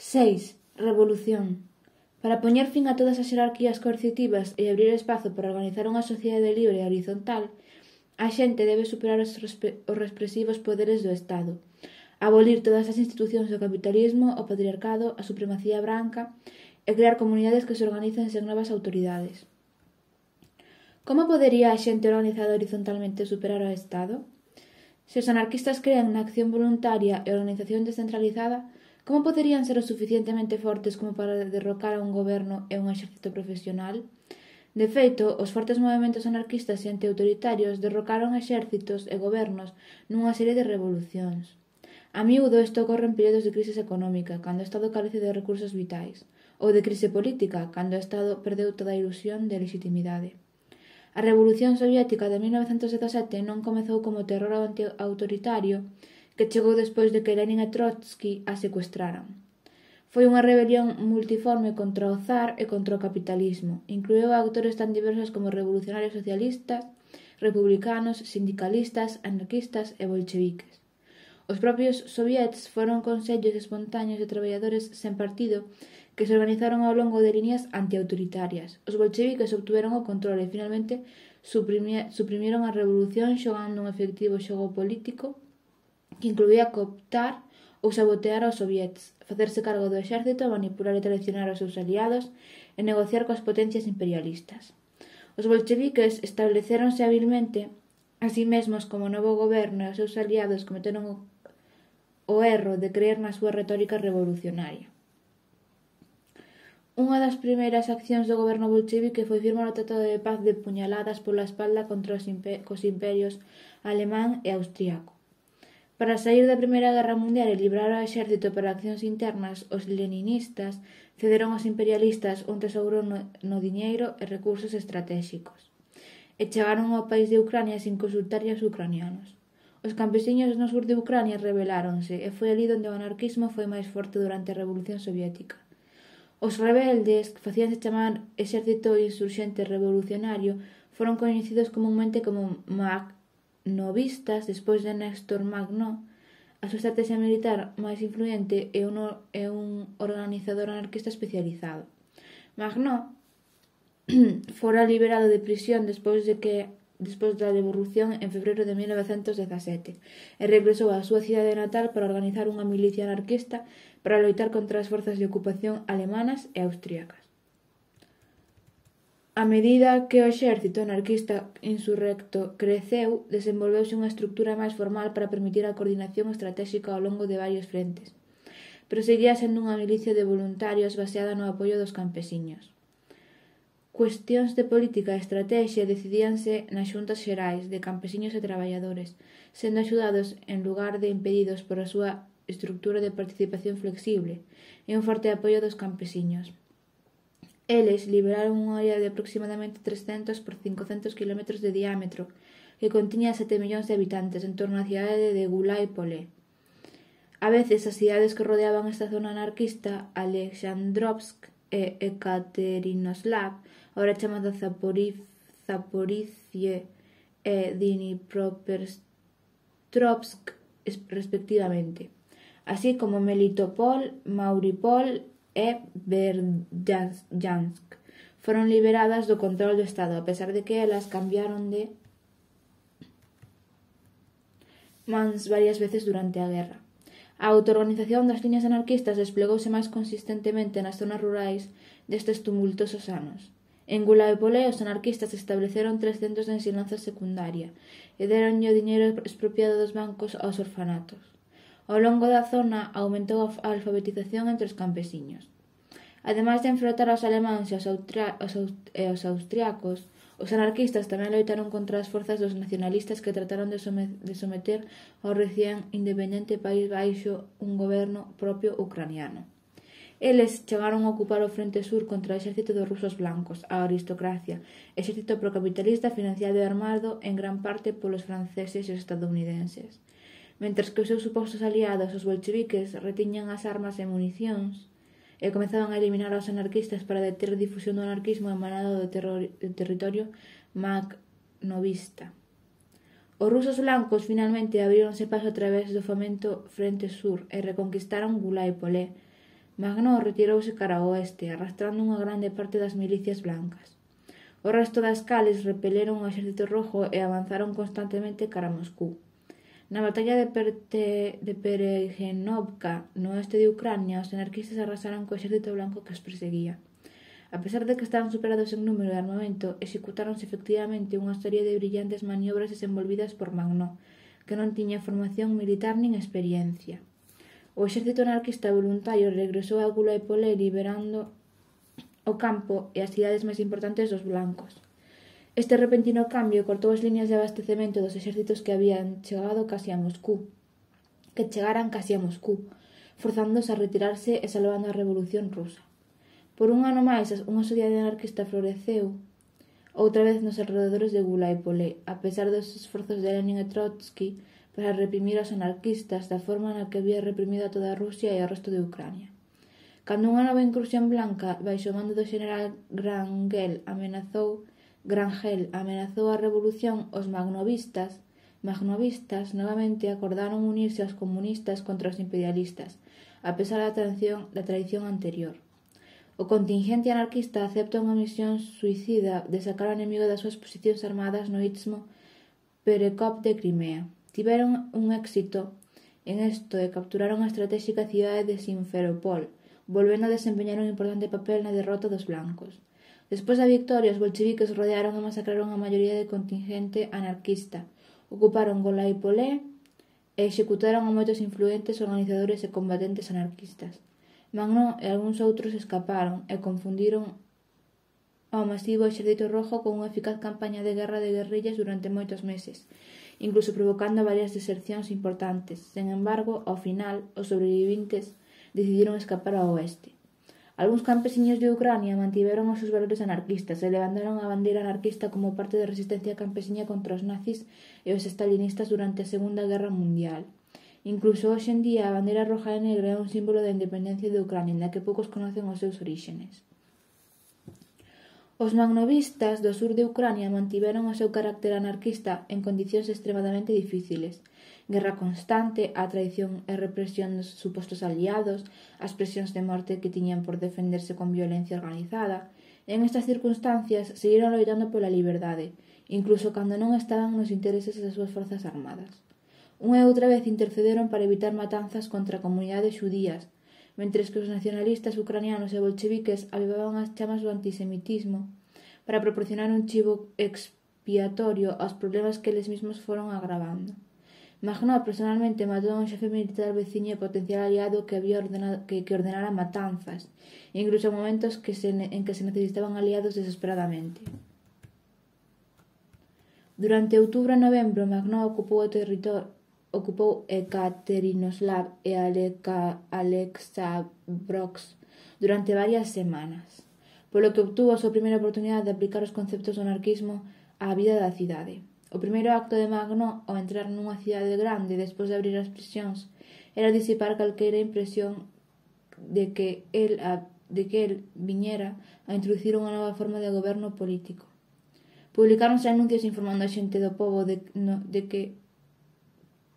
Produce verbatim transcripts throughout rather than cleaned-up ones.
seis. Revolución. Para poñer fin a todas as xerarquías coercitivas e abrir espazo para organizar unha sociedade libre e horizontal, a xente debe superar os, os represivos poderes do Estado, abolir todas as institucións do capitalismo, o patriarcado, a supremacía branca e crear comunidades que se organicen sen novas autoridades. Como podería a xente organizada horizontalmente superar ao Estado? Se os anarquistas crean na acción voluntaria e organización descentralizada, como poderían ser o suficientemente fortes como para derrocar a un goberno e un exército profesional? De feito, os fortes movementos anarquistas e antiautoritarios derrocaron exércitos e gobernos nunha serie de revolucións. A miúdo isto ocorre en períodos de crise económica, cando o Estado carece de recursos vitais, ou de crise política, cando o Estado perdeu toda a ilusión de legitimidade. A Revolución Soviética de mil novecentos dezasete non comezou como terror antiautoritario que chegou despois de que Lenin e Trotsky a secuestraran. Foi unha rebelión multiforme contra o zar e contra o capitalismo. Incluíu a actores tan diversos como revolucionarios socialistas, republicanos, sindicalistas, anarquistas e bolcheviques. Os propios soviets foron consellos espontáneos de traballadores sen partido que se organizaron ao longo de líneas antiautoritarias. Os bolcheviques obtuveron o control e finalmente suprimieron a revolución xogando un efectivo xogo político que incluía cooptar ou sabotear aos soviets, facerse cargo do exército, manipular e traicionar aos seus aliados e negociar coas potencias imperialistas. Os bolcheviques establecéronse habilmente a sí mesmos como novo goberno e os seus aliados cometeron o, o erro de creer na súa retórica revolucionaria. Unha das primeiras accións do goberno bolchevique foi firmar o Tratado de Paz de puñaladas pola espalda contra os imper- cos imperios alemán e austríaco. Para saír da Primeira Guerra Mundial e librar ao exército para accións internas, os leninistas cederon aos imperialistas un tesouro no, no diñeiro e recursos estratéxicos, e chegaron ao país de Ucrania sin consultar aos ucranianos. Os campesiños no sur de Ucrania rebeláronse e foi ali onde o anarquismo foi máis forte durante a Revolución Soviética. Os rebeldes, que facíanse chamar Exército Insurxente Revolucionario, foron coñecidos comunmente como magnovistas despois de Néstor Magno. A súa estrategia militar máis influente é un, é un organizador anarquista especializado. Magno fora liberado de prisión despois de que despois da Revolución en febreiro de mil novecentos dezasete e regresou á súa cidade natal para organizar unha milicia anarquista para loitar contra as forzas de ocupación alemanas e austríacas. A medida que o exército anarquista insurrecto creceu, desenvolveuse unha estructura máis formal para permitir a coordinación estratéxica ao longo de varios frentes, pero seguía sendo unha milicia de voluntarios baseada no apoio dos campesiños. Cuestións de política e estratexia decidíanse nas xuntas xerais de campesiños e traballadores, sendo axudados en lugar de impedidos por a súa estructura de participación flexible e un forte apoio dos campesiños. Eles liberaron unha área de aproximadamente trescentos por cincocentos kilómetros de diámetro que continha sete millóns de habitantes en torno á cidade de Gulaipolé. A veces as cidades que rodeaban esta zona anarquista, Alexandrovsk e Ekaterinoslav, agora chamada Zaporizhie e Dnipropetrovsk respectivamente, así como Melitopol, Mariupol e Berdyansk, foron liberadas do control do Estado, a pesar de que elas cambiaron de mans varias veces durante a guerra. A autoorganización das liñas anarquistas desplegouse máis consistentemente nas zonas rurais destes tumultosos anos. En Gulaipolé, os anarquistas estableceron tres centros de ensinanza secundaria e deronlle o diñeiro expropiado dos bancos aos orfanatos. Ao longo da zona aumentou a alfabetización entre os campesiños. Ademais de enfrontar aos alemáns e aos, austria- aos, aust- e aos austriacos, os anarquistas tamén loitaron contra as forzas dos nacionalistas que trataron de, some- de someter ao recén independente País Baixo un goberno propio ucraniano. Eles chegaron a ocupar o frente sur contra o exército dos rusos blancos, a aristocracia, exército procapitalista financiado e armado en gran parte polos franceses e estadounidenses. Mentres que os seus supostos aliados, os bolcheviques, retiñan as armas e municións e comezaban a eliminar aos anarquistas para deter a difusión do anarquismo emanado do, terror, do territorio magnovista. Os rusos blancos finalmente abríronse paso a través do famento Frente Sur e reconquistaron Gulaipolé, Magnó retirouse cara ao oeste, arrastrando unha grande parte das milicias blancas. O resto das cales repeleron o exército rojo e avanzaron constantemente cara a Moscú. Na batalla de, Perte, de Peregenovka, no oeste de Ucrania, os anarquistas arrasaron co exército blanco que os perseguía. A pesar de que estaban superados en número e armamento, executáronse efectivamente unha serie de brillantes maniobras desenvolvidas por Magnó, que non tiña formación militar nin experiencia. O exército anarquista voluntario regresou a Gulaipolé liberando o campo e as cidades máis importantes dos blancos. Este repentino cambio cortou as liñas de abastecemento dos exércitos que habían chegado casi a Moscú, que chegaran casi a Moscú, forzándoos a retirarse e salvando a Revolución Rusa. Por un ano máis, unha sociedade anarquista floreceu outra vez nos alrededores de Gulaipolé, a pesar dos esforzos de Lenin e Trotsky para reprimir aos anarquistas da forma na que había reprimido a toda Rusia e ao resto de Ucrania. Cando unha nova incursión blanca, baixo o mando do xeneral Grangel, amenazou Grangel amenazou a revolución, os magnovistas, magnovistas novamente acordaron unirse aos comunistas contra os imperialistas, a pesar da traición, da traición anterior. O contingente anarquista acepta unha misión suicida de sacar ao enemigo das súas posicións armadas no istmo Perekop de Crimea. Tiveron un éxito en isto e capturaron a estratégica cidade de Simferopol, volvendo a desempeñar un importante papel na derrota dos blancos. Despois da victoria, os bolcheviques rodearon e masacraron a maioría do contingente anarquista, ocuparon Gulaipolé e executaron a moitos influentes organizadores e combatentes anarquistas. Magnó e algúns outros escaparon e confundiron ao masivo exército rojo con unha eficaz campaña de guerra de guerrillas durante moitos meses, incluso provocando varias desercións importantes. Sen embargo, ao final, os sobrevivintes decidiron escapar ao oeste. Algúns campesiños de Ucrania mantiveron os seus valores anarquistas e levantaron a bandeira anarquista como parte da resistencia campesiña contra os nazis e os stalinistas durante a Segunda Guerra Mundial. Incluso hoxe en día a bandeira roja e negra é un símbolo da independencia de Ucrania, na que poucos conocen os seus oríxenes. Os magnovistas do sur de Ucrania mantiveron o seu carácter anarquista en condicións extremadamente difíciles. Guerra constante, a traición e represión dos supostos aliados, as presións de morte que tiñan por defenderse con violencia organizada. En estas circunstancias, seguiron loitando pola liberdade, incluso cando non estaban nos intereses das súas forzas armadas. Unha e outra vez intercederon para evitar matanzas contra comunidades xudías, mentres que os nacionalistas ucranianos e bolcheviques avivaban as chamas do antisemitismo para proporcionar un chivo expiatorio aos problemas que eles mesmos foron agravando. Magnó personalmente matou a un xefe militar veciño e potencial aliado que había ordenado, que, que ordenara matanzas, incluso en momentos que se, en que se necesitaban aliados desesperadamente. Durante outubro e novembro, Magnó ocupou o territorio ocupou Ekaterinoslav e Alexandrovsk durante varias semanas, polo que obtuvo a súa primeira oportunidade de aplicar os conceptos do anarquismo á vida da cidade. O primeiro acto de Magnó ao entrar nunha cidade grande despois de abrir as prisións era disipar calquera impresión de que el, a, de que el viñera a introducir unha nova forma de goberno político. Publicáronse anuncios informando a xente do pobo de, no, de que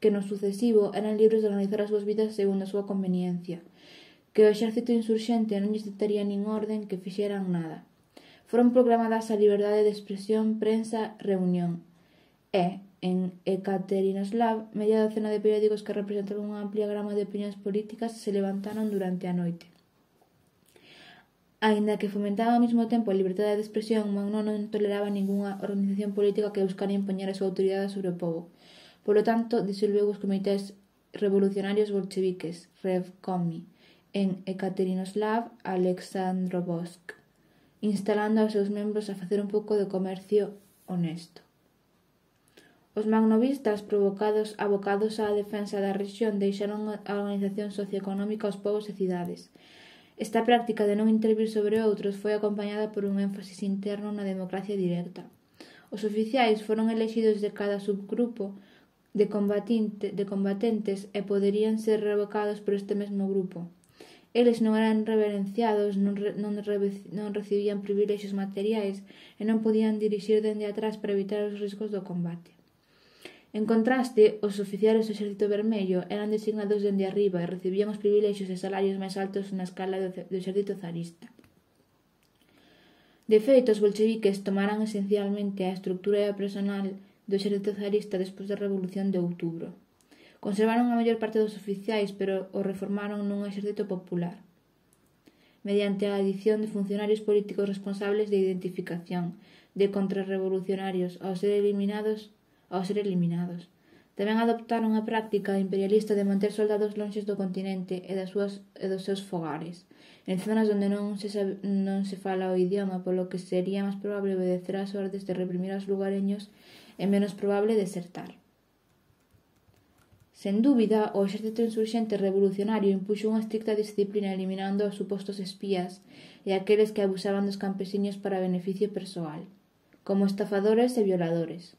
que no sucesivo eran libres de organizar as súas vidas segundo a súa conveniencia, que o exército insurxente non lles dictaría nin orden que fixeran nada. Foron proclamadas a liberdade de expresión, prensa, reunión. E, en Ekaterinoslav, media docena de periódicos que representaban unha amplia gama de opinións políticas se levantaron durante a noite. Aínda que fomentaba ao mesmo tempo a liberdade de expresión, Magnó non toleraba ningunha organización política que buscara impoñer a súa autoridade sobre o povo. Polo tanto, disolveu os comités revolucionarios bolcheviques, Revkomi, en Ekaterinoslav, Alexandrovsk, instalando aos seus membros a facer un pouco de comercio honesto. Os magnovistas, provocados abocados á defensa da rexión, deixaron a organización socioeconómica aos povos e cidades. Esta práctica de non intervir sobre outros foi acompañada por un énfasis interno na democracia directa. Os oficiais foron elexidos de cada subgrupo de, de combatentes e poderían ser revocados por este mesmo grupo. Eles non eran reverenciados, non, re, non, re, non recibían privilexios materiais e non podían dirixir dende atrás para evitar os riscos do combate. En contraste, os oficiales do Exército Vermello eran designados dende arriba e recibían os privilexios e salarios máis altos na escala do, do Exército zarista. De feito, os bolcheviques tomaran esencialmente a estructura e a personal do Exército zarista despois da Revolución de Outubro. Conservaron a maior parte dos oficiais, pero o reformaron nun exército popular, mediante a adición de funcionarios políticos responsables de identificación de contrarrevolucionarios ao ser eliminados, ao ser eliminados. Tamén adoptaron a práctica imperialista de manter soldados lonxes do continente e, das súas, e dos seus fogares, en zonas onde non se, sabe, non se fala o idioma, polo que sería máis probable obedecer as ordes de reprimir aos lugareños e menos probable desertar. Sen dúbida, o exército insurxente revolucionario impuxo unha estricta disciplina eliminando os supostos espías e aqueles que abusaban dos campesiños para beneficio persoal, como estafadores e violadores.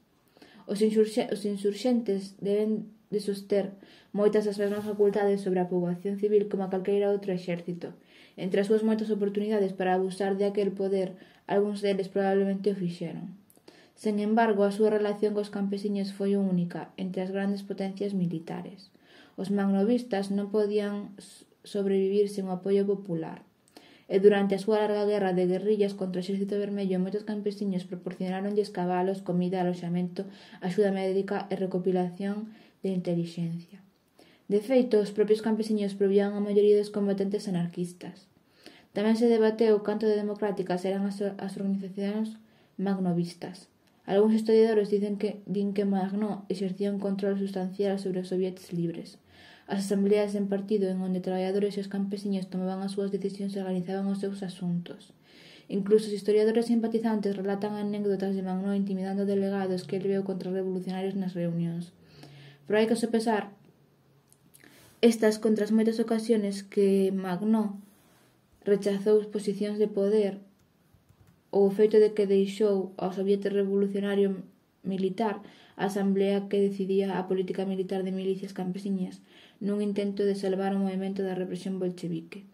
Os, insurxe os insurxentes deben de soster moitas das mesmas facultades sobre a poboación civil como a calqueira outro exército. Entre as súas moitas oportunidades para abusar de aquel poder, algúns deles probablemente o fixeron. Sen embargo, a súa relación cos campesiños foi única entre as grandes potencias militares. Os magnovistas non podían sobrevivir sen o apoio popular, e durante a súa larga guerra de guerrillas contra o Exército Vermello, moitos campesiños proporcionaronlles cabalos, comida, aloxamento, axuda médica e recopilación de intelixencia. De feito, os propios campesiños provían a maioría dos combatentes anarquistas. Tamén se debateu canto de democráticas eran as, as organizacións magnovistas. Algúns historiadores dicen que, din que Magnó exercía un control sustancial sobre os soviets libres. As asambleas en partido en onde traballadores e os campesiños tomaban as súas decisións e organizaban os seus asuntos. Incluso os historiadores simpatizantes relatan anécdotas de Magnó intimidando delegados que ele veu contra revolucionarios nas reunións. Pero hai que sopesar estas contra as moitas ocasións que Magnó rechazou posicións de poder ou o feito de que deixou ao Soviet Revolucionario Militar a asamblea que decidía a política militar de milicias campesiñas nun intento de salvar o movimento da represión bolchevique.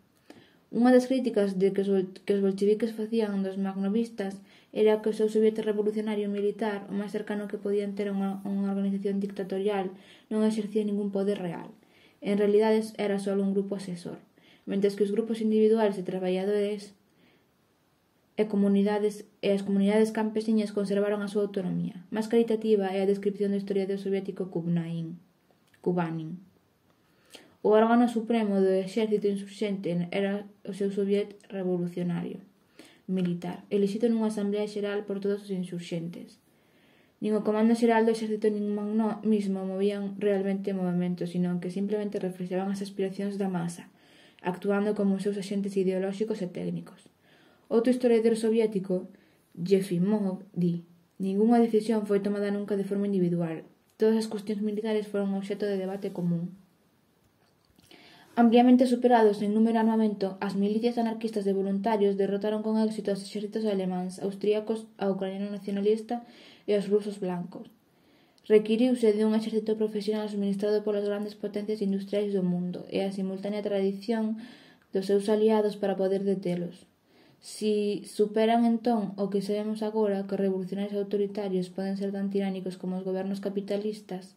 Unha das críticas de que os, que os bolcheviques facían dos magnovistas era que o seu Soviet Revolucionario Militar, o máis cercano que podían ter unha, unha organización dictatorial, non exercía ningún poder real. En realidade era só un grupo asesor, mentres que os grupos individuales de traballadores e comunidades e as comunidades campesiñas conservaron a súa autonomía. Máis caritativa é a descripción do historiador soviético Kubnain, Kubanin. O órgano supremo do exército insurxente era o seu Soviet Revolucionario Militar, elixido nunha asamblea xeral por todos os insurxentes. Nin o comando xeral do exército nin Magnó mismo movían realmente o movimento, sino que simplemente reflexaban as aspiracións da masa, actuando como os seus axentes ideolóxicos e técnicos. Outro historiador soviético, Yefimov, di: ningunha decisión foi tomada nunca de forma individual. Todas as cuestións militares foron obxecto de debate común. Ampliamente superados en número e armamento, as milicias anarquistas de voluntarios derrotaron con éxito os exércitos alemáns, austríacos, a ucraniano nacionalista e os rusos blancos. Requiriuse de un exército profesional suministrado polas grandes potencias industriais do mundo e a simultánea tradición dos seus aliados para poder detelos. Si superan entón o que sabemos agora, que os revolucionarios autoritarios poden ser tan tiránicos como os gobernos capitalistas,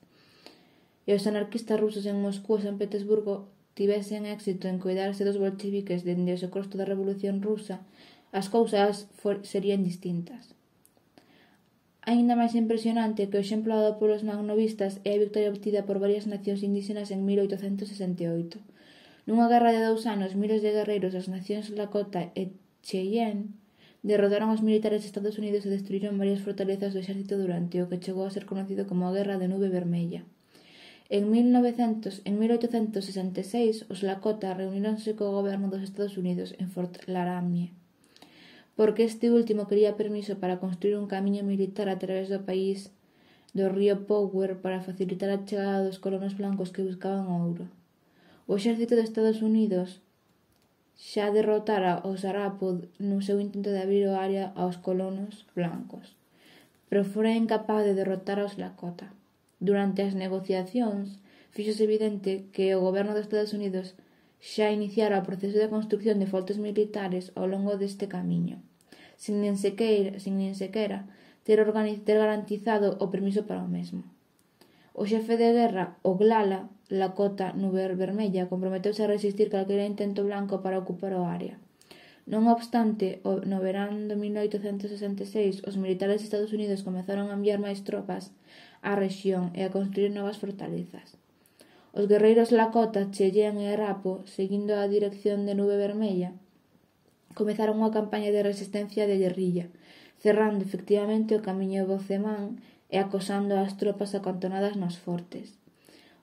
e os anarquistas rusos en Moscú e San Petersburgo tivesen éxito en coidarse dos bolcheviques dende o secuestro da Revolución Rusa, as cousas serían distintas. Aínda máis impresionante que o exemplo dado polos magnovistas é a victoria obtida por varias nacións indígenas en mil oitocentos sesenta e oito. Nunha guerra de dous anos, miles de guerreiros das nacións Lakota e Cheyenne derrotaron os militares de Estados Unidos e destruíron varias fortalezas do exército durante o que chegou a ser conocido como a Guerra de Nube Vermella. En mil oitocentos sesenta e seis, os Lakota reuníronse co goberno dos Estados Unidos en Fort Laramie, porque este último quería permiso para construir un camiño militar a través do país do río Power para facilitar a chegada dos colonos blancos que buscaban ouro. O exército de Estados Unidos xa derrotara os Arapod no seu intento de abrir o área aos colonos blancos, pero fora incapaz de derrotar aos Lakota. Durante as negociacións, fíxose evidente que o goberno dos Estados Unidos xa iniciara o proceso de construcción de fortes militares ao longo deste camiño, sin nin sequera, sin nin sequera ter, ter garantizado o permiso para o mesmo. O xefe de guerra, Oglala, Lakota Nube Vermella, comprometeuse a resistir calquera intento blanco para ocupar o área. Non obstante, no verán do mil oitocentos sesenta e seis, os militares de Estados Unidos comezaron a enviar máis tropas á rexión e a construir novas fortalezas. Os guerreiros Lakota, Cheyenne e Arapo, seguindo a dirección de Nube Vermella, comezaron unha campaña de resistencia de guerrilla, cerrando efectivamente o camiño Bocemán e acosando as tropas acantonadas nos fortes.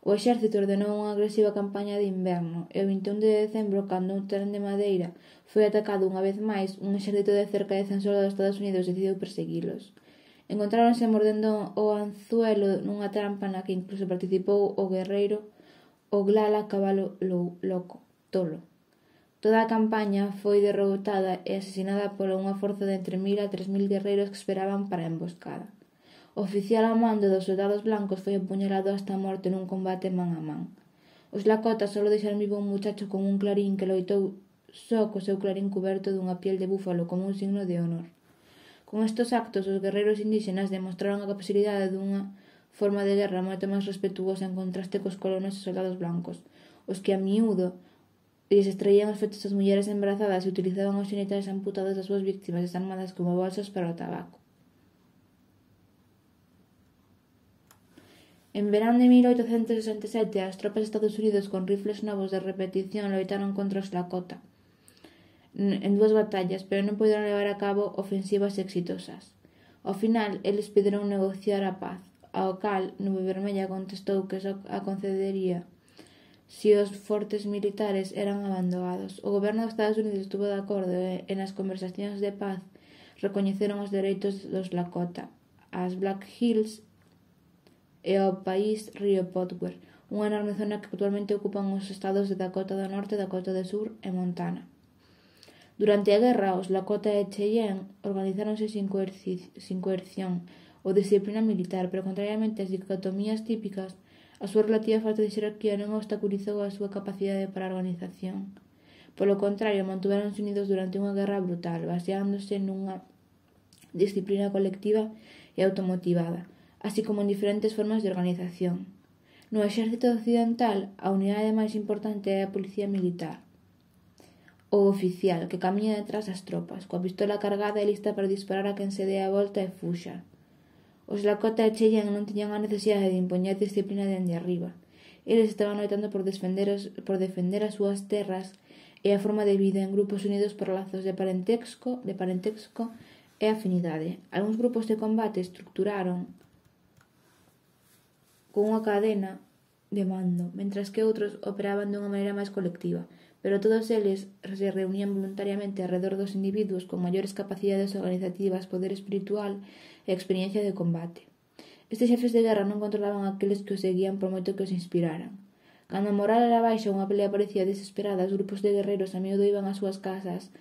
O exército ordenou unha agresiva campaña de inverno e o vinte e un de decembro, cando un tren de madeira foi atacado unha vez máis, un exército de cerca de cen soldados dos Estados Unidos decidiu perseguilos. Encontráronse mordendo o anzuelo nunha trampa na que incluso participou o guerreiro Oglala Cabalo Loco, Tolo. Toda a campaña foi derrotada e asesinada por unha forza de entre mil a tres mil guerreiros que esperaban para a emboscada. O oficial a mando dos soldados blancos foi apuñalado hasta a morte nun combate man a man. Os Lakota solo deixaron vivo un muchacho con un clarín que loitou só co seu clarín cuberto dunha piel de búfalo como un signo de honor. Con estes actos, os guerreiros indígenas demostraron a capacidade dunha forma de guerra moito máis respetuosa en contraste cos colonos e soldados blancos, os que a miúdo lles extraían os fetos das mulleres embarazadas e utilizaban os xenitais amputados das súas víctimas desarmadas como bolsas para o tabaco. En verán de mil oitocentos sesenta e sete, as tropas de Estados Unidos con rifles novos de repetición loitaron contra os Lakota en dúas batallas, pero non puderon levar a cabo ofensivas exitosas. Ao final, eles pediron negociar a paz, ao cal Nube Vermella contestou que só a concedería se os fortes militares eran abandonados. O goberno dos Estados Unidos estuvo de acordo e nas conversacións de paz recoñeceron os dereitos dos Lakota, as Black Hills e ao país Río Potwer, unha enorme zona que actualmente ocupan os estados de Dakota do Norte, Dakota do Sur e Montana. Durante a guerra, os Lakota e Cheyenne organizáronse sin, coerci sin coerción ou disciplina militar, pero contrariamente ás dicotomías típicas, a súa relativa falta de xerarquía non obstaculizou a súa capacidade para a organización. Polo contrario, mantuveronse unidos durante unha guerra brutal, baseándose nunha disciplina colectiva e automotivada, así como en diferentes formas de organización. No exército occidental, a unidade máis importante é a policía militar, o oficial, que camiña detrás das tropas, coa pistola cargada e lista para disparar a quen se dé a volta e fuxa. Os Lakota e Cheyenne non tiñan a necesidade de impoñer disciplina dende arriba. Eles estaban loitando por defender, as, por defender as súas terras e a forma de vida en grupos unidos por lazos de parentesco, de parentesco e afinidade. Algúns grupos de combate estructuraron con unha cadena de mando, mentras que outros operaban dunha maneira máis colectiva, pero todos eles se reunían voluntariamente alrededor dos individuos con maiores capacidades organizativas, poder espiritual e experiencia de combate. Estes xefes de guerra non controlaban aqueles que os seguían por moito que os inspiraran. Cando a moral era baixa ou unha pelea parecía desesperada, os grupos de guerreiros a miúdo iban ás súas casas,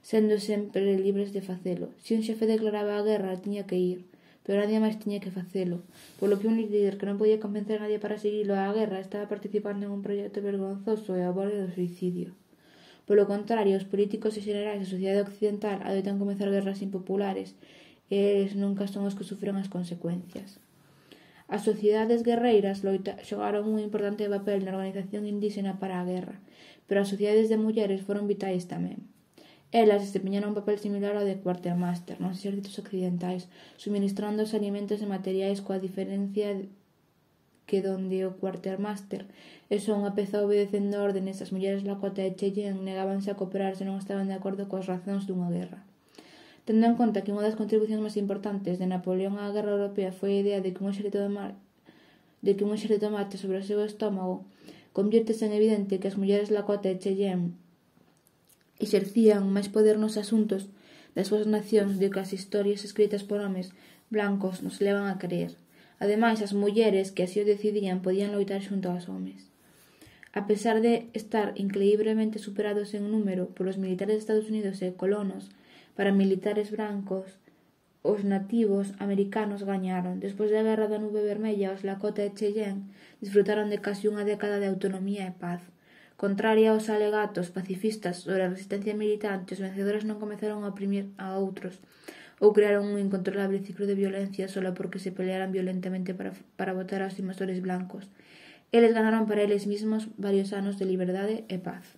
sendo sempre libres de facelo. Se un xefe declaraba a guerra, tiña que ir, pero nadie máis tiña que facelo, polo que un líder que non podía convencer a nadie para seguilo á guerra estaba participando en un proxecto vergonzoso e ao borde do suicidio. Polo contrario, os políticos e xenerais da sociedade occidental adoitan comezar guerras impopulares e eles nunca son os que sufren as consecuencias. As sociedades guerreiras loita, xogaron un importante papel na organización indígena para a guerra, pero as sociedades de mulleres foron vitais tamén. Elas desempeñaron un papel similar ao de quartermaster nos exércitos occidentais, suministrando os alimentos e materiais coa diferencia que donde o quartermaster é só unha peza obedecendo órdenes, as mulleres Lakota e Cheyenne negábanse a cooperar se non estaban de acordo coas razóns dunha guerra. Tendo en conta que unha das contribucións máis importantes de Napoleón á guerra europea foi a idea de que un exército de mar de que un exército marche sobre o seu estómago, conviértese en evidente que as mulleres Lakota e Cheyenne exercían máis poder nos asuntos das súas nacións do que as historias escritas por homes blancos nos levan a creer. Ademais, as mulleres que así o decidían podían loitar xunto aos homes. A pesar de estar increíblemente superados en número polos militares de Estados Unidos e colonos, para militares brancos, os nativos americanos gañaron. Despois da Guerra da Nube Vermella, os Lakota e Cheyenne disfrutaron de casi unha década de autonomía e paz. Contraria aos alegatos pacifistas sobre a resistencia militante, os vencedores non comezaron a oprimir a outros. ou crearon un incontrolable ciclo de violencia solo porque se pelearan violentamente para, para votar aos invasores blancos. Eles ganaron para eles mesmos varios anos de liberdade e paz.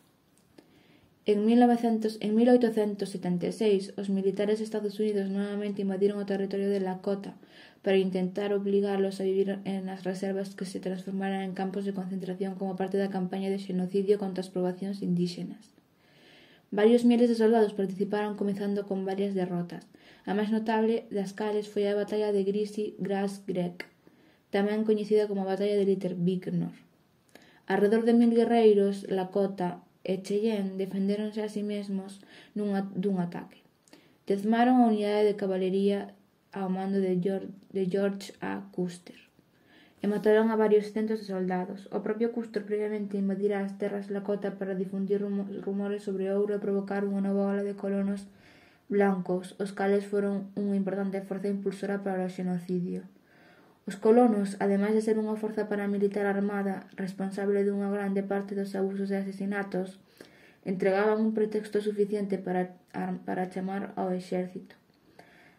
En, mil oitocentos setenta e seis, os militares de Estados Unidos novamente invadiron o territorio de Lakota para intentar obligarlos a vivir en as reservas que se transformaran en campos de concentración como parte da campaña de xenocidio contra as poboacións indígenas. Varios miles de soldados participaron, comezando con varias derrotas. A máis notable das cales foi a batalla de Greasy Grass Creek, tamén coñecida como a batalla de Little Bighorn. Arredor de mil guerreiros Lakota e Cheyenne defendéronse a si mesmos nunha, dun ataque. Tezmaron a unidade de cabalería ao mando de George, de George A. Custer e mataron a varios centos de soldados. O propio Custer previamente invadira as terras Lakota para difundir rumores sobre ouro e provocar unha nova ola de colonos blancos, os cales foron unha importante forza impulsora para o xenocidio. Os colonos, ademais de ser unha forza paramilitar armada responsable dunha grande parte dos abusos e asesinatos, entregaban un pretexto suficiente para, para chamar ao exército.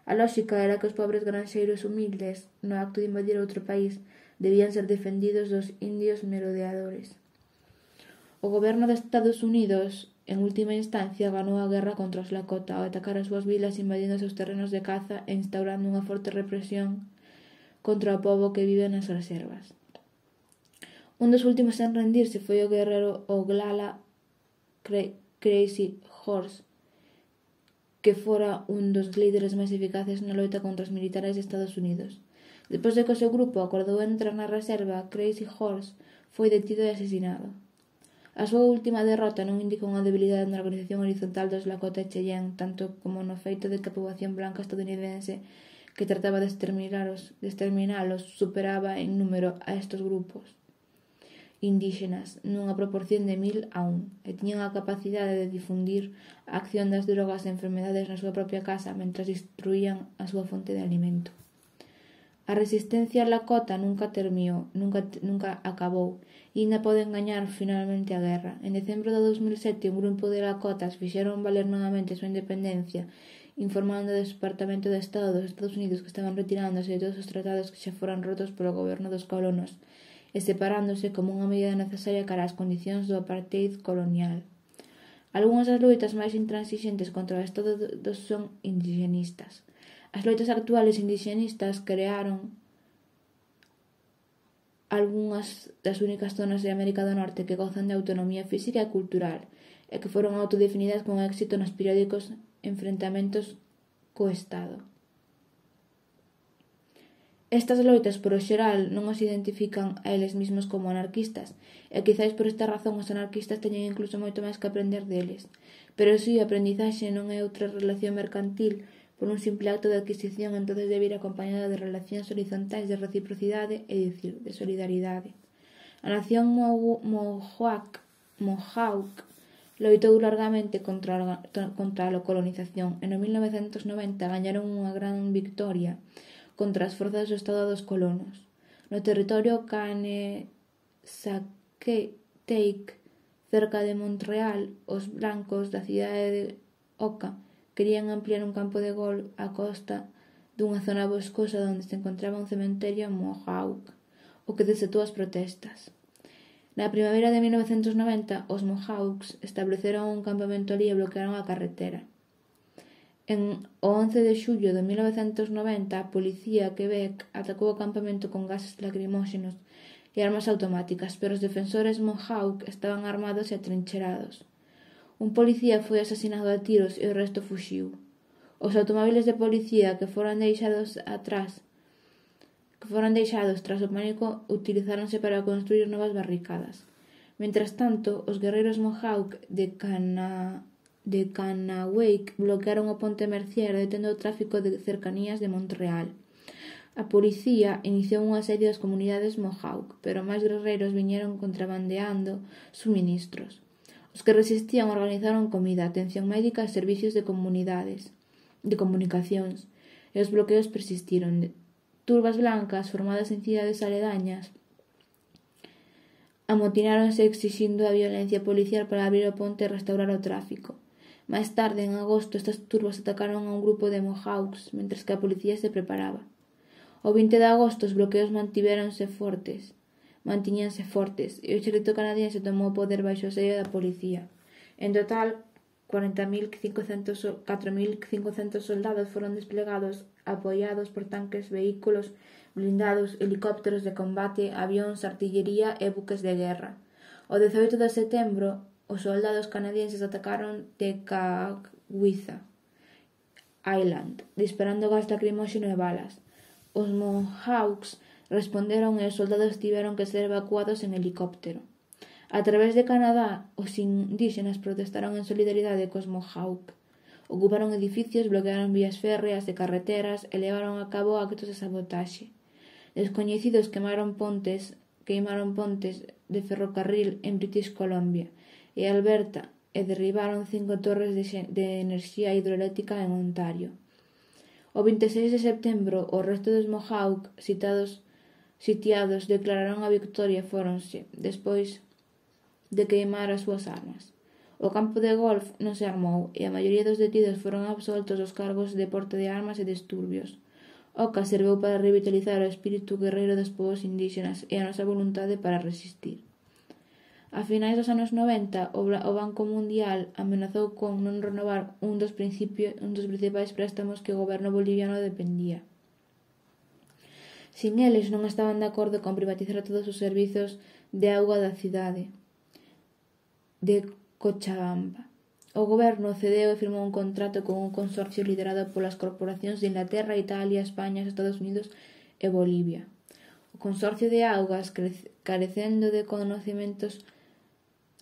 A lóxica era que os pobres granxeiros humildes, no acto de invadir outro país, debían ser defendidos dos indios merodeadores. O goberno de Estados Unidos, en última instancia, ganou a guerra contra os Lakota ao atacar as súas vilas invadindo os seus terrenos de caza e instaurando unha forte represión contra o pobo que vive nas reservas. Un dos últimos en rendirse foi o guerrero Oglala Crazy Horse, que fora un dos líderes máis eficaces na loita contra os militares de Estados Unidos. Depois de que o seu grupo acordou entrar na reserva, Crazy Horse foi detido e asesinado. A súa última derrota non indica unha debilidade na organización horizontal dos Lakota e Cheyenne, tanto como no feito de que a poboación blanca estadounidense que trataba de exterminalos, de exterminalos superaba en número a estes grupos indígenas nunha proporción de mil a un e tiñan a capacidade de difundir a acción das drogas e enfermedades na súa propia casa mentras destruían a súa fonte de alimento. A resistencia Lakota nunca terminou, nunca, nunca acabou e ainda poden gañar finalmente a guerra. En decembro de dos mil sete, un grupo de Lakotas fixeron valer novamente a súa independencia, informando do Departamento de Estado dos Estados Unidos que estaban retirándose de todos os tratados que xa foran rotos polo goberno dos colonos e separándose como unha medida necesaria cara ás condicións do apartheid colonial. Algúnas das loitas máis intransigentes contra o Estado son indigenistas. As loitas actuales indigenistas crearon algunhas das únicas zonas de América do Norte que gozan de autonomía física e cultural e que foron autodefinidas con éxito nos periódicos enfrentamentos co Estado. Estas loitas, por o xeral, non os identifican a eles mesmos como anarquistas, e quizais por esta razón os anarquistas teñen incluso moito máis que aprender deles. Pero si, a aprendizaxe non é outra relación mercantil por un simple acto de adquisición, entonces debe ir acompañada de relacións horizontais de reciprocidade e dicir, de solidaridade. A nación Mohawk, Mohawk loitou largamente contra a, contra a colonización e no mil novecentos noventa gañaron unha gran victoria contra as forzas do Estado dos colonos. No territorio Kanesatake, cerca de Montreal, os blancos da cidade de Oka querían ampliar un campo de golf á costa dunha zona boscosa onde se encontraba un cementerio Mohawk, o que desatou as protestas. Na primavera de mil novecentos noventa, os Mohawks estableceron un campamento alí e bloquearon a carretera. En o once de xullo de mil novecentos noventa, a policía Quebec atacou o campamento con gases lacrimóxenos e armas automáticas, pero os defensores Mohawk estaban armados e atrincherados. Un policía foi asesinado a tiros e o resto fuxiu. Os automóviles de policía que foran deixados atrás, que foran deixados tras o pánico utilizáronse para construir novas barricadas. Mentras tanto, os guerreiros Mohawk de Cana... de Kanawake bloquearon o ponte Mercier detendo o tráfico de cercanías de Montreal. A policía iniciou un asedio ás comunidades Mohawk, pero máis guerreiros viñeron contrabandeando suministros. Os que resistían organizaron comida, atención médica e servicios de comunidades, de comunicacións, e os bloqueos persistiron. Turbas blancas, formadas en cidades aledañas, amotináronse exixindo a violencia policial para abrir o ponte e restaurar o tráfico. Máis tarde, en agosto, estas turbas atacaron a un grupo de Mohawks mentres que a policía se preparaba. O vinte de agosto os bloqueos mantivéronse fortes, mantiñanse fortes e o exército canadiense tomou o poder baixo o asedio da policía. En total, catro mil cincocentos soldados foron desplegados apoiados por tanques, vehículos blindados, helicópteros de combate, avións, artillería e buques de guerra. O dezaoito de setembro, os soldados canadienses atacaron Tekakwitha Island, disparando gas lacrimóxeno e balas. Os Mohawks responderon e os soldados tiveron que ser evacuados en helicóptero. A través de Canadá, os indígenas protestaron en solidaridade cos Mohawk. Ocuparon edificios, bloquearon vías férreas e carreteras e levaron a cabo actos de sabotaxe. Descoñecidos quemaron pontes, queimaron pontes de ferrocarril en British Columbia e Alberta e derribaron cinco torres de, de enerxía hidroeléctrica en Ontario. O vinte e seis de setembro, o resto dos Mohawk citados, sitiados declararon a victoria e fóronse, despois de queimar as súas armas. O campo de golf non se armou e a maioría dos detidos foron absoltos dos cargos de porte de armas e disturbios. O C A serveu para revitalizar o espírito guerreiro dos povos indígenas e a nosa voluntade para resistir. A finais dos anos noventa, o Banco Mundial amenazou con non renovar un dos, un dos principais préstamos que o goberno boliviano dependía. Sin eles non estaban de acordo con privatizar todos os servizos de auga da cidade de Cochabamba. O goberno cedeu e firmou un contrato con un consorcio liderado polas corporacións de Inglaterra, Italia, España, Estados Unidos e Bolivia. O consorcio de augas, carecendo de conocimentos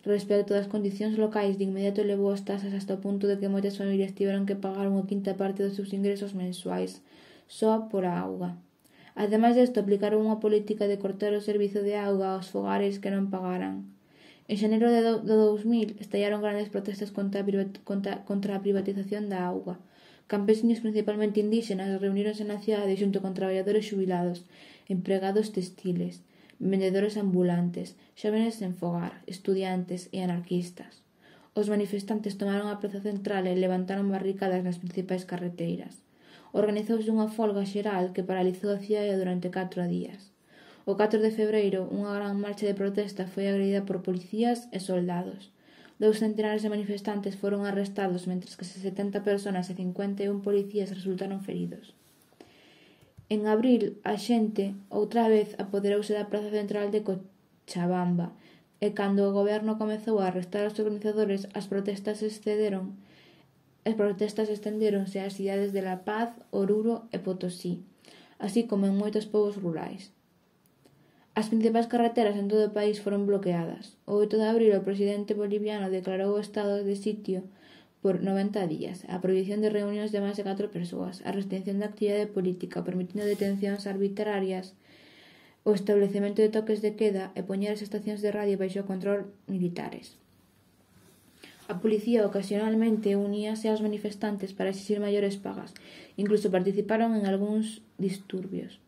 respecto das condicións locais, de inmediato elevou as tasas hasta o punto de que moitas familias tiveron que pagar unha quinta parte dos seus ingresos mensuais só por a auga. Ademais desto, aplicaron unha política de cortar o servizo de auga aos fogares que non pagaran. En xaneiro de dous mil estallaron grandes protestas contra a, contra, contra a privatización da auga. Campesinos, principalmente indígenas, reuníronse na cidade xunto con traballadores xubilados, empregados textiles, vendedores ambulantes, xóvenes sen fogar, estudiantes e anarquistas. Os manifestantes tomaron a praza central e levantaron barricadas nas principais carreteiras. Organizouse unha folga xeral que paralizou a cidade durante catro días. O catro de febreiro, unha gran marcha de protesta foi agredida por policías e soldados. Dous centenares de manifestantes foron arrestados, mentres que setenta persoas e cincuenta e un policías resultaron feridos. En abril, a xente outra vez apoderouse da praza central de Cochabamba e cando o goberno comezou a arrestar os organizadores, as protestas excederon As protestas estendéronse ás cidades de La Paz, Oruro e Potosí, así como en moitos povos rurais. As principais carreteras en todo o país foron bloqueadas. O oito de abril, o presidente boliviano declarou o estado de sitio por noventa días, a prohibición de reunións de máis de catro persoas, a restricción da actividade política, permitindo detencións arbitrarias, o establecemento de toques de queda e poñer as estacións de radio baixo control militares. A policía ocasionalmente uníase aos manifestantes para exixir maiores pagas, incluso participaron en algúns disturbios.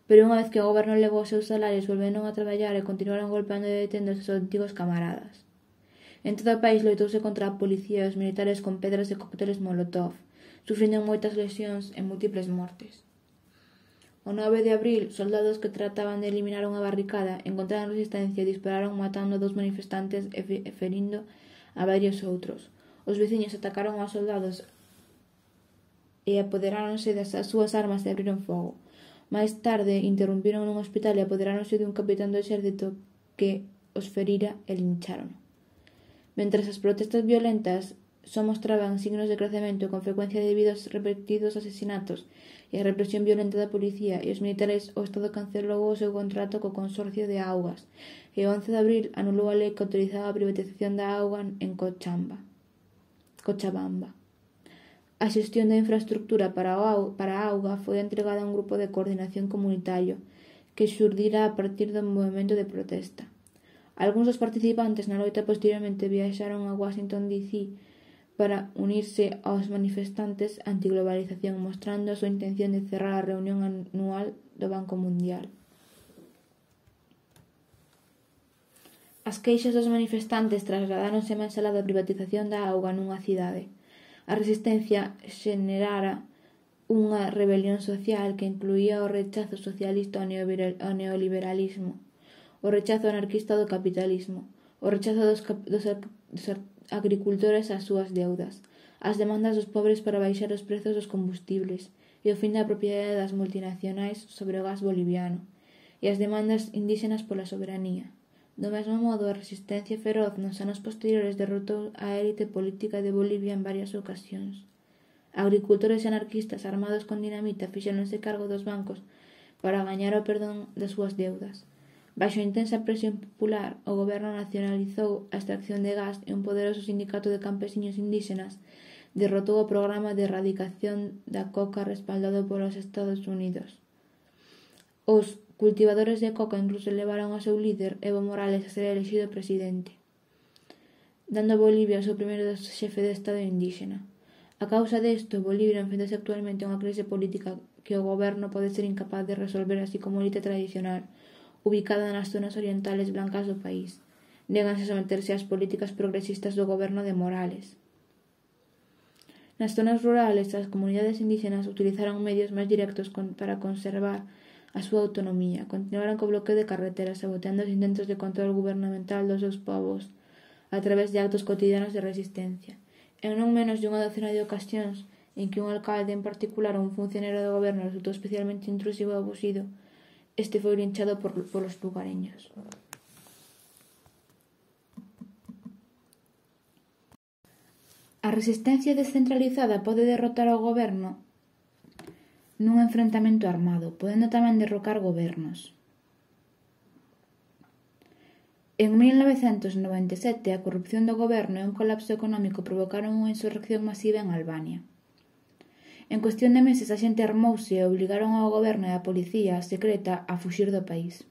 Pero unha vez que o goberno levou os seus salarios, volveron a traballar e continuaron golpeando e detendo os seus antigos camaradas. En todo o país loitouse contra a policía e os militares con pedras e cócteles molotov, sufrindo moitas lesións e múltiples mortes. O nove de abril, soldados que trataban de eliminar unha barricada encontraron resistencia e dispararon matando a dous manifestantes e ferindo a varios outros. Os veciños atacaron aos soldados e apoderáronse das súas armas e abriron fogo. Máis tarde, interrompiron nun hospital e apoderáronse dun capitán do exército que os ferira e lincharon. Mentres as protestas violentas só mostraban signos de crecemento con frecuencia debido aos repetidos asesinatos e a represión violenta da policía e os militares, o Estado cancelou o seu contrato co Consorcio de Augas e o once de abril anulou a lei que autorizaba a privatización da auga en Cochabamba. Cochabamba. A xestión da infraestructura para a auga foi entregada a un grupo de coordinación comunitario que xurdira a partir do movimento de protesta. Algúns dos participantes na loita posteriormente viaxaron a Washington D C para unirse aos manifestantes antiglobalización, mostrando a súa intención de cerrar a reunión anual do Banco Mundial. As queixas dos manifestantes trasladáronse máis alá da privatización da auga nunha cidade. A resistencia xenerara unha rebelión social que incluía o rechazo socialista ao neoliberalismo, o rechazo anarquista do capitalismo, o rechazo dos, dos, dos agricultores ás súas deudas, as demandas dos pobres para baixar os prezos dos combustibles e o fin da propiedade das multinacionais sobre o gas boliviano, e as demandas indígenas pola soberanía. Do mesmo modo, a resistencia feroz nos anos posteriores derrotou a élite política de Bolivia en varias ocasións. Agricultores e anarquistas armados con dinamita fixéronse cargo dos bancos para gañar o perdón das súas deudas. Baixo intensa presión popular, o goberno nacionalizou a extracción de gas e un poderoso sindicato de campesiños indígenas derrotou o programa de erradicación da coca respaldado polos Estados Unidos. Os cultivadores de coca incluso levaron ao seu líder, Evo Morales, a ser elexido presidente, dando a Bolivia o seu primeiro xefe de Estado indígena. A causa desto, Bolivia enfrentase actualmente unha crise política que o goberno pode ser incapaz de resolver, así como a elite tradicional, ubicada nas zonas orientales blancas do país. Néganse a someterse ás políticas progresistas do goberno de Morales. Nas zonas rurales, as comunidades indígenas utilizaron medios máis directos para conservar a súa autonomía, continuaron co bloqueo de carreteras, saboteando os intentos de control gubernamental dos seus povos a través de actos cotidianos de resistencia. En non menos de unha docena de ocasións en que un alcalde en particular ou un funcionario do goberno resultou especialmente intrusivo e abusivo, este foi linchado por, polos lugareños. A resistencia descentralizada pode derrotar ao goberno nun enfrentamento armado, podendo tamén derrocar gobernos. En mil novecentos noventa e sete, a corrupción do goberno e un colapso económico provocaron unha insurrección masiva en Albania. En cuestión de meses, a xente armouse e obligaron ao goberno e á policía secreta a fuxir do país.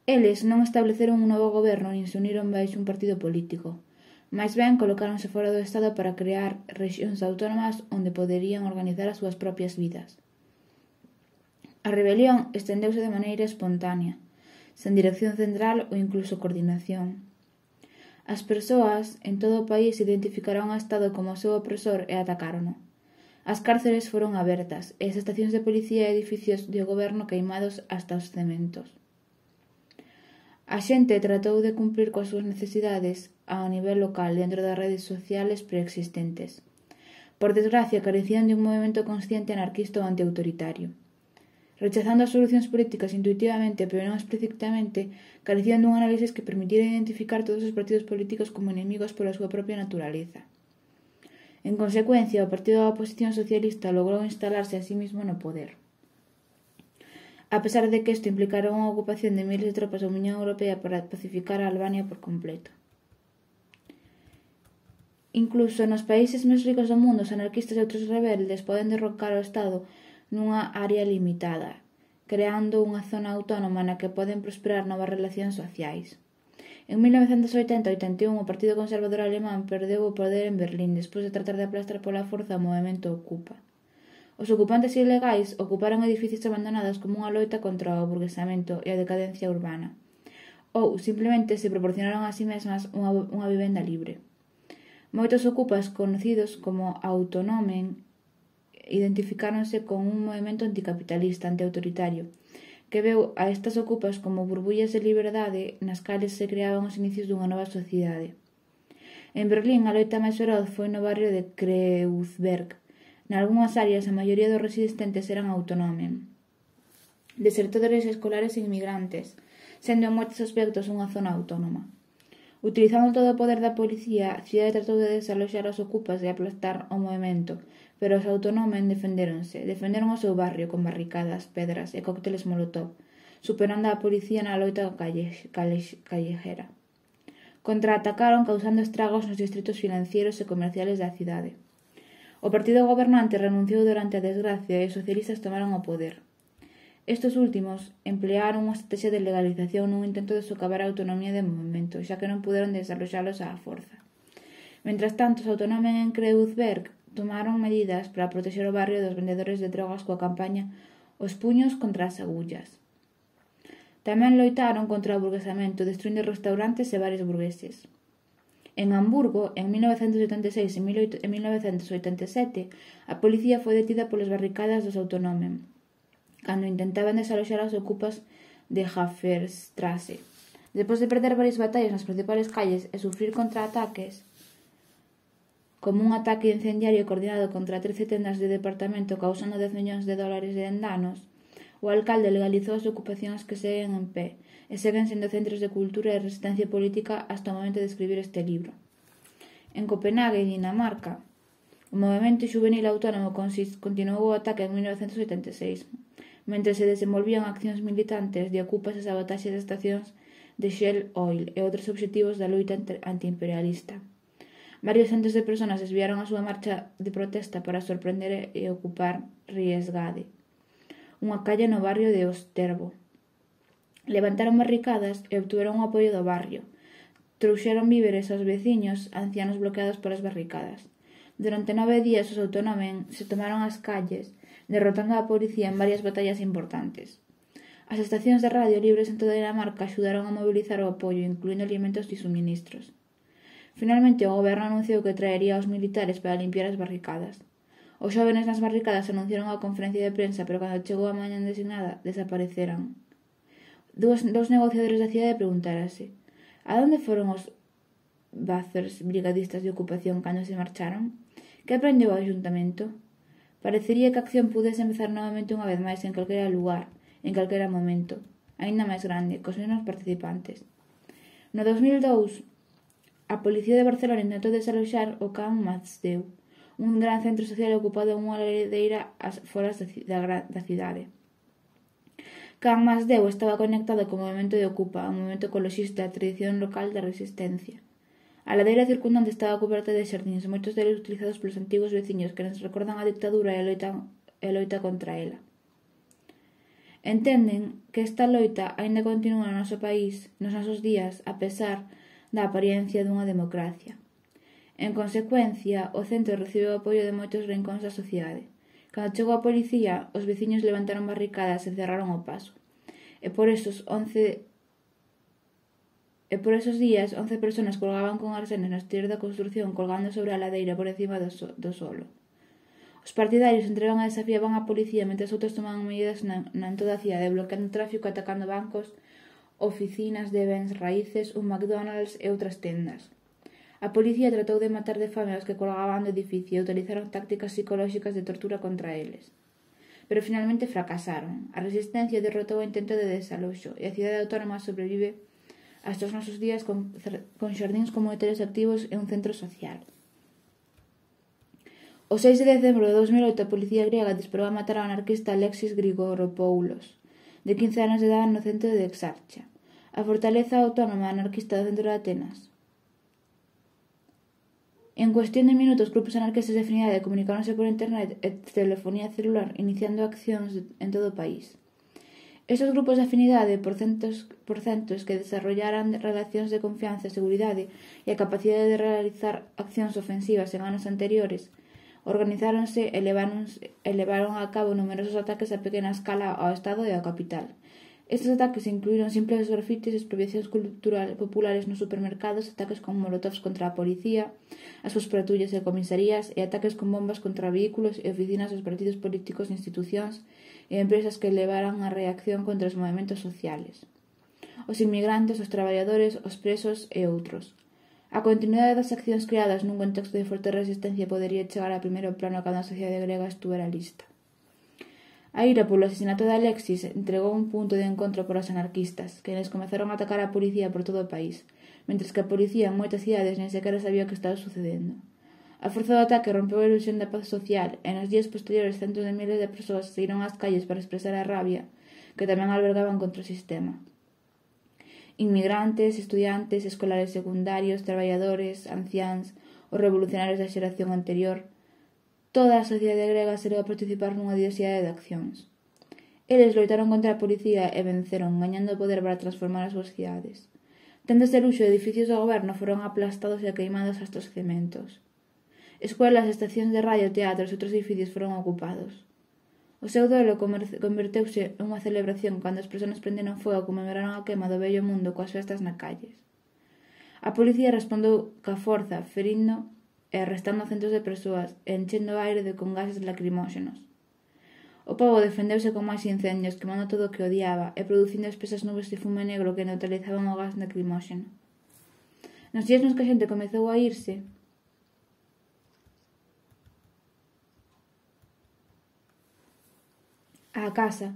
Eles non estableceron un novo goberno nin se uniron baixo un partido político. Mais ben, colocáronse fora do Estado para crear rexións autónomas onde poderían organizar as súas propias vidas. A rebelión estendeuse de maneira espontánea, sen dirección central ou incluso coordinación. As persoas en todo o país identificaron ao Estado como o seu opresor e atacárono. As cárceles foron abertas e as estacións de policía e edificios de goberno queimados hasta os cementos. A xente tratou de cumprir coas súas necesidades ao nivel local dentro das redes sociales preexistentes. Por desgracia, carecían de un movimento consciente anarquista ou antiautoritario. Rechazando as solucións políticas intuitivamente, pero non explícitamente, carecían dun análisis que permitiera identificar todos os partidos políticos como enemigos pola súa propia naturaleza. En consecuencia, o partido da oposición socialista logrou instalarse a sí mismo no poder. A pesar de que isto implicara unha ocupación de miles de tropas da Unión Europea para pacificar a Albania por completo. Incluso nos países máis ricos do mundo, os anarquistas e outros rebeldes poden derrocar o Estado nunha área limitada, creando unha zona autónoma na que poden prosperar novas relacións sociais. En mil novecentos oitenta a oitenta e un, o Partido Conservador Alemán perdeu o poder en Berlín despois de tratar de aplastar pola forza o movemento Ocupa. Os ocupantes ilegais ocuparon edificios abandonados como unha loita contra o burguesamento e a decadencia urbana, ou simplemente se proporcionaron a si mesmas unha, unha vivenda libre. Moitos ocupas, conocidos como autonómen, identificáronse con un movimento anticapitalista, antiautoritario, que veu a estas ocupas como burbullas de liberdade nas cales se creaban os inicios dunha nova sociedade. En Berlín, a loita máis feroz foi no barrio de Kreuzberg. Nalgúnas áreas, a maioría dos resistentes eran autonómen, desertores escolares e inmigrantes, sendo en moitos aspectos unha zona autónoma. Utilizando todo o poder da policía, a cidade tratou de desaloxar os ocupas e aplastar o movimento, pero os autonómen defendéronse, defenderon o seu barrio con barricadas, pedras e cócteles molotov, superando a policía na loita calle, calle, callejera. Contraatacaron causando estragos nos distritos financieros e comerciales da cidade. O partido gobernante renunciou durante a desgracia e os socialistas tomaron o poder. Estes últimos emplearon unha estrategia de legalización nun intento de socavar a autonomía de movimento, xa que non puderon desaloxalos á forza. Mentras tanto, os autonómen en Kreuzberg tomaron medidas para protexer o barrio dos vendedores de drogas coa campaña Os puños contra as agullas. Tamén loitaron contra o burguesamento, destruindo restaurantes e bares burgueses. En Hamburgo, en mil novecentos oitenta e seis e mil novecentos oitenta e sete, a policía foi detida polas barricadas dos Autonomen, cando intentaban desaloxar as ocupas de Hafenstrasse. Despois de perder varias batallas nas principales calles e sufrir contraataques, como un ataque incendiario coordinado contra trece tendas de departamento causando dez millóns de dólares de danos, o alcalde legalizou as ocupacións que seguen en pé e seguen sendo centros de cultura e resistencia política hasta o momento de escribir este libro. En Copenhague, Dinamarca, o movimento xuvenil autónomo continuou o ataque en mil novecentos oitenta e seis, mentre se desenvolvían accións militantes de ocupas e sabotaxe de estacións de Shell Oil e outros obxectivos da loita antiimperialista. Varios centos de persoas desviaron a súa marcha de protesta para sorprender e ocupar Riesgade, unha calle no barrio de Osterbo. Levantaron barricadas e obtuveron o apoio do barrio. Trouxeron víveres aos veciños, ancianos bloqueados polas barricadas. Durante nove días os Autonomen se tomaron as calles, derrotando a policía en varias batallas importantes. As estacións de radio libres en toda Dinamarca axudaron a mobilizar o apoio, incluindo alimentos e suministros. Finalmente, o goberno anunciou que traería aos militares para limpiar as barricadas. Os xóvenes nas barricadas anunciaron a conferencia de prensa, pero cando chegou a mañá designada, desapareceran. Dos, dos negociadores da cidade preguntárase: a onde foron os Bathers brigadistas de ocupación cando se marcharon? Que aprendeu o ayuntamento? Parecería que a acción pudese empezar novamente unha vez máis en calquera lugar, en calquera momento, aínda máis grande, cos mesmos participantes. No dos mil dous, a Policía de Barcelona intentou desaloxar o Camp Masdeu, un gran centro social ocupado en unha ladeira ás foras da, da cidade. Camp Masdeu estaba conectado co movimento de Ocupa, o movimento ecoloxista e a tradición local da resistencia. A ladeira circundante estaba coberta de xardíns, moitos deles utilizados polos antigos veciños que nos recordan a dictadura e a loita, e a loita contra ela. Entenden que esta loita aínda continúa no noso país, nos nosos días, a pesar da apariencia dunha democracia. En consecuencia, o centro recibe o apoio de moitos rincóns da sociedade. Cando chegou a policía, os veciños levantaron barricadas e cerraron o paso. E por esos once E por esos días, once persoas colgaban con arsenes no exterior da construción colgando sobre a ladeira por encima do, so, do solo. Os partidarios entregan e desafiaban a policía mentre outros tomaban medidas na, na en toda a cidade, bloqueando o tráfico, atacando bancos, oficinas de bens raíces, un McDonald's e outras tendas. A policía tratou de matar de fame aos que colgaban do edificio e utilizaron tácticas psicolóxicas de tortura contra eles. Pero finalmente fracasaron. A resistencia derrotou o intento de desaloxo e a cidade autónoma sobrevive hasta os nosos días con, con xardíns comunitarios activos e un centro social. O seis de decembro de dos mil oito a policía griega disparou a matar ao anarquista Alexis Grigoropoulos, de quince anos de edade no centro de Exarchia, a fortaleza autónoma anarquista do centro de Atenas. En cuestión de minutos, grupos anarquistas de afinidade comunicáronse por internet e telefonía celular, iniciando accións en todo o país. Estes grupos de afinidade, por centos, por centos que desarrollaran relacións de confianza e seguridade e a capacidade de realizar accións ofensivas en anos anteriores, organizáronse e levaron, e levaron a cabo numerosos ataques a pequena escala ao Estado e ao capital. Estes ataques incluíron simples grafitis, expropiacións culturales populares nos supermercados, ataques con molotovs contra a policía, as súas patrullas e comisarías e ataques con bombas contra vehículos e oficinas dos partidos políticos, institucións e empresas que levaran a reacción contra os movimentos sociales. Os inmigrantes, os traballadores, os presos e outros. A continuidade das accións creadas nun contexto de forte resistencia podería chegar a primeiro plano cando a sociedade grega estuvera lista. A ira polo asesinato de Alexis entregou un punto de encontro para os anarquistas, que les comezaron a atacar a policía por todo o país, mentres que a policía en moitas cidades nen sequera sabía o que estaba sucedendo. A forza do ataque rompeu a ilusión da paz social e nos días posteriores centos de miles de persoas saíron ás calles para expresar a rabia que tamén albergaban contra o sistema. Inmigrantes, estudiantes, escolares secundarios, traballadores, anciáns, os revolucionarios da xeración anterior. Toda a sociedade grega se levou a participar nunha diversidade de accións. Eles loitaron contra a policía e venceron, gañando poder para transformar as súas cidades. Tendas de luxo e edificios do goberno foron aplastados e queimados hasta os cementos. Escuelas, estacións de radio, teatros e outros edificios foron ocupados. O seu duelo converteuse nunha celebración cando as persoas prenderon fogo e conmemoraron a queima do vello mundo coas festas na calles. A policía respondeu ca forza, ferindo e arrestando a centos de persoas e enchendo o aire de con gases lacrimóxenos. O pobo defendeuse con máis incendios, quemando todo o que odiaba e producindo espesas nubes de fume negro que neutralizaban o gas lacrimóxeno. Nos días nos que a xente comezou a irse, á casa,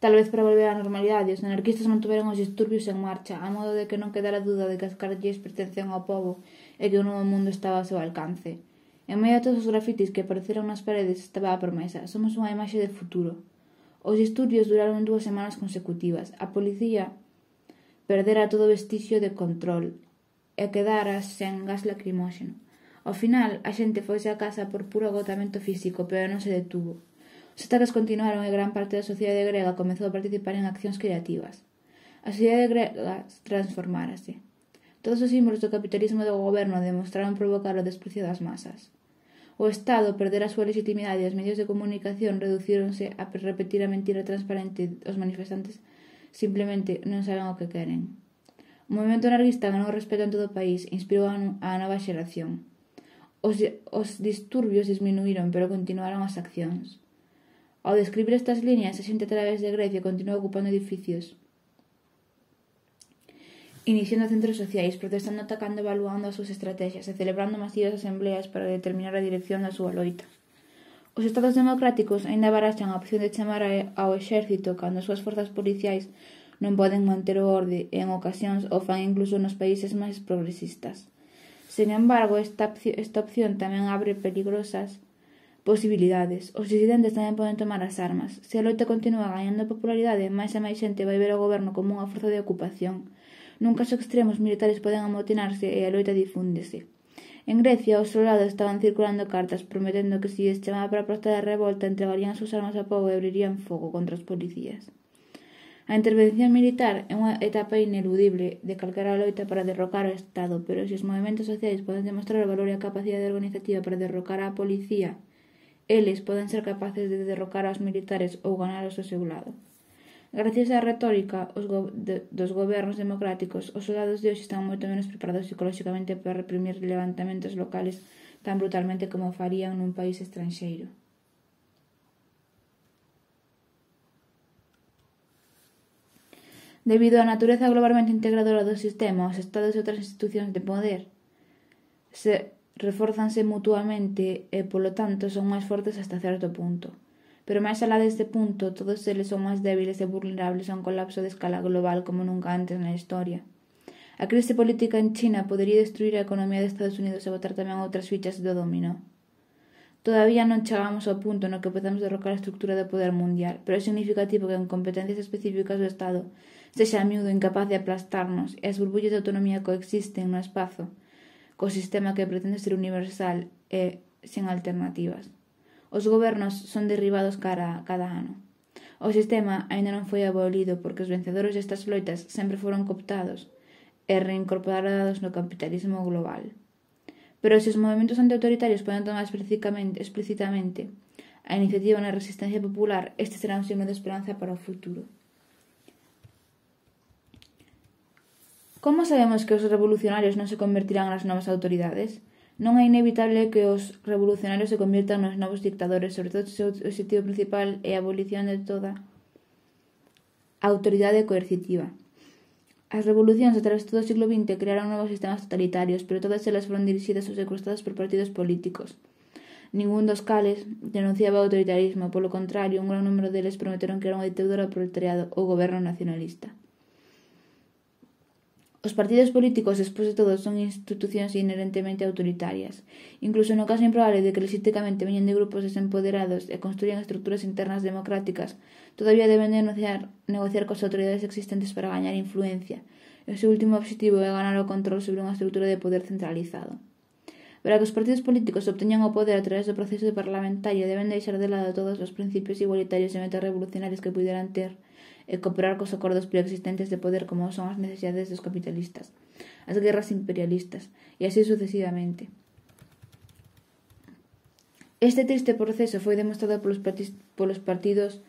tal vez para volver á normalidade, os anarquistas mantuveron os disturbios en marcha, a modo de que non quedara duda de que as calles pertencían ao pobo e que un novo mundo estaba ao seu alcance. En medio de todos os grafitis que apareceron nas paredes estaba a promesa: somos unha imaxe de futuro. Os disturbios duraron dúas semanas consecutivas. A policía perdera todo vestigio de control e quedara sen gas lacrimóxeno. Ao final, a xente foise a casa por puro agotamento físico, pero non se detuvo. Os ataques continuaron e gran parte da sociedade grega comezou a participar en accións creativas. A sociedade grega transformárase. Todos os símbolos do capitalismo do goberno demostraron provocar o desprecio das masas. O Estado perdera a súa legitimidade e os medios de comunicación reducíronse a repetir a mentira transparente. Os manifestantes simplemente non saben o que queren. O movimento anarquista ganou respeto en todo o país e inspirou a nova xeración. Os, os disturbios disminuíron, pero continuaron as accións. Ao describir estas líneas, a xente a través de Grecia continuou ocupando edificios, iniciando centros sociais, protestando, atacando, evaluando as súas estrategias e celebrando masivas asembleas para determinar a dirección da súa loita. Os estados democráticos aínda baraxan a opción de chamar ao exército cando as súas forzas policiais non poden manter o orde e en ocasións o fan incluso nos países máis progresistas. Sen embargo, esta, esta opción tamén abre peligrosas posibilidades. Os disidentes tamén poden tomar as armas. Se a loita continúa gañando popularidade, máis e máis xente vai ver o goberno como unha forza de ocupación. Nun caso extremo, os militares poden amotinarse e a loita difúndese. En Grecia, os soldados estaban circulando cartas prometendo que se lles chamaba para protestar a revolta entregarían as súas armas ao pobo e abrirían fogo contra os policías. A intervención militar é unha etapa ineludible de calquera loita para derrocar o Estado, pero se os movimentos sociais poden demostrar o valor e a capacidade organizativa para derrocar a policía, eles poden ser capaces de derrocar aos militares ou ganalos ao seu lado. Gracias á retórica os go de, dos gobernos democráticos, os soldados de hoxe están moito menos preparados psicolóxicamente para reprimir levantamentos locales tan brutalmente como farían nun país estranxeiro. Debido á natureza globalmente integradora do sistema, os estados e outras institucións de poder se reforzanse mutuamente e, polo tanto, son máis fortes hasta certo punto. Pero máis alá deste punto, todos eles son máis débiles e vulnerables a un colapso de escala global como nunca antes na historia. A crise política en China podería destruir a economía de Estados Unidos e botar tamén outras fichas do dominó. Todavía non chegamos ao punto no que podemos derrocar a estructura do poder mundial, pero é significativo que en competencias específicas do Estado sexa a miúdo incapaz de aplastarnos e as burbullas de autonomía coexisten no espazo co sistema que pretende ser universal e sen alternativas. Os gobernos son derribados cara cada ano. O sistema aínda non foi abolido porque os vencedores destas loitas sempre foron cooptados e reincorporados no capitalismo global. Pero se os movimentos antiautoritarios poden tomar explícitamente a iniciativa na resistencia popular, este será un signo de esperanza para o futuro. Como sabemos que os revolucionarios non se convertirán nas novas autoridades? Non é inevitable que os revolucionarios se convirtan nos novos dictadores, sobre todo se o objetivo principal é a abolición de toda a autoridade coercitiva. As revolucións a través de todo o siglo vinte crearon novos sistemas totalitarios, pero todas elas foron dirixidas ou secuestradas por partidos políticos. Ningún dos cales denunciaba o autoritarismo, polo contrario, un gran número deles prometeron que era unha ditadura ao proletariado ou goberno nacionalista. Os partidos políticos, despois de todo, son institucións inherentemente autoritarias. Incluso no caso improbable de que lexítimamente veñen de grupos desempoderados e construían estruturas internas democráticas, todavía deben de negociar, negociar cos autoridades existentes para gañar influencia. E o seu último objetivo é ganar o control sobre unha estrutura de poder centralizado. Para que os partidos políticos obteñan o poder a través do proceso parlamentario, deben deixar de lado todos os principios igualitarios e metas revolucionarios que puderan ter e cooperar cos acordos preexistentes de poder como son as necesidades dos capitalistas, as guerras imperialistas e así sucesivamente. Este triste proceso foi demostrado polos, polos partidos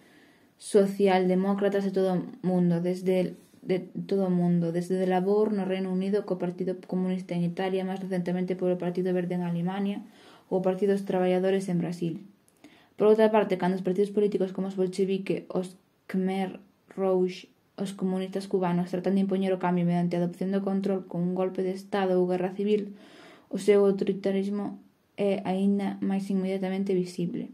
socialdemócratas de todo o mundo, desde de todo o mundo, desde o Labor no Reino Unido, co Partido Comunista en Italia, máis recentemente polo Partido Verde en Alemania ou o Partido dos Traballadores en Brasil. Por outra parte, cando os partidos políticos como os bolchevique, os Khmer Rouge, os comunistas cubanos tratan de impoñer o cambio mediante a adopción do control con un golpe de Estado ou guerra civil, o seu autoritarismo é aínda máis inmediatamente visible.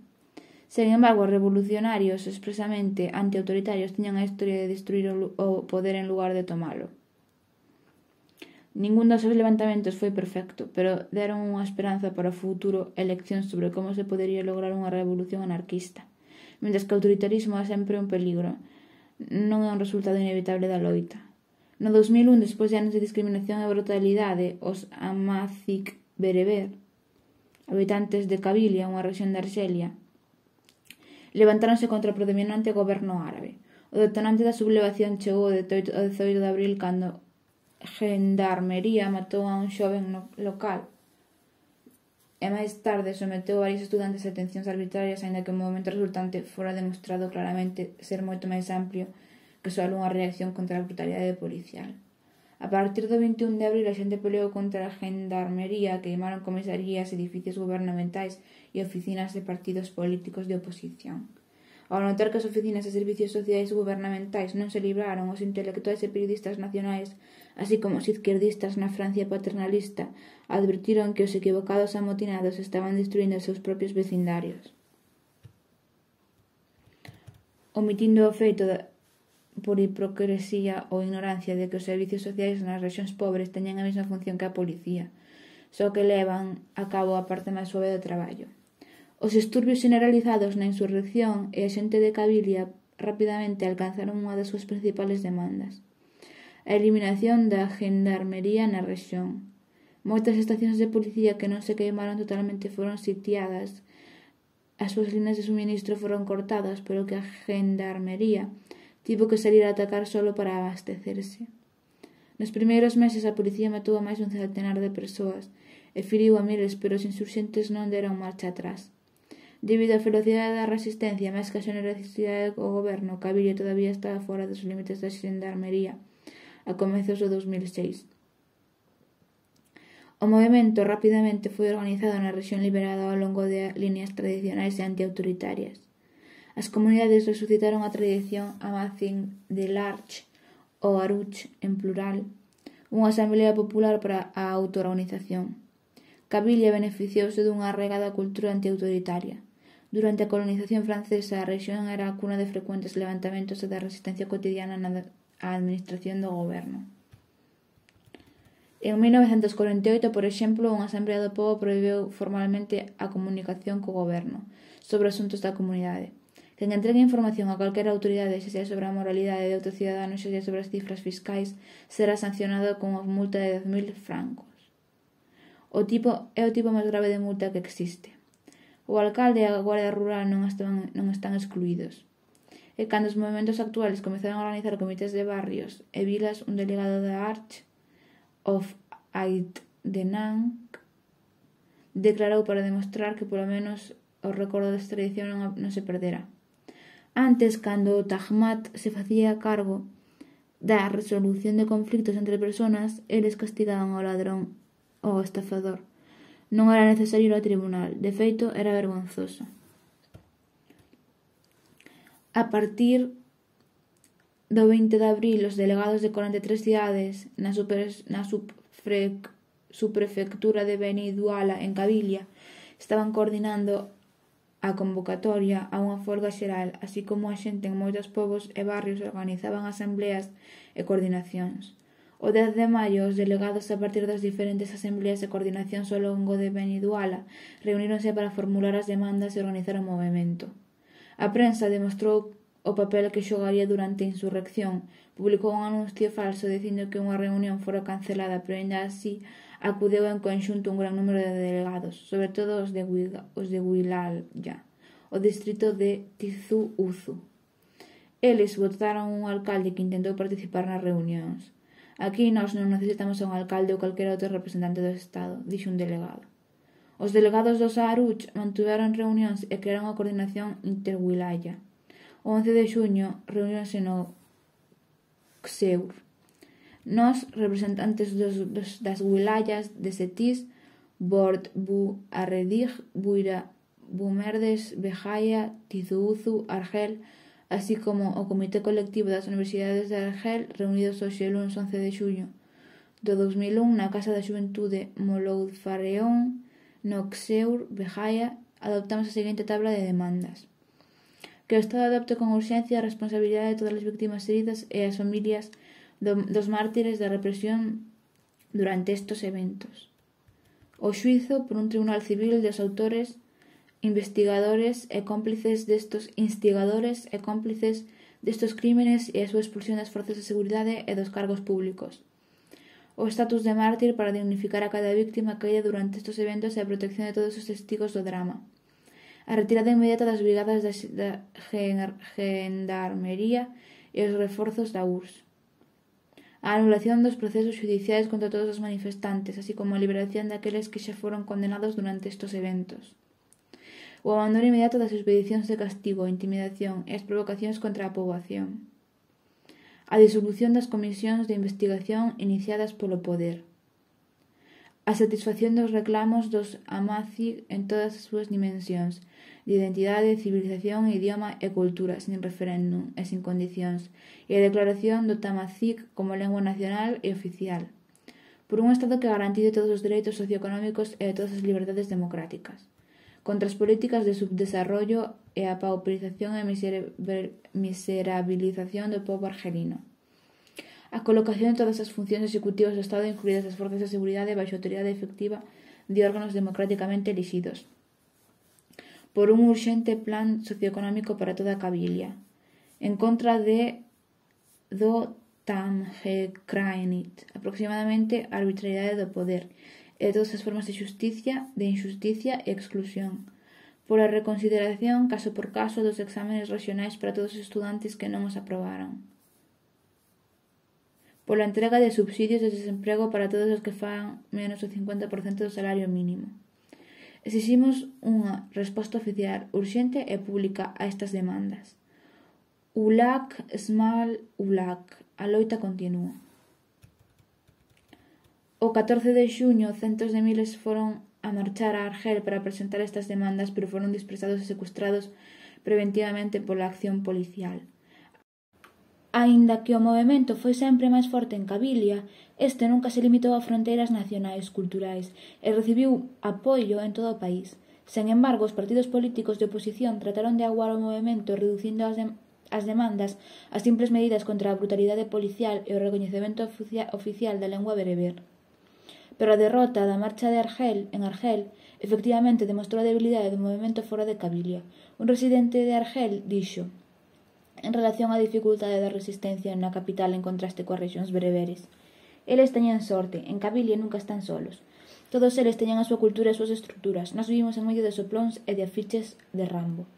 Sen embargo, os revolucionarios expresamente antiautoritarios tiñan a historia de destruir o poder en lugar de tomalo. Ningún dos seus levantamentos foi perfecto, pero deron unha esperanza para o futuro eleccións sobre como se podería lograr unha revolución anarquista, mentres que o autoritarismo é sempre un peligro, non é un resultado inevitable da loita. No dos mil un, despois de anos de discriminación e brutalidade, os Amazic Bereber, habitantes de Kabilia, unha rexión de Arxelia, levantáronse contra o predominante goberno árabe. O detonante da sublevación chegou o dezoito de abril cando Gendarmería matou a un xoven no local e máis tarde someteu a varios estudantes a detencións arbitrarias, aínda que o movimento resultante fora demostrado claramente ser moito máis amplio que só unha reacción contra a brutalidade policial. A partir do vinte e un de abril, a xente peleou contra a Gendarmería, queimaron comisarías, edificios gubernamentais e oficinas de partidos políticos de oposición. Ao notar que as oficinas e servicios sociais gubernamentais non se libraron, os intelectuais e periodistas nacionais, así como os izquierdistas na Francia paternalista, advertiron que os equivocados amotinados estaban destruindo os seus propios vecindarios. Omitindo o feito de por hipocresía ou ignorancia de que os servicios sociais nas rexións pobres teñen a mesma función que a policía, só que levan a cabo a parte máis suave do traballo. Os disturbios generalizados na insurrección e a xente de Kabilia rapidamente alcanzaron unha das súas principales demandas: a eliminación da gendarmería na rexión. Moitas estacións de policía que non se queimaron totalmente foron sitiadas, as súas linas de suministro foron cortadas, pero que a gendarmería tivo que salir a atacar solo para abastecerse. Nos primeiros meses a policía matou a máis dun centenar de persoas e feriu a miles, pero os insurxentes non deron marcha atrás. Debido á velocidade da resistencia máis que a xenerosidade do goberno, Kabilia todavía estaba fora dos límites da xendarmería a comezos do dos mil seis. O movimento rapidamente foi organizado na rexión liberada ao longo de líneas tradicionais e antiautoritarias. As comunidades resucitaron a tradición Amazigh de l'Arche, ou Aruch en plural, unha asamblea popular para a autoorganización. Kabilia beneficiouse dunha arraigada cultura antiautoritaria. Durante a colonización francesa, a rexión era a cuna de frecuentes levantamentos e da resistencia cotidiana na administración do goberno. En mil novecentos corenta e oito, por exemplo, unha asamblea do pobo prohibiu formalmente a comunicación co goberno sobre asuntos da comunidade. Quen entregue información a calquera autoridade, xa sea sobre a moralidade de outros ciudadanos, xa sea sobre as cifras fiscais, será sancionado con unha multa de dez mil francos. O tipo é o tipo máis grave de multa que existe. O alcalde e a Guardia Rural non están, non están excluídos. E cando os movimentos actuales comezaron a organizar comités de barrios e vilas, un delegado da Arch of Aiddenang declarou para demostrar que polo menos o recordo desta tradición non, non se perdera. Antes, cando o Tajmat se facía cargo da resolución de conflictos entre persoas, eles castigaban ao ladrón ou ao estafador. Non era necesario ir ao tribunal, de feito, era vergonzoso. A partir do vinte de abril, os delegados de corenta e tres cidades na, super, na subfre, subprefectura de Beni Duala, en Kabilia, estaban coordinando a convocatoria a unha folga xeral, así como a xente en moitos povos e barrios organizaban asambleas e coordinacións. O dez de maio, os delegados a partir das diferentes asambleas e coordinacións ao longo de Beni Duala reuníronse para formular as demandas e organizar o movimento. A prensa demostrou o papel que xogaría durante a insurrección, publicou un anuncio falso dicindo que unha reunión fora cancelada, pero ainda así acudeu en conxunto un gran número de delegados, sobre todo os de, os de Wilalya, o distrito de Tizu Ouzou. Eles votaron un alcalde que intentou participar nas reunións. Aquí nós non necesitamos a un alcalde ou calquera outro representante do Estado, dixo un delegado. Os delegados dos Aruch mantiveron reunións e crearon a coordinación interwilaya. O once de xuño reuniónse no Cseur. Nós, representantes dos, dos, das wilayas de Setis, Bord, Bu, Arredig, Buira, Bumerdes, Bejaia, Tizuuzu, Argel, así como o Comité Colectivo das Universidades de Argel, reunidos hoxe luns once de xuño do dos mil un na Casa da Xuventude Mouloud Fareón, no Cseur, Bejaia, adoptamos a seguinte tabla de demandas. Que o Estado adopte con urxencia a responsabilidade de todas as víctimas heridas e as familias do, dos mártires da represión durante estos eventos. O xuizo por un tribunal civil dos autores, investigadores e cómplices destos instigadores e cómplices destos crímenes e a súa expulsión das forzas de seguridade e dos cargos públicos. O estatus de mártir para dignificar a cada víctima caída durante estos eventos e a protección de todos os testigos do drama. A retirada inmediata das brigadas da Gendarmería e os reforzos da U R S S. A anulación dos procesos judiciais contra todos os manifestantes, así como a liberación daqueles que xa foron condenados durante estos eventos. O abandono inmediato das expedicións de castigo, a intimidación e as provocacións contra a poboación. A disolución das comisións de investigación iniciadas polo poder. A satisfacción dos reclamos dos Amazigh en todas as súas dimensións, de identidade, civilización, idioma e cultura, sin referéndum e sin condicións, e a declaración do Tamazigh como lengua nacional e oficial, por un Estado que garantice todos os dereitos socioeconómicos e todas as liberdades democráticas, contra as políticas de subdesarrollo e a pauperización e miserabilización do pobo argelino. A colocación de todas as funcións executivas do Estado, incluídas as forzas de seguridade, baixo autoridade efectiva de órganos democráticamente elixidos, por un urxente plan socioeconómico para toda a Cabilia, en contra de do Tamgekránit, aproximadamente a arbitrariedade do poder e de todas as formas de xusticia, de injusticia e exclusión, por a reconsideración caso por caso dos exámenes regionais para todos os estudantes que non os aprobaran, pola entrega de subsidios de desemprego para todos os que fan menos do cincuenta por cento do salario mínimo. Exiximos unha resposta oficial, urxente e pública a estas demandas. Ulak, Smal, Ulak. A loita continúa. O catorce de xuño, centos de miles foron a marchar a Argel para presentar estas demandas, pero foron dispersados e secuestrados preventivamente pola acción policial. Aínda que o movemento foi sempre máis forte en Cabilia, este nunca se limitou a fronteiras nacionais culturais e recibiu apoio en todo o país. Sen embargo, os partidos políticos de oposición trataron de aguar o movemento reducindo as, de, as demandas a simples medidas contra a brutalidade policial e o recoñecemento oficial da lengua bereber. Pero a derrota da marcha de Argel, en Argel, efectivamente demostrou a debilidade do movemento fora de Cabilia. Un residente de Argel dixo, en relación á dificultade da resistencia na capital en contraste coas rexións bereberes: eles teñen sorte, en Cabilia nunca están solos. Todos eles teñen a súa cultura e as súas estruturas. Nós vivimos en medio de soplóns e de afiches de Rambo.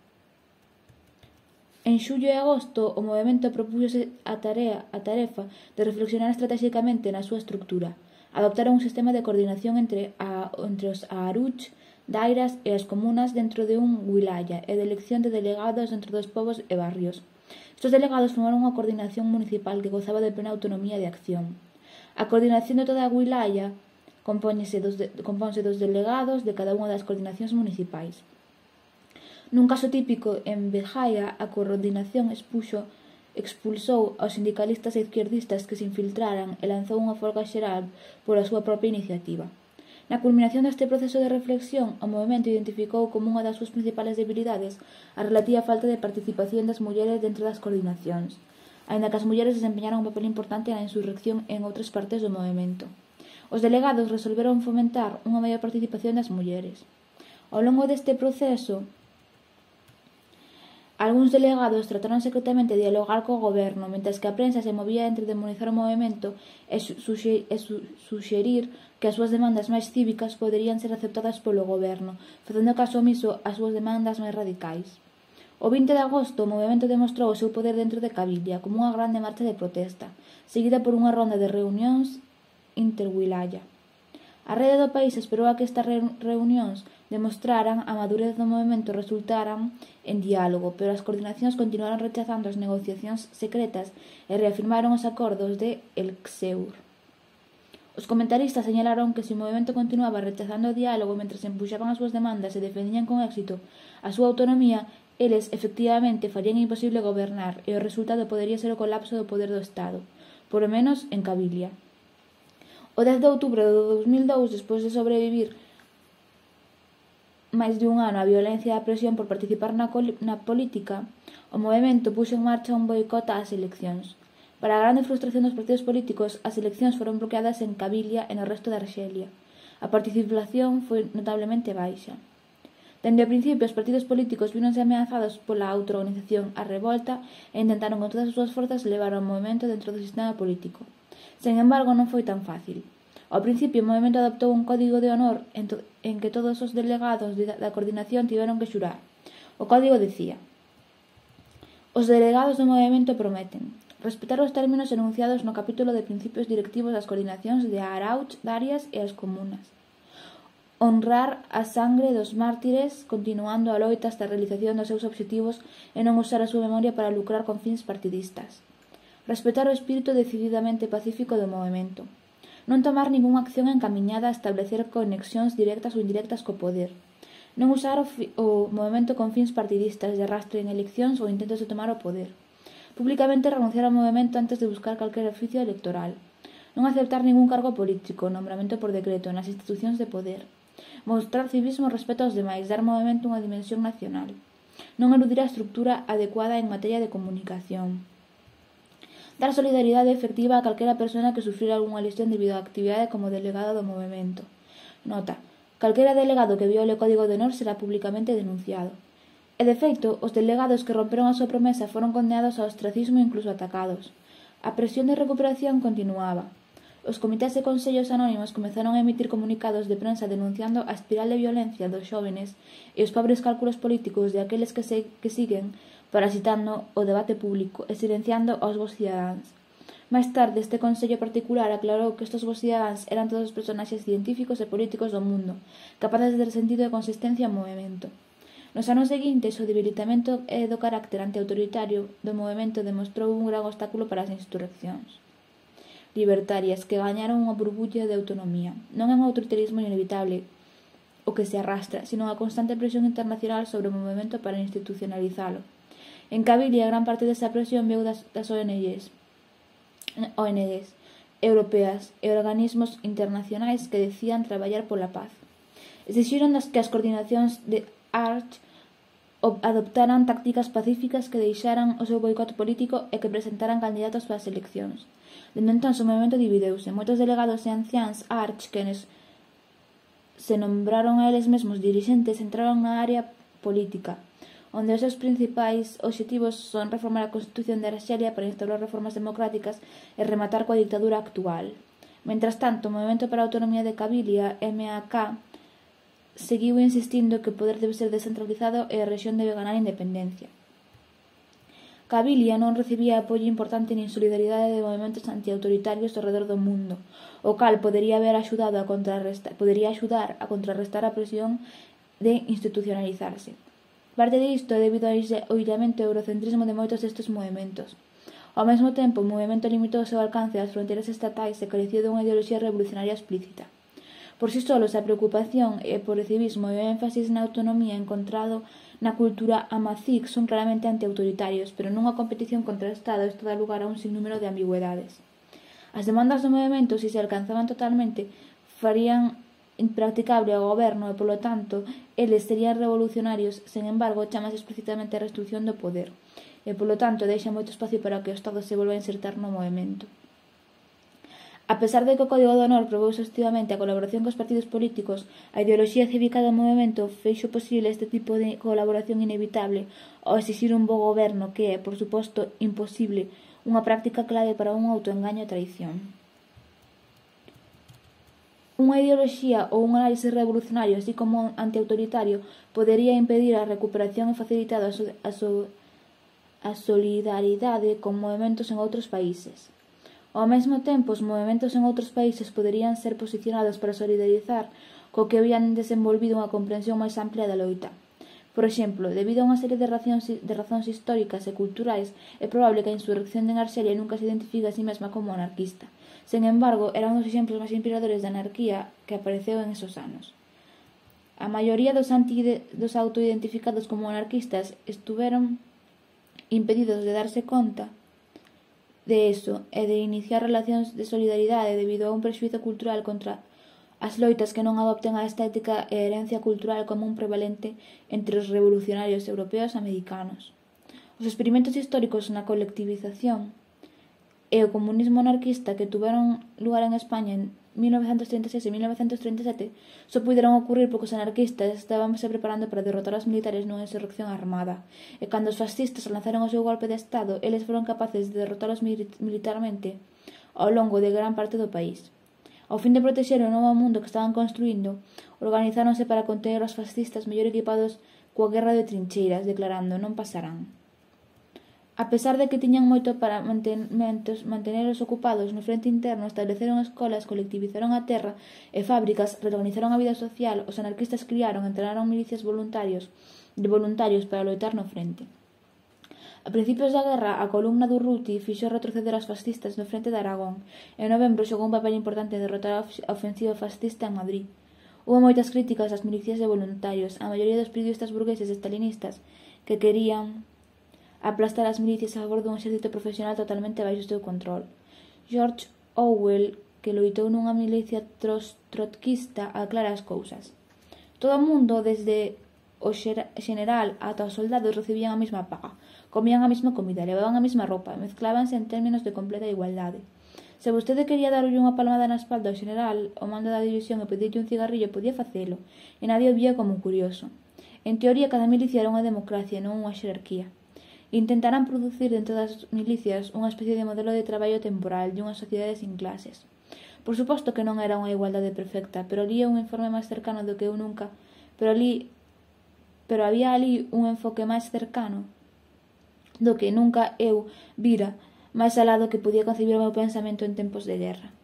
En xullo e agosto, o movemento propúxose a tarea, a tarefa de reflexionar estratégicamente na súa estrutura. Adoptaron un sistema de coordinación entre, a, entre os Aruch, dairas e as comunas dentro de un wilaya e de elección de delegados dentro dos povos e barrios. Estos delegados formaron unha coordinación municipal que gozaba de plena autonomía de acción. A coordinación de toda a wilaya compónse dos, de, compónse dos delegados de cada unha das coordinacións municipais. Nun caso típico, en Bejaia, a coordinación expuxo, expulsou aos sindicalistas e izquierdistas que se infiltraran e lanzou unha folga xeral pola súa propia iniciativa. Na culminación deste proceso de reflexión, o movemento identificou como unha das súas principales debilidades a relativa falta de participación das mulleres dentro das coordinacións, aínda que as mulleres desempeñaron un papel importante na insurrección en outras partes do movemento. Os delegados resolveron fomentar unha maior participación das mulleres. Ao longo deste proceso, algúns delegados trataron secretamente de dialogar co goberno, mentres que a prensa se movía entre demonizar o movemento e, suxe, e su, suxerir que as súas demandas máis cívicas poderían ser aceptadas polo goberno, facendo caso omiso ás súas demandas máis radicais. O vinte de agosto, o movemento demostrou o seu poder dentro de Cabilia como unha grande marcha de protesta, seguida por unha ronda de reunións interwilaya. A rede do país esperou a que estas reunións demostraran a madurez do movemento e resultaran en diálogo, pero as coordinacións continuaron rechazando as negociacións secretas e reafirmaron os acordos de Elxeur. Os comentaristas señalaron que se o movemento continuaba rechazando o diálogo mentre se empuxaban as súas demandas e defendían con éxito a súa autonomía, eles, efectivamente, farían imposible gobernar e o resultado podería ser o colapso do poder do Estado, por lo menos en Cabilia. O dez de outubro de dous mil dous, despois de sobrevivir máis de un ano a violencia e a presión por participar na, na política, o movemento puxo en marcha un boicot ás eleccións. Para a grande frustración dos partidos políticos, as eleccións foron bloqueadas en Cabilia e no resto de Arxelia. A participación foi notablemente baixa. Dende o principio, os partidos políticos víronse ameazados pola autoorganización, a revolta e intentaron con todas as súas forzas levar o movemento dentro do sistema político. Sen embargo, non foi tan fácil. Ao principio, o movemento adoptou un código de honor en, en que todos os delegados de, da coordinación tiveron que xurar. O código dicía: os delegados do movemento prometen respetar os términos enunciados no capítulo de principios directivos das coordinacións de Arauch, Darias e as comunas, honrar a sangre dos mártires continuando a loita hasta a realización dos seus obxectivos e non usar a súa memoria para lucrar con fins partidistas, respetar o espírito decididamente pacífico do movemento, non tomar ningunha acción encamiñada a establecer conexións directas ou indirectas co poder, non usar o, o movemento con fins partidistas de arrastre en eleccións ou intentos de tomar o poder, públicamente renunciar ao movemento antes de buscar calquer oficio electoral, non aceptar ningún cargo político, nombramento por decreto nas institucións de poder, mostrar civismo e respeto aos demais, dar ao movemento unha dimensión nacional, non eludir a estructura adecuada en materia de comunicación, dar solidaridade efectiva a calquera persona que sufrira algunha lesión debido á actividade como delegado do movemento. Nota: calquera delegado que viole o Código de Honor será públicamente denunciado. E, de feito, os delegados que romperon a súa promesa foron condenados ao ostracismo e incluso atacados. A presión de recuperación continuaba. Os comités e consellos anónimos comezaron a emitir comunicados de prensa denunciando a espiral de violencia dos xóvenes e os pobres cálculos políticos de aqueles que, se, que siguen parasitando o debate público e silenciando aos vos cidadáns. Máis tarde, este consello particular aclarou que estes vos cidadáns eran todos os personaxes científicos e políticos do mundo, capaces de dar sentido e consistencia ao movemento. Nos anos seguintes, o debilitamento do carácter antiautoritario do movemento demostrou un gran obstáculo para as insurreccións libertarias que gañaron unha burbulla de autonomía. Non é un autoritarismo inevitable o que se arrastra, sino unha constante presión internacional sobre o movemento para institucionalizalo. En Cabilia, gran parte desa presión veu das, das O N Gs, O N Gs europeas e organismos internacionais que decían traballar pola paz. Exixiron que as coordinacións de Arch adoptaran tácticas pacíficas que deixaran o seu boicot político e que presentaran candidatos para as eleccións. Dende entón, o movimento divideuse. Moitos delegados e anciáns Arch, quenes se nombraron a eles mesmos dirixentes, entraron na área política, onde os seus principais obxectivos son reformar a Constitución de Arxelia para instaurar reformas democráticas e rematar coa dictadura actual. Mentras tanto, o Movemento para a Autonomía de Cabilia, M A K, seguiu insistindo que o poder debe ser descentralizado e a rexión debe ganar independencia. Cabilia non recibía apoio importante nin solidaridade de movimentos antiautoritarios ao redor do mundo, o cal podería haber axudado a contrarrestar, podería axudar a contrarrestar a presión de institucionalizarse. Parte disto é debido ao illamento e eurocentrismo de moitos destes movimentos. Ao mesmo tempo, o movimento limitou o seu alcance ás fronteiras estatais e careceu dunha ideoloxía revolucionaria explícita. Por si solos, a preocupación e por o civismo e o énfasis na autonomía encontrado na cultura amazigh son claramente antiautoritarios, pero nunha competición contra o Estado isto dá lugar a un sinnúmero de ambigüedades. As demandas do movimento, se se alcanzaban totalmente, farían impracticable ao goberno e, polo tanto, eles serían revolucionarios. Sen embargo, chamase explicitamente a restricción do poder e, polo tanto, deixa moito espacio para que o Estado se volva a insertar no movimento. A pesar de que o Código de Honor probou exhaustivamente a colaboración cos partidos políticos, a ideoloxía cívica do movimento feixo posible este tipo de colaboración inevitable ao exixir un bo goberno que é, por suposto, imposible, unha práctica clave para un autoengaño e traición. Unha ideoloxía ou un análise revolucionario, así como antiautoritario, podería impedir a recuperación e facilitar a, so, a, so, a solidaridade con movimentos en outros países. Ao mesmo tempo, os movementos en outros países poderían ser posicionados para solidarizar co que habían desenvolvido unha comprensión máis amplia da loita. Por exemplo, debido a unha serie de razóns, de razóns históricas e culturais, é probable que a insurrección de Arxelia nunca se identifique a sí mesma como anarquista. Sen embargo, era un dos exemplos máis inspiradores de anarquía que apareceu en esos anos. A maioría dos, anti, dos autoidentificados como anarquistas estuveron impedidos de darse conta de eso e de iniciar relacións de solidaridade debido a un prexuízo cultural contra as loitas que non adopten a estética e herencia cultural común prevalente entre os revolucionarios europeos e americanos. Os experimentos históricos na colectivización e o comunismo anarquista que tuveron lugar en España en mil novecentos treinta e seis e mil novecentos treinta e sete só puderon ocurrir porque os anarquistas estaban se preparando para derrotar aos militares nunha insurrección armada, e cando os fascistas lanzaron o seu golpe de estado, eles foron capaces de derrotalos militarmente ao longo de gran parte do país. Ao fin de protexer o novo mundo que estaban construindo, organizáronse para conter aos fascistas mellor equipados coa guerra de trincheiras, declarando non pasarán. A pesar de que tiñan moito para mantenelos ocupados no frente interno, estableceron escolas, colectivizaron a terra e fábricas, reorganizaron a vida social, os anarquistas criaron e entrenaron milicias voluntarios de voluntarios para loitar no frente. A principios da guerra, a columna do Urruti fixo retroceder aos fascistas no frente de Aragón e en novembro xogou un papel importante en derrotar a ofensiva fascista en Madrid. Houve moitas críticas ás milicias de voluntarios, a maioría dos periodistas burgueses estalinistas que querían aplastar as milicias a favor dun exército profesional totalmente baixo o seu control. George Orwell, que loitou nunha milicia trotskista, aclara as cousas. Todo o mundo, desde o general ata os soldados, recibían a mesma paga, comían a mesma comida, levaban a mesma roupa, mezclábanse en términos de completa igualdade. Se vostede quería darlle unha palmada na espalda ao general, o mando da división, e pedirlle un cigarrillo, podía facelo, e nadie o vía como un curioso. En teoría, cada milicia era unha democracia, non unha xerarquía. Intentarán producir dentro das milicias unha especie de modelo de traballo temporal de unha sociedade sin clases. Por suposto que non era unha igualdade perfecta, pero ali é un informe máis cercano do que eu nunca, pero ali pero había ali un enfoque máis cercano do que nunca eu vira, máis alá do que podía concebir o meu pensamento en tempos de guerra.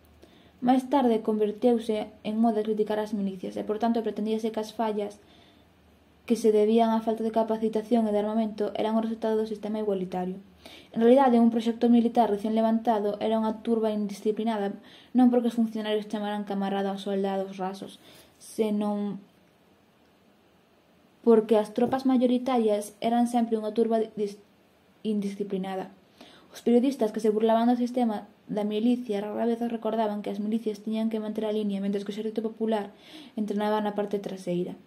Máis tarde converteuse en moda criticar as milicias e, por tanto, pretendíase que as fallas que se debían á falta de capacitación e de armamento eran o resultado do sistema igualitario. En realidade, un proxecto militar recén levantado era unha turba indisciplinada, non porque os funcionarios chamaran camarada aos soldados rasos, senón porque as tropas maioritarias eran sempre unha turba indisciplinada. Os periodistas que se burlaban do sistema da milicia rara vez recordaban que as milicias tiñan que manter a línea mentres que o exército popular entrenaba na parte traseira.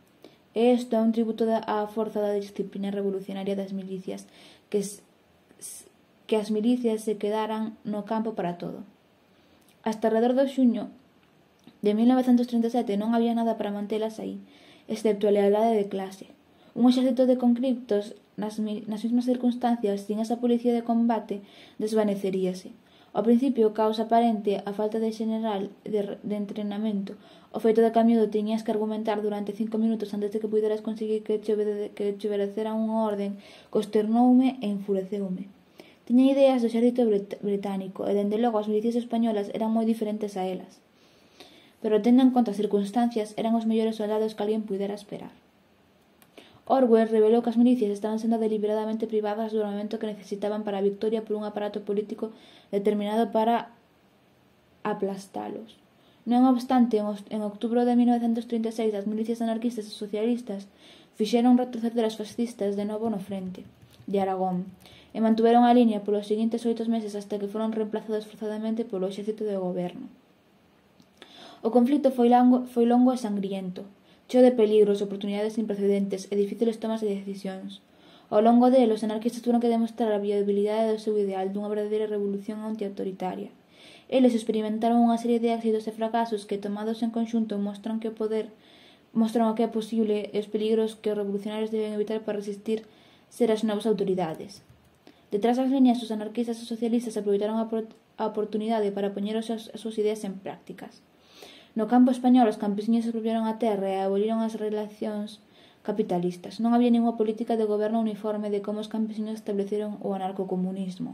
E isto é un tributo á forza da disciplina revolucionaria das milicias, que, que as milicias se quedaran no campo para todo. Hasta alrededor do xuño de mil novecentos trinta e sete non había nada para mantelas aí, excepto a lealdade de clase. Un exército de conscriptos nas, nas mesmas circunstancias, sin esa policía de combate, desvaneceríase. Ao principio, caos aparente, a falta de general de, de entrenamento, o feito de que a miúdo tiñas que argumentar durante cinco minutos antes de que puderas conseguir que te, obede, que te obedecera unha orden, consternoume e enfureceume. Tiña ideas do exército brit británico, e dende logo as milicias españolas eran moi diferentes a elas. Pero tendo en conta as circunstancias, eran os mellores soldados que alguén pudera esperar. Orwell revelou que as milicias estaban sendo deliberadamente privadas do armamento que necesitaban para a victoria por un aparato político determinado para aplastalos. Non obstante, en outubro de mil novecentos trinta e seis, as milicias anarquistas e socialistas fixeron retroceder as fascistas de novo no frente de Aragón e mantuveron a liña polos seguintes oito meses hasta que foron reemplazados forzadamente polo exército de goberno. O conflito foi longo, foi longo e sangriento, cheo de peligros, oportunidades sin precedentes e difíciles tomas de decisións. Ao longo dele, os anarquistas tuveron que demostrar a viabilidade do seu ideal dunha verdadeira revolución antiautoritaria. Eles experimentaron unha serie de éxitos e fracasos que, tomados en conxunto, mostran que o poder mostran o que é posible e os peligros que os revolucionarios deben evitar para resistir ser as novas autoridades. Detrás das líneas, os anarquistas e socialistas aproveitaron a, a oportunidade para poñer as súas ideas en prácticas. No campo español, os campesiños apropiaron a terra e aboliron as relacións capitalistas. Non había ninguna política de goberno uniforme de como os campesiños estableceron o anarcocomunismo.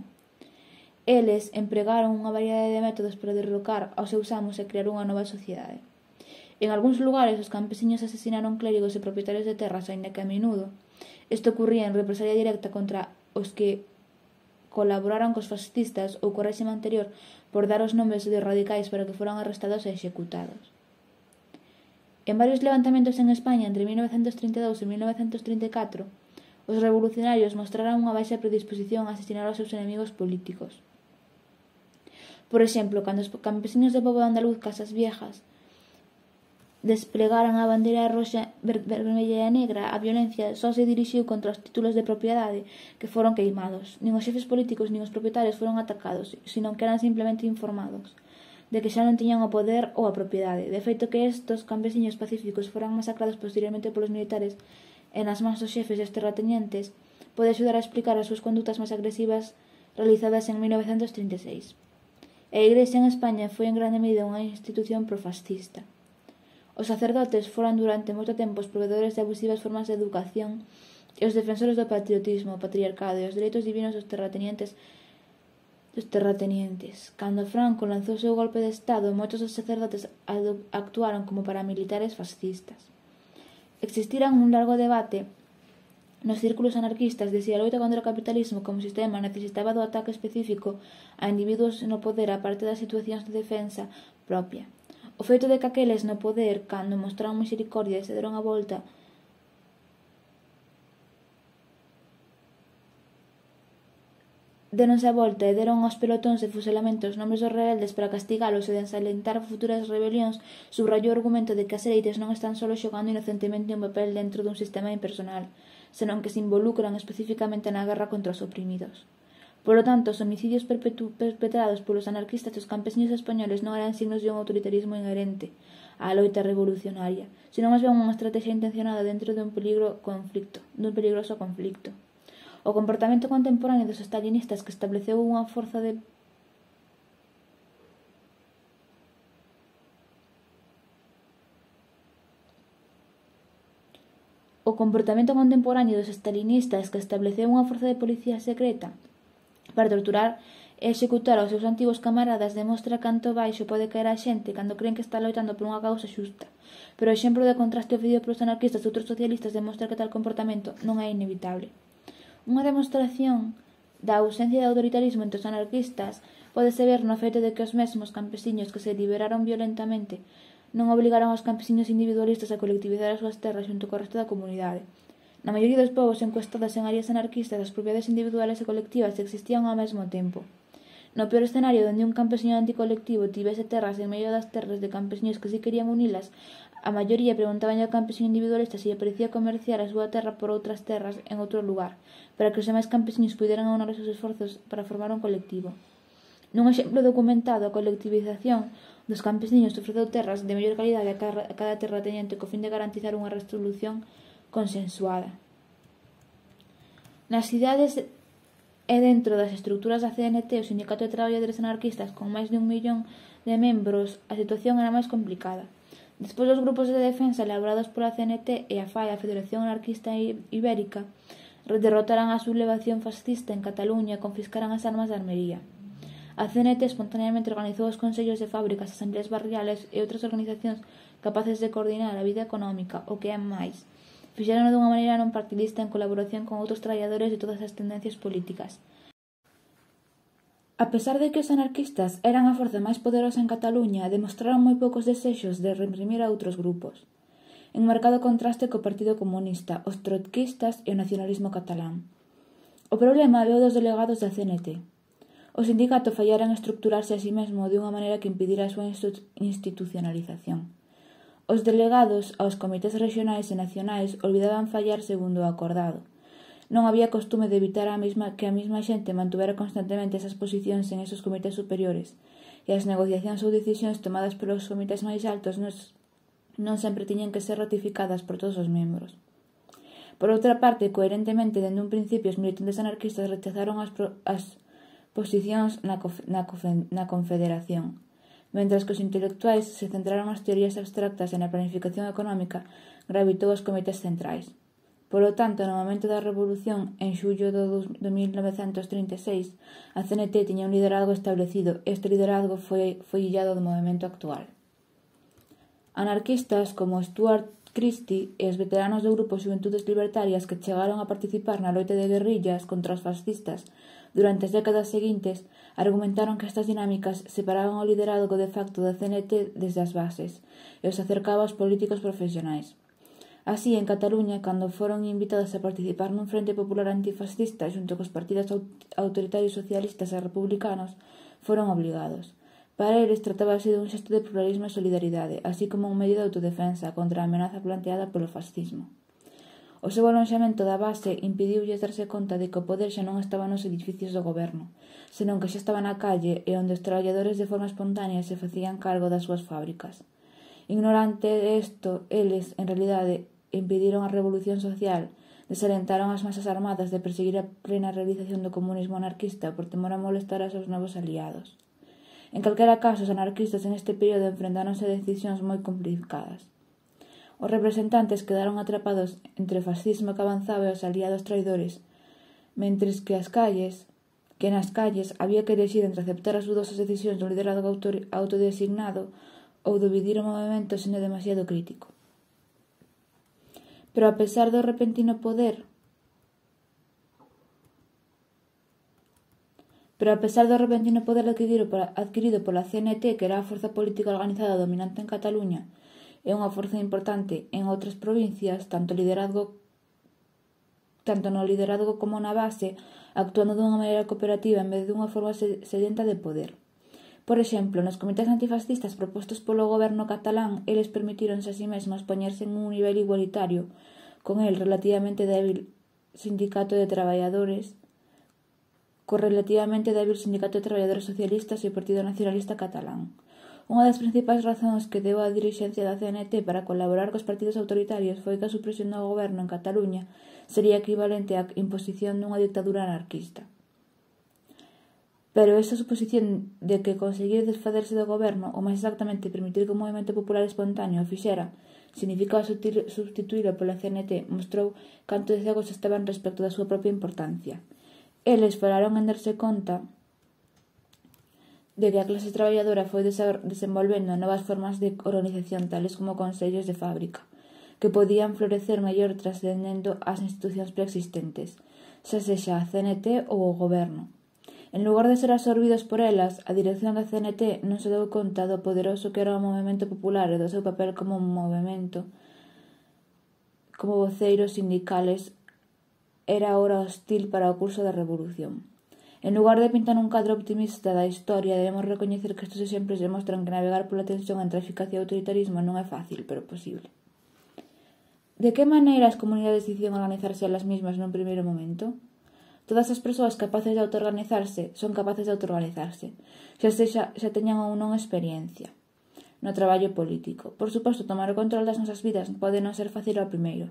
Eles empregaron unha variedade de métodos para derrocar aos seus amos e crear unha nova sociedade. En algúns lugares, os campesiños asesinaron clérigos e propietarios de terras, aínda que a menudo isto ocurría en represalia directa contra os que colaboraran cos fascistas ou co réxime anterior por dar os nomes de radicais para que foran arrestados e executados. En varios levantamentos en España entre mil novecentos trinta e dous e mil novecentos trinta e catro, os revolucionarios mostraran unha baixa predisposición a asesinar aos seus enemigos políticos. Por exemplo, cando os campesiños do pobo andaluz Casas Viejas desplegaran a bandeira roxa, vermella e negra, a violencia só se dirixiu contra os títulos de propiedade que foron queimados. Nin os xefes políticos nin os propietarios foron atacados, senón que eran simplemente informados de que xa non tiñan o poder ou a propiedade. De feito que estos campesiños pacíficos foran masacrados posteriormente polos militares e nas mans dos xefes e os terratenientes pode axudar a explicar as súas condutas máis agresivas realizadas en mil novecentos trinta e seis. A Igrexa en España foi en grande medida unha institución profascista. Os sacerdotes foran durante moito tempo os provedores de abusivas formas de educación e os defensores do patriotismo, o patriarcado e os dereitos divinos dos terratenientes dos terratenientes. Cando Franco lanzou o seu golpe de Estado, moitos dos sacerdotes actuaron como paramilitares fascistas. Existiran un largo debate nos círculos anarquistas de se a loita contra o capitalismo como sistema necesitaba do ataque específico a individuos no poder a parte das situacións de defensa propia. O feito de que aqueles no poder, cando mostraron misericordia e se deron a volta deronse a volta e deron aos pelotóns de fusilamentos os nomes dos rebeldes para castigalos e desalentar futuras rebelións, subrayou o argumento de que as elites non están solo xogando inocentemente un papel dentro dun sistema impersonal, senón que se involucran especificamente na guerra contra os oprimidos. Por lo tanto, os homicidios perpetrados polos anarquistas e os campesiños españoles non eran signos de un autoritarismo inherente á loita revolucionaria, senón máis ben unha estrategia intencionada dentro dun peligro conflicto, dun peligroso conflicto. O comportamento contemporáneo dos stalinistas que estableceu unha forza de O comportamento contemporáneo dos stalinistas que estableceu unha forza de policía secreta para torturar e executar aos seus antigos camaradas demostra canto baixo pode caer a xente cando creen que está loitando por unha causa xusta. Pero o exemplo de contraste ofrecido polos anarquistas e outros socialistas demostra que tal comportamento non é inevitable. Unha demostración da ausencia de autoritarismo entre os anarquistas pódese ver no feito de que os mesmos campesiños que se liberaron violentamente non obligaron aos campesiños individualistas a colectivizar as súas terras xunto co resto da comunidade. Na maioría dos povos encuestados en áreas anarquistas, as propiedades individuales e colectivas existían ao mesmo tempo. No peor escenario donde un campesiño anticolectivo tivese terras en medio das terras de campesiños que si querían unilas, a maioría preguntaban ao campesiño individualista se lle parecía comerciar a súa terra por outras terras en outro lugar, para que os demais campesiños puderan aunar os seus esforzos para formar un colectivo. Nun exemplo documentado, a colectivización dos campesiños ofreceu terras de mellor calidade a cada terrateniente co fin de garantizar unha resolución consensuada. Nas cidades e dentro das estruturas da C N T, o Sindicato de Traballadores Anarquistas, con máis de un millón de membros, a situación era máis complicada. Despois dos grupos de defensa elaborados pola C N T e a F A E, a Federación Anarquista Ibérica, derrotaran a sublevación fascista en Cataluña e confiscaran as armas de armería. A C N T espontaneamente organizou os consellos de fábricas, asambleas barriales e outras organizacións capaces de coordinar a vida económica, o que é máis. Fixérono dunha maneira non partidista en colaboración con outros traballadores de todas as tendencias políticas. A pesar de que os anarquistas eran a forza máis poderosa en Cataluña, demostraron moi poucos desexos de reprimir a outros grupos, en marcado contraste co Partido Comunista, os trotskistas e o nacionalismo catalán. O problema veu dos delegados da C N T. O sindicato fallara en estructurarse a sí mesmo de unha maneira que impidira a súa institucionalización. Os delegados aos comités regionais e nacionais olvidaban fallar segundo o acordado. Non había costume de evitar a mesma, que a mesma xente mantuvera constantemente esas posicións en esos comités superiores, e as negociacións ou decisións tomadas pelos comités máis altos nos, non sempre tiñan que ser ratificadas por todos os membros. Por outra parte, coherentemente, dende un principio, os militantes anarquistas rechazaron as, pro, as posicións na, na, na confederación, mentras que os intelectuais se centraron nas teorías abstractas e na planificación económica, gravitou aos comités centrais. Polo tanto, no momento da Revolución, en xullo de mil novecentos trinta e seis, a C N T tiña un liderazgo establecido e este liderazgo foi, foi illado do movimento actual. Anarquistas como Stuart Christie e os veteranos do grupo Xuventudes Libertarias que chegaron a participar na loita de guerrillas contra os fascistas durante as décadas seguintes argumentaron que estas dinámicas separaban o liderazgo de facto da C N T desde as bases e os acercaba aos políticos profesionais. Así, en Cataluña, cando foron invitados a participar nun frente popular antifascista xunto cos partidos autoritarios socialistas e republicanos, foron obligados. Para eles tratábase dun xesto de pluralismo e solidaridade, así como un medio de autodefensa contra a amenaza planteada polo fascismo. O seu alonxamento da base impediulles darse conta de que o poder xa non estaba nos edificios do goberno, senón que xa estaba na calle e onde os traballadores de forma espontánea se facían cargo das súas fábricas. Ignorante de isto, eles, en realidade, impediron a revolución social, desalentaron as masas armadas de perseguir a plena realización do comunismo anarquista por temor a molestar a seus novos aliados. En calquera caso, os anarquistas en este período enfrentáronse a decisións moi complicadas. Os representantes quedaron atrapados entre o fascismo que avanzaba e os aliados traidores, mentres que as calles, que nas calles había que elegir entre aceptar as dudosas decisións do liderazgo autodesignado ou dividir o movimento sendo demasiado crítico. Pero a pesar do repentino poder Pero a pesar do repentino poder adquirido pola, adquirido pola C N T, que era a forza política organizada dominante en Cataluña e unha forza importante en outras provincias, tanto liderazgo tanto no liderazgo como na base, actuando dunha maneira cooperativa en vez dunha forma sedenta de poder. Por exemplo, nos comités antifascistas propostos polo goberno catalán, eles permitíronse a si mesmos poñerse en un nivel igualitario con el relativamente débil sindicato de traballadores co relativamente débil Sindicato de Traballadores Socialistas e o Partido Nacionalista Catalán. Unha das principais razóns que deu a dirixencia da C N T para colaborar cos partidos autoritarios foi que a supresión do goberno en Cataluña sería equivalente á imposición dunha dictadura anarquista. Pero esa suposición de que conseguir desfacerse do goberno, ou máis exactamente permitir que o movimento popular espontáneo o fixera, significaba substituílo pola C N T, mostrou canto de cegos estaban respecto da súa propia importancia. Eles falaron en darse conta de que a clase traballadora foi desenvolvendo novas formas de organización tales como consellos de fábrica, que podían florecer mellor trascendendo as institucións preexistentes, xa sexa a C N T ou o goberno. En lugar de ser absorbidos por elas, a dirección da C N T non se deu conta do poderoso que era o movimento popular e do seu papel como un movimento, como voceiros sindicales, era ahora hostil para o curso da revolución. En lugar de pintar un cadro optimista da historia, debemos recoñecer que estes exemplos demostran que navegar pola tensión entre a eficacia e o autoritarismo non é fácil, pero posible. De que maneira as comunidades decidían organizarse elas mesmas nun primeiro momento? Todas as persoas capaces de autoorganizarse son capaces de autoorganizarse, xa sexa xa teñan ou non experiencia no traballo político. Por suposto, tomar o control das nosas vidas pode non ser fácil ao primeiro,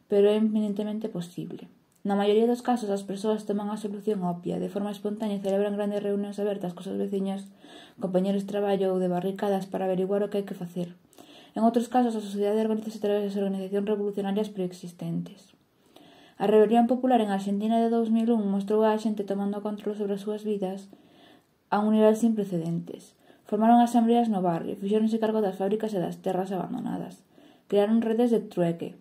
pero é eminentemente posible. Na maioría dos casos, as persoas toman a solución obvia, de forma espontánea e celebran grandes reunións abertas cos seus veciños, compañeros de traballo ou de barricadas para averiguar o que hai que facer. En outros casos, a sociedade organiza a través das organizacións revolucionarias preexistentes. A rebelión popular en Argentina de dos mil un mostrou a xente tomando control sobre as súas vidas a un nivel sin precedentes. Formaron asambleas no barrio, fixéronse cargo das fábricas e das terras abandonadas. Crearon redes de trueque.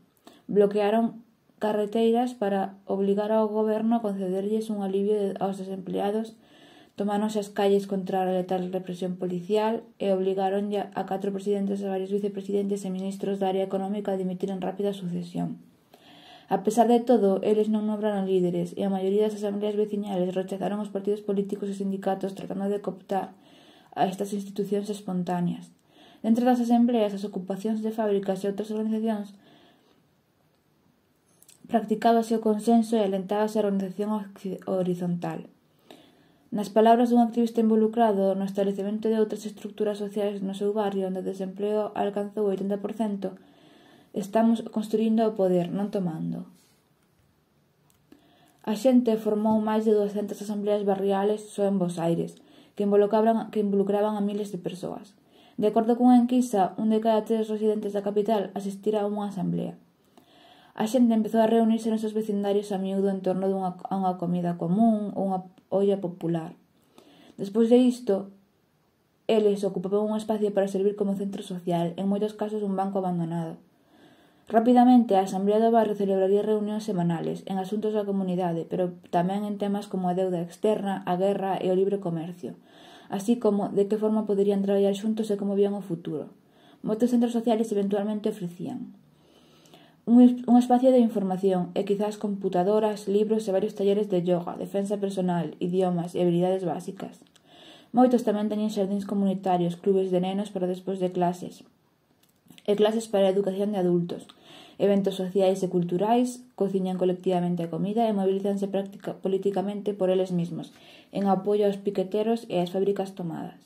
Bloquearon carreteiras para obligar ao goberno a concederlles un alivio aos desempleados, tomáronse as calles contra a letal represión policial e obligaron a catro presidentes e varios vicepresidentes e ministros da área económica a dimitir en rápida sucesión. A pesar de todo, eles non nombraron líderes e a maioría das asambleas veciñales rechazaron os partidos políticos e sindicatos tratando de cooptar a estas institucións espontáneas. Dentro das asambleas, as ocupacións de fábricas e outras organizacións practicábase o consenso e alentábase a organización horizontal. Nas palabras dun activista involucrado no establecemento de outras estructuras sociais no seu barrio, onde o desempleo alcanzou o oitenta por cento, estamos construindo o poder, non tomando. A xente formou máis de duascentas asambleas barriales só en Bos Aires, que involucraban, que involucraban a miles de persoas. De acordo cunha enquisa, un de cada tres residentes da capital asistirá a unha asamblea. A xente empezou a reunirse nos seus vecindarios a miúdo en torno dunha, a unha comida común ou unha olla popular. Despois de isto, eles ocupaban un espacio para servir como centro social, en moitos casos un banco abandonado. Rapidamente, a Asamblea do Barrio celebraría reunións semanales en asuntos da comunidade, pero tamén en temas como a deuda externa, a guerra e o libre comercio, así como de que forma poderían traballar xuntos e como vían o futuro. Moitos centros sociales eventualmente ofrecían un, un espacio de información e quizás computadoras, libros e varios talleres de yoga, defensa personal, idiomas e habilidades básicas. Moitos tamén teñen xardíns comunitarios, clubes de nenos para despois de clases e clases para a educación de adultos, eventos sociais e culturais, cociñan colectivamente a comida e mobilizanse práctica, políticamente por eles mesmos, en apoio aos piqueteros e ás fábricas tomadas.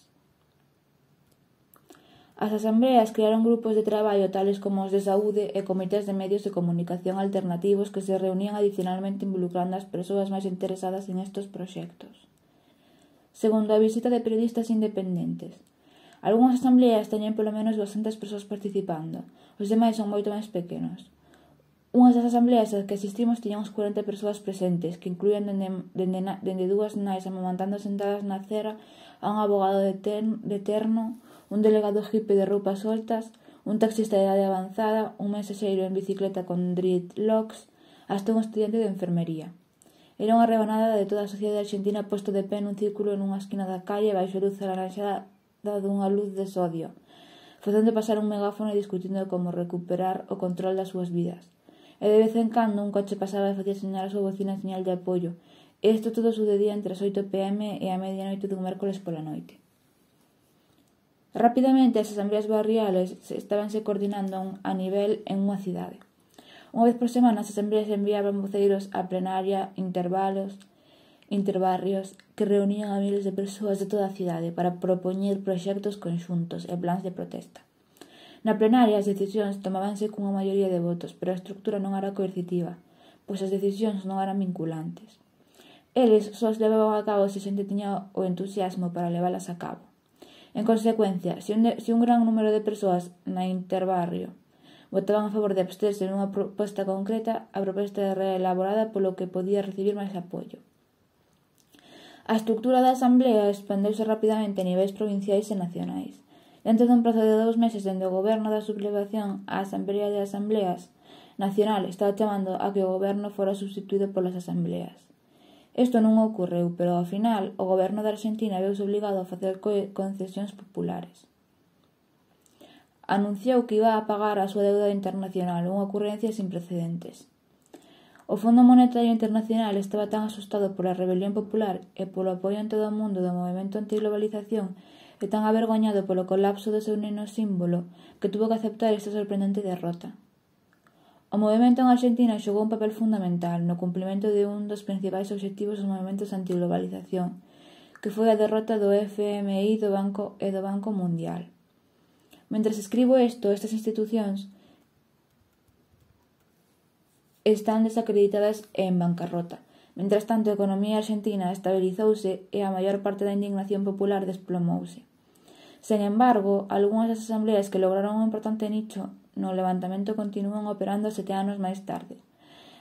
As asambleas crearon grupos de traballo tales como os de saúde e comités de medios de comunicación alternativos que se reunían adicionalmente involucrando as persoas máis interesadas en estes proxectos. Segundo a visita de periodistas independentes, algunhas asambleas teñen polo menos duascentas persoas participando, os demais son moito máis pequenos. Unhas das asambleas ás que asistimos tiñan uns corenta persoas presentes, que incluían dende, dende, dende dúas nais amamantando sentadas na acera a un abogado de, ten, de terno, un delegado hippie de roupas soltas, un taxista de idade avanzada, un mensaxeiro en bicicleta con dreadlocks, hasta un estudiante de enfermería. Era unha rebanada de toda a sociedade argentina posto de pé nun círculo nunha esquina da calle baixo a luz alaranxada dunha luz de sodio, facendo pasar un megáfono e discutindo como recuperar o control das súas vidas. E de vez en cando un coche pasaba e facía señalar a súa bocina en señal de apoio. E isto todo sucedía entre as oito pm e a medianoite dun mércoles pola noite. Rapidamente as asambleas barriales estabanse coordinando a nivel en unha cidade. Unha vez por semana as asambleas enviaban voceiros a plenaria, intervalos, interbarrios que reunían a miles de persoas de toda a cidade para propoñer proxectos conxuntos e plans de protesta. Na plenaria as decisións tomábanse cunha maioría de votos, pero a estructura non era coercitiva, pois as decisións non eran vinculantes. Eles só as levaban a cabo se a xente tiña o entusiasmo para leválas a cabo. En consecuencia, se un, de, se un gran número de persoas na interbarrio votaban a favor de absterse nunha proposta concreta, a proposta era elaborada polo que podía recibir máis apoio. A estructura da asamblea expandeuse rapidamente a niveis provinciais e nacionais. Dentro dun prazo de dous meses dende o goberno da sublevación, a Asamblea de Asambleas Nacional estaba chamando a que o goberno fora substituído polas asambleas. Isto non ocorreu, pero ao final o goberno da Argentina veuse obligado a facer concesións populares. Anunciou que iba a pagar a súa deuda internacional, unha ocurrencia sin precedentes. O Fondo Monetario Internacional estaba tan asustado pola rebelión popular e polo apoio en todo o mundo do movimento antiglobalización e tan avergoñado polo colapso do seu neno símbolo que tuvo que aceptar esta sorprendente derrota. O movimento en Argentina xogou un papel fundamental no cumplimento de un dos principais obxectivos dos movimentos antiglobalización, que foi a derrota do F M I do Banco e do Banco Mundial. Mentres escribo isto, estas institucións están desacreditadas e en bancarrota. Mentras tanto, a economía argentina estabilizouse e a maior parte da indignación popular desplomouse. Sen embargo, algunhas das asambleas que lograron un importante nicho no levantamento continúan operando sete anos máis tarde.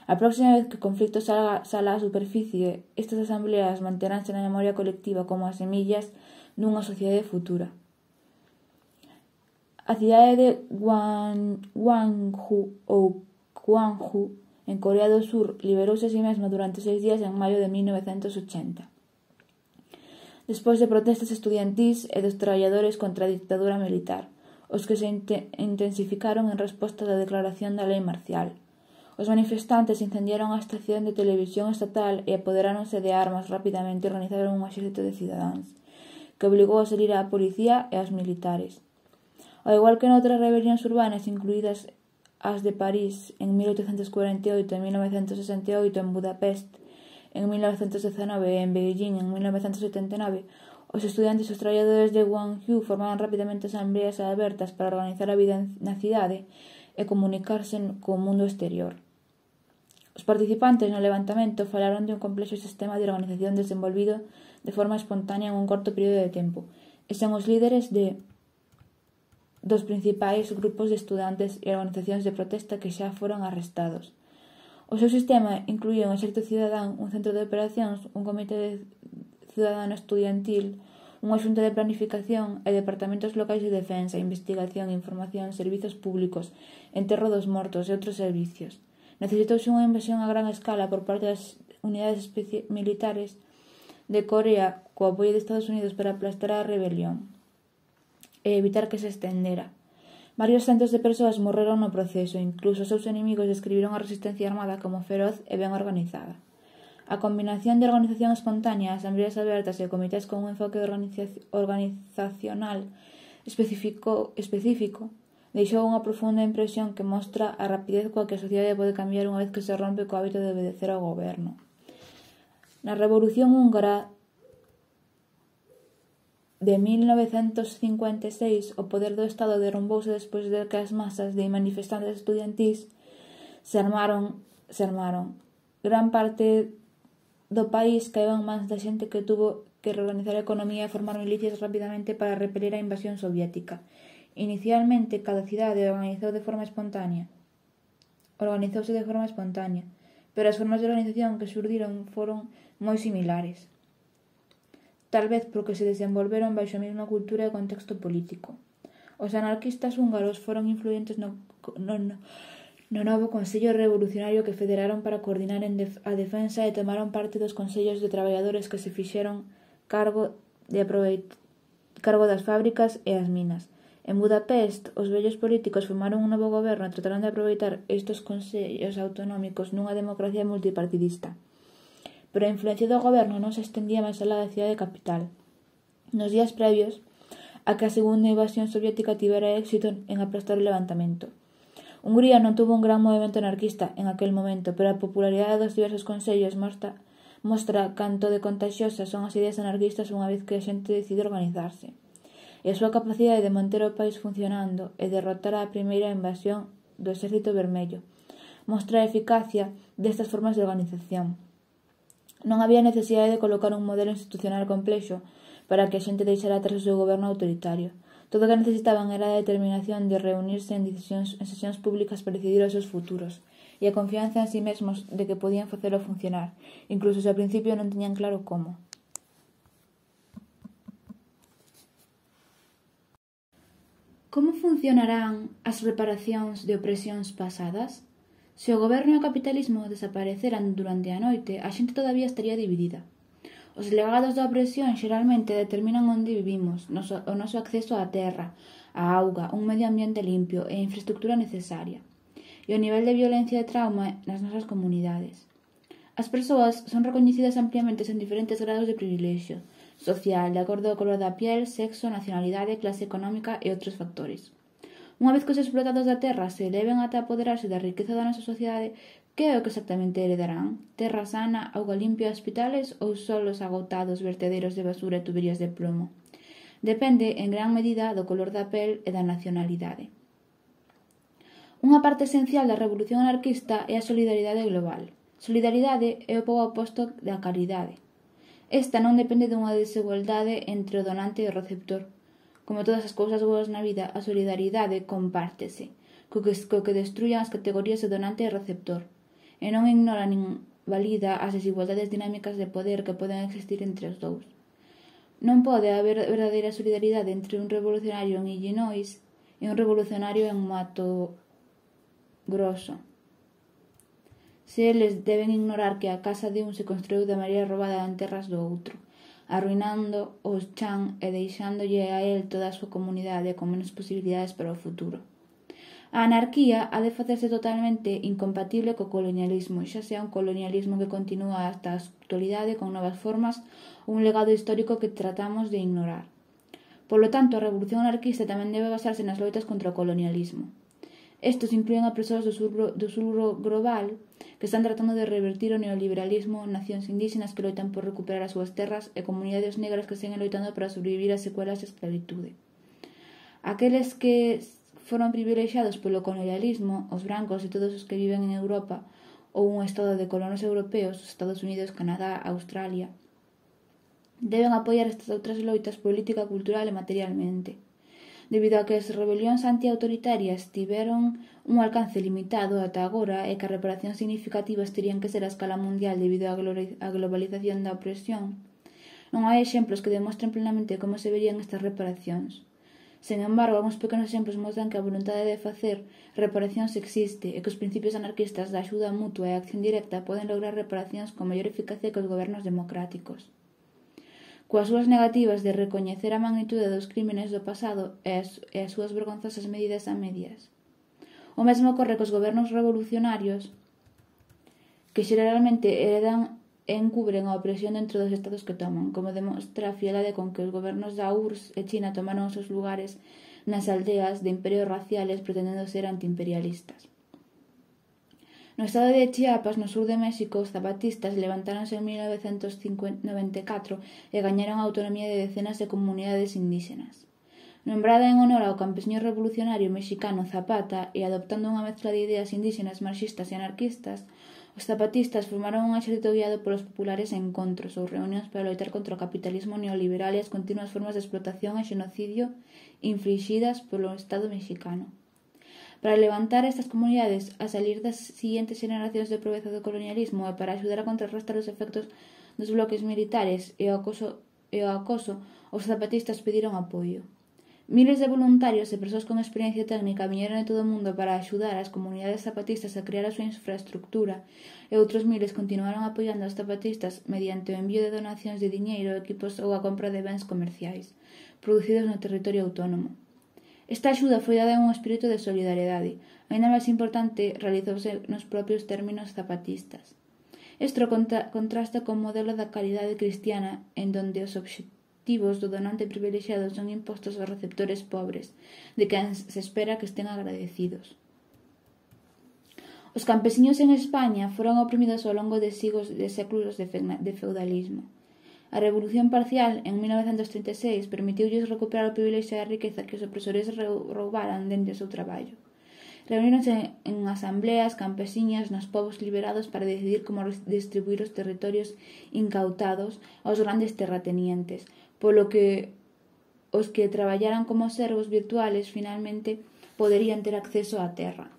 A próxima vez que o conflicto salga, sala á superficie, estas asambleas manteránse na memoria colectiva como as semillas dunha sociedade futura. A cidade de Gwangju ou Gwangju, en Corea do Sur, liberouse a si mesma durante seis días en maio de mil novecentos ochenta. Despois de protestas estudiantís e dos traballadores contra a dictadura militar, os que se intensificaron en resposta da declaración da lei marcial. Os manifestantes incendiaron a estación de televisión estatal e apoderáronse de armas rapidamente e organizaron un exército de cidadáns, que obligou a salir á policía e aos militares. Ao igual que noutras rebelións urbanas, incluídas as de París en mil oitocentos cuarenta e oito e mil novecentos sesenta e oito, en Budapest en mil novecentos dezanove e en Beijing en mil novecentos setenta e nove, os estudantes e os traballadores de Gwangju formaban rapidamente asambleas abertas para organizar a vida na cidade e comunicarse co mundo exterior. Os participantes no levantamento falaron de un complexo sistema de organización desenvolvido de forma espontánea en un corto período de tempo, e son os líderes de dos principais grupos de estudantes e organizacións de protesta que xa foron arrestados. O seu sistema incluía un exército cidadán, un centro de operacións, un comité cidadano estudiantil, unha xunta de planificación e departamentos locais de defensa, investigación, información, servizos públicos, enterro dos mortos e outros servicios. Necesitouse unha invasión a gran escala por parte das unidades militares de Corea co apoio de Estados Unidos para aplastar a rebelión e evitar que se estendera. Varios centos de persoas morreron no proceso, incluso os seus inimigos describiron a resistencia armada como feroz e ben organizada. A combinación de organización espontánea, asambleas abertas e comités con un enfoque organizacional específico, específico deixou unha profunda impresión que mostra a rapidez coa que a sociedade pode cambiar unha vez que se rompe co hábito de obedecer ao goberno. Na Revolución Húngara de mil novecentos cincuenta e seis, o poder do Estado derrumbouse despois de que as masas de manifestantes estudiantís se armaron, se armaron. Gran parte do país caeu en mans da xente que tuvo que reorganizar a economía e formar milicias rapidamente para repeler a invasión soviética. Inicialmente, cada cidade organizou de forma espontánea. Organizouse de forma espontánea, pero as formas de organización que xurdiron foron moi similares. Tal vez porque se desenvolveron baixo a mesma cultura e contexto político. Os anarquistas húngaros foron influentes no, no, no, no novo Consello Revolucionario que federaron para coordinar en def, a defensa e tomaron parte dos consellos de traballadores que se fixeron cargo, de aproveit, cargo das fábricas e as minas. En Budapest, os vellos políticos formaron un novo goberno e trataron de aproveitar estes consellos autonómicos nunha democracia multipartidista. Pero a influencia do goberno non se estendía máis alá da cidade capital. Nos días previos a que a segunda invasión soviética tivera éxito en aplastar o levantamento. Hungría non tuvo un gran movimento anarquista en aquel momento, pero a popularidade dos diversos consellos mostra, mostra canto de contaxiosas son as ideas anarquistas unha vez que a xente decide organizarse. E a súa capacidade de manter o país funcionando e derrotar a primeira invasión do Exército Vermello mostra a eficacia destas formas de organización. Non había necesidade de colocar un modelo institucional complexo para que a xente deixara atrás o seu goberno autoritario. Todo o que necesitaban era a determinación de reunirse en, decisións, en sesións públicas para decidir os seus futuros e a confianza en sí mesmos de que podían facelo funcionar, incluso se ao principio non tiñan claro como. Como funcionarán as reparacións de opresións pasadas? Se o goberno e o capitalismo desapareceran durante a noite, a xente todavía estaría dividida. Os legados da opresión xeralmente determinan onde vivimos, o noso acceso á terra, á auga, un medio ambiente limpio e a infraestructura necesaria, e o nivel de violencia e trauma nas nosas comunidades. As persoas son recoñecidas ampliamente en diferentes grados de privilexio social, de acordo ao color da piel, sexo, nacionalidade, clase económica e outros factores. Unha vez que os explotados da terra se eleven ata apoderarse da riqueza da nosa sociedade, que é o que exactamente heredarán? Terra sana, auga limpia, hospitales ou solos agotados, vertederos de basura e tuberías de plomo? Depende, en gran medida, do color da pel e da nacionalidade. Unha parte esencial da revolución anarquista é a solidaridade global. Solidaridade é o pouco oposto da caridade. Esta non depende dunha desigualdade entre o donante e o receptor. Como todas as cousas boas na vida, a solidaridade compártese, co que, co que destruyan as categorías de donante e receptor, e non ignora nin valida as desigualdades dinámicas de poder que poden existir entre os dous. Non pode haber verdadeira solidaridade entre un revolucionario en Illinois e un revolucionario en Mato Grosso. Se eles deben ignorar que a casa de un se construiu de maneira robada en terras do outro, arruinando o chan e deixándolle a el toda a súa comunidade con menos posibilidades para o futuro. A anarquía ha de facerse totalmente incompatible co colonialismo, xa sea un colonialismo que continúa hasta a actualidade con novas formas ou un legado histórico que tratamos de ignorar. Polo tanto, a revolución anarquista tamén debe basarse nas loitas contra o colonialismo. Estos incluen a persoas do sur, do sur global que están tratando de revertir o neoliberalismo, nacións indígenas que loitan por recuperar as súas terras e comunidades negras que seguen loitando para sobrevivir as secuelas da esclavitude. Aqueles que foron privilexiados polo colonialismo, os brancos e todos os que viven en Europa ou un estado de colonos europeos, os Estados Unidos, Canadá, Australia, deben apoiar estas outras loitas política, cultural e materialmente. debido a que as rebelións antiautoritarias tiveron un alcance limitado ata agora e que as reparacións significativas terían que ser a escala mundial debido á globalización da opresión, non hai exemplos que demostren plenamente como se verían estas reparacións. Sen embargo, algúns pequenos exemplos mostran que a voluntade de facer reparacións existe e que os principios anarquistas da axuda mutua e a acción directa poden lograr reparacións con maior eficacia que os gobernos democráticos. Coas súas negativas de recoñecer a magnitude dos crímenes do pasado e as, e as súas vergonzosas medidas a medias. O mesmo ocorre cos gobernos revolucionarios que xeralmente heredan e encubren a opresión dentro dos estados que toman, como demostra a frialdade con que os gobernos da U R S S e China tomaron os seus lugares nas aldeas de imperios raciales pretendendo ser antiimperialistas. No estado de Chiapas, no sur de México, os zapatistas levantáronse en mil novecentos noventa e catro e gañaron a autonomía de decenas de comunidades indígenas. Nombrada en honor ao campesiño revolucionario mexicano Zapata e adoptando unha mezcla de ideas indígenas, marxistas e anarquistas, os zapatistas formaron un exército guiado polos populares en encontros ou reunións para loitar contra o capitalismo neoliberal e as continuas formas de explotación e xenocidio inflixidas polo Estado mexicano. Para levantar estas comunidades a salir das siguientes generacións de pobreza do colonialismo e para axudar a contrarrestar os efectos dos bloques militares e o acoso, e o acoso os zapatistas pediron apoio. Miles de voluntarios e persoas con experiencia técnica viñeron de todo o mundo para axudar as comunidades zapatistas a crear a súa infraestructura e outros miles continuaron apoiando aos zapatistas mediante o envío de donacións de diñeiro, equipos ou a compra de bens comerciais producidos no territorio autónomo. Esta axuda foi dada en un espírito de solidariedade, aínda máis importante, realizouse nos propios términos zapatistas. Isto contra, contrasta con o modelo da caridade cristiana en donde os obxectivos do donante privilexiado son impostos aos receptores pobres, de quen se espera que estén agradecidos. Os campesiños en España foron oprimidos ao longo de siglos de séculos de feudalismo. A Revolución Parcial, en mil novecentos trinta e seis, permitiulles recuperar o privilexio da riqueza que os opresores roubaran dende o seu traballo. Reuníronse en asambleas campesiñas nos povos liberados para decidir como distribuir os territorios incautados aos grandes terratenientes, polo que os que traballaran como servos virtuales finalmente poderían ter acceso á terra.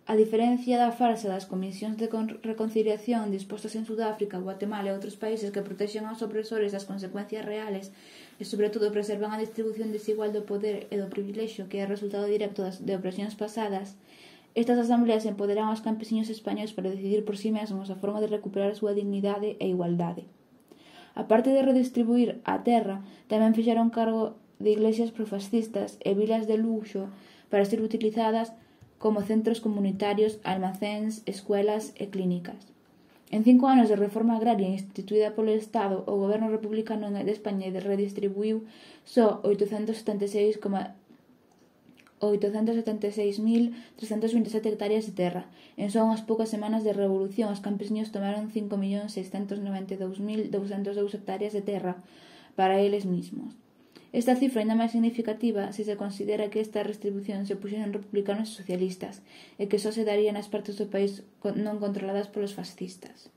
A diferencia da farsa das comisións de reconciliación dispostas en Sudáfrica, Guatemala e outros países que protexen aos opresores das consecuencias reales e, sobre todo, preservan a distribución desigual do poder e do privilexio que é resultado directo das de opresións pasadas, estas asambleas empoderan aos campesiños españois para decidir por si mesmos a forma de recuperar a súa dignidade e igualdade. A parte de redistribuir a terra, tamén fixeron cargo de iglesias profascistas e vilas de luxo para ser utilizadas como centros comunitarios, almacéns, escuelas e clínicas. En cinco anos de reforma agraria instituída polo Estado, o goberno republicano de España redistribuiu só oitocentos setenta e seis mil trescentas vinte e sete hectáreas de terra. En só unhas poucas semanas de revolución, os campesiños tomaron cinco millóns seiscentos noventa e dous mil douscentas dous hectáreas de terra para eles mismos. Esta cifra ainda máis significativa se se considera que esta redistribución se puxeron republicanos e socialistas e que só se daría nas partes do país non controladas polos fascistas.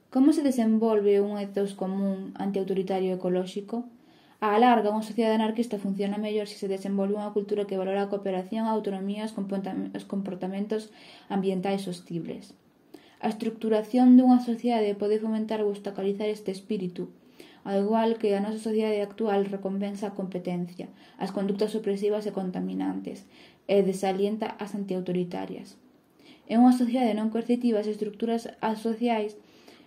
Como se desenvolve un ethos común antiautoritario e ecolóxico? A larga, unha sociedade anarquista funciona mellor se se desenvolve unha cultura que valora a cooperación, a autonomía e os comportamentos ambientais sostibles. A estructuración dunha sociedade pode fomentar ou obstaculizar este espírito, ao igual que a nosa sociedade actual recompensa a competencia, as conductas opresivas e contaminantes, e desalienta as antiautoritarias. En unha sociedade non coercitiva, as estructuras sociais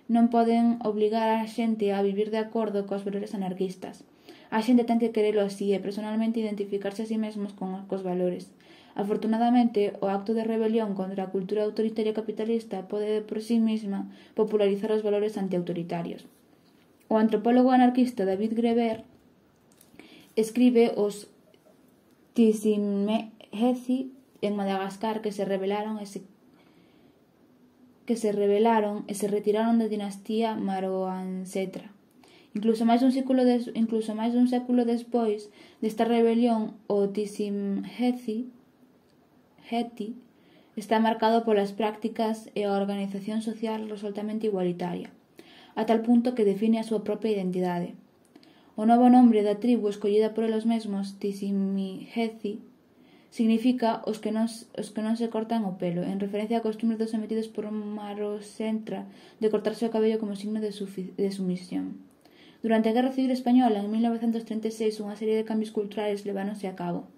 non poden obligar a xente a vivir de acordo cos valores anarquistas. A xente ten que querelo así e personalmente identificarse a sí mesmos con cos valores. Afortunadamente, o acto de rebelión contra a cultura autoritaria capitalista pode por sí mesma popularizar os valores antiautoritarios. O antropólogo anarquista David Graeber escribe os Tsimehezi en Madagascar que se rebelaron e se que se rebelaron e se retiraron da dinastía Maroansetra. Incluso máis dun século des, incluso máis dun século despois desta rebelión, o Tsimehezi Heti está marcado polas prácticas e a organización social resoltamente igualitaria, a tal punto que define a súa propia identidade. O novo nombre da tribu escollida por eles mesmos, Tisimihezi, significa os que, non, os que non se cortan o pelo, en referencia a costumes dos sometidos por Marosentra de cortarse o cabello como signo de, de sumisión. Durante a Guerra Civil Española, en mil novecentos treinta e seis, unha serie de cambios culturais leváronse a cabo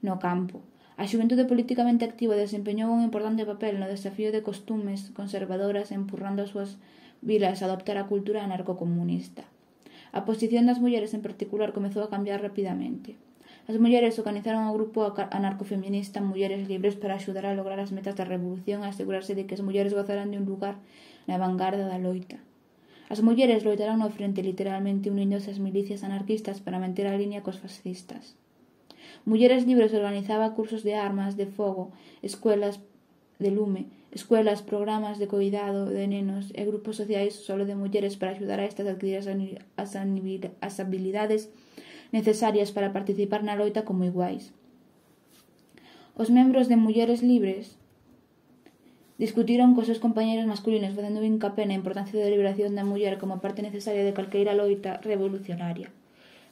no campo. A xuventude políticamente activa desempeñou un importante papel no desafío de costumes conservadoras empurrando as súas vilas a adoptar a cultura anarcocomunista. A posición das mulleres en particular comezou a cambiar rapidamente. As mulleres organizaron o grupo anarcofeminista Mulleres Libres para axudar a lograr as metas da revolución e asegurarse de que as mulleres gozaran de un lugar na vanguarda da loita. As mulleres loitaron no frente literalmente unindo-se ás milicias anarquistas para manter a línea cos fascistas. Mulleres Libres organizaba cursos de armas de fogo, escuelas de lume, escuelas, programas de cuidado de nenos e grupos sociais solo de mulleres para axudar a estas a adquirir as habilidades necesarias para participar na loita como iguais. Os membros de Mulleres Libres discutiron cos seus compañeros masculinos facendo hincapé na importancia da liberación da muller como parte necesaria de calqueira loita revolucionaria.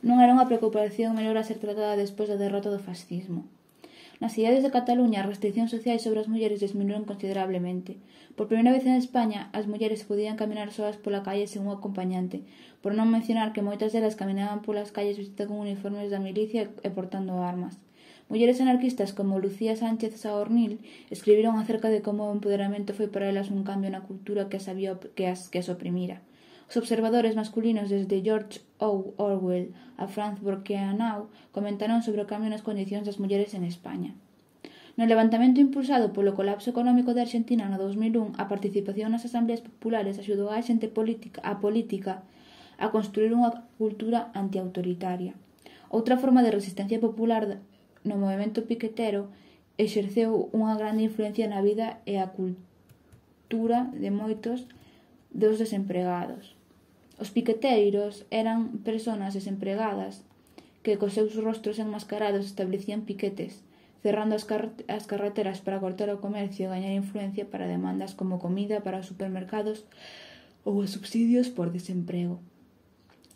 Non era unha preocupación menor a ser tratada despois da derrota do fascismo. Nas cidades de Cataluña, as restriccións sociais sobre as mulleres disminuíron considerablemente. Por primeira vez en España, as mulleres podían caminar soas pola calle sen un acompañante, por non mencionar que moitas delas caminaban polas calles vestidas con uniformes da milicia e portando armas. Mulleres anarquistas como Lucía Sánchez Saornil escribiron acerca de como o empoderamento foi para elas un cambio na cultura que, sabía que, as, que as oprimira. Os observadores masculinos desde George Orwell a Franz Borkenau comentaron sobre o cambio nas condicións das mulleres en España. No levantamento impulsado polo colapso económico de Argentina no dos mil un, a participación nas asambleas populares axudou a xente política, a política a construir unha cultura antiautoritaria. Outra forma de resistencia popular no movemento piquetero exerceu unha grande influencia na vida e a cultura de moitos dos desempregados. Os piqueteiros eran persoas desempregadas que cos seus rostros enmascarados establecían piquetes, cerrando as, car as carreteras para cortar o comercio e gañar influencia para demandas como comida para os supermercados ou os subsidios por desemprego.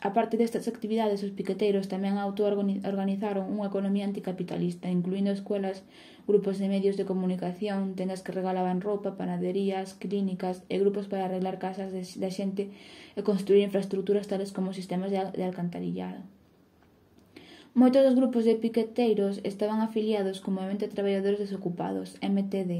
A parte destas actividades, os piqueteiros tamén auto-organizaron unha economía anticapitalista, incluindo escuelas, grupos de medios de comunicación, tendas que regalaban roupa, panaderías, clínicas e grupos para arreglar casas da xente e construir infraestructuras tales como sistemas de, de alcantarillado. Moitos dos grupos de piqueteiros estaban afiliados co Movemento de Traballadores Desocupados, M T D.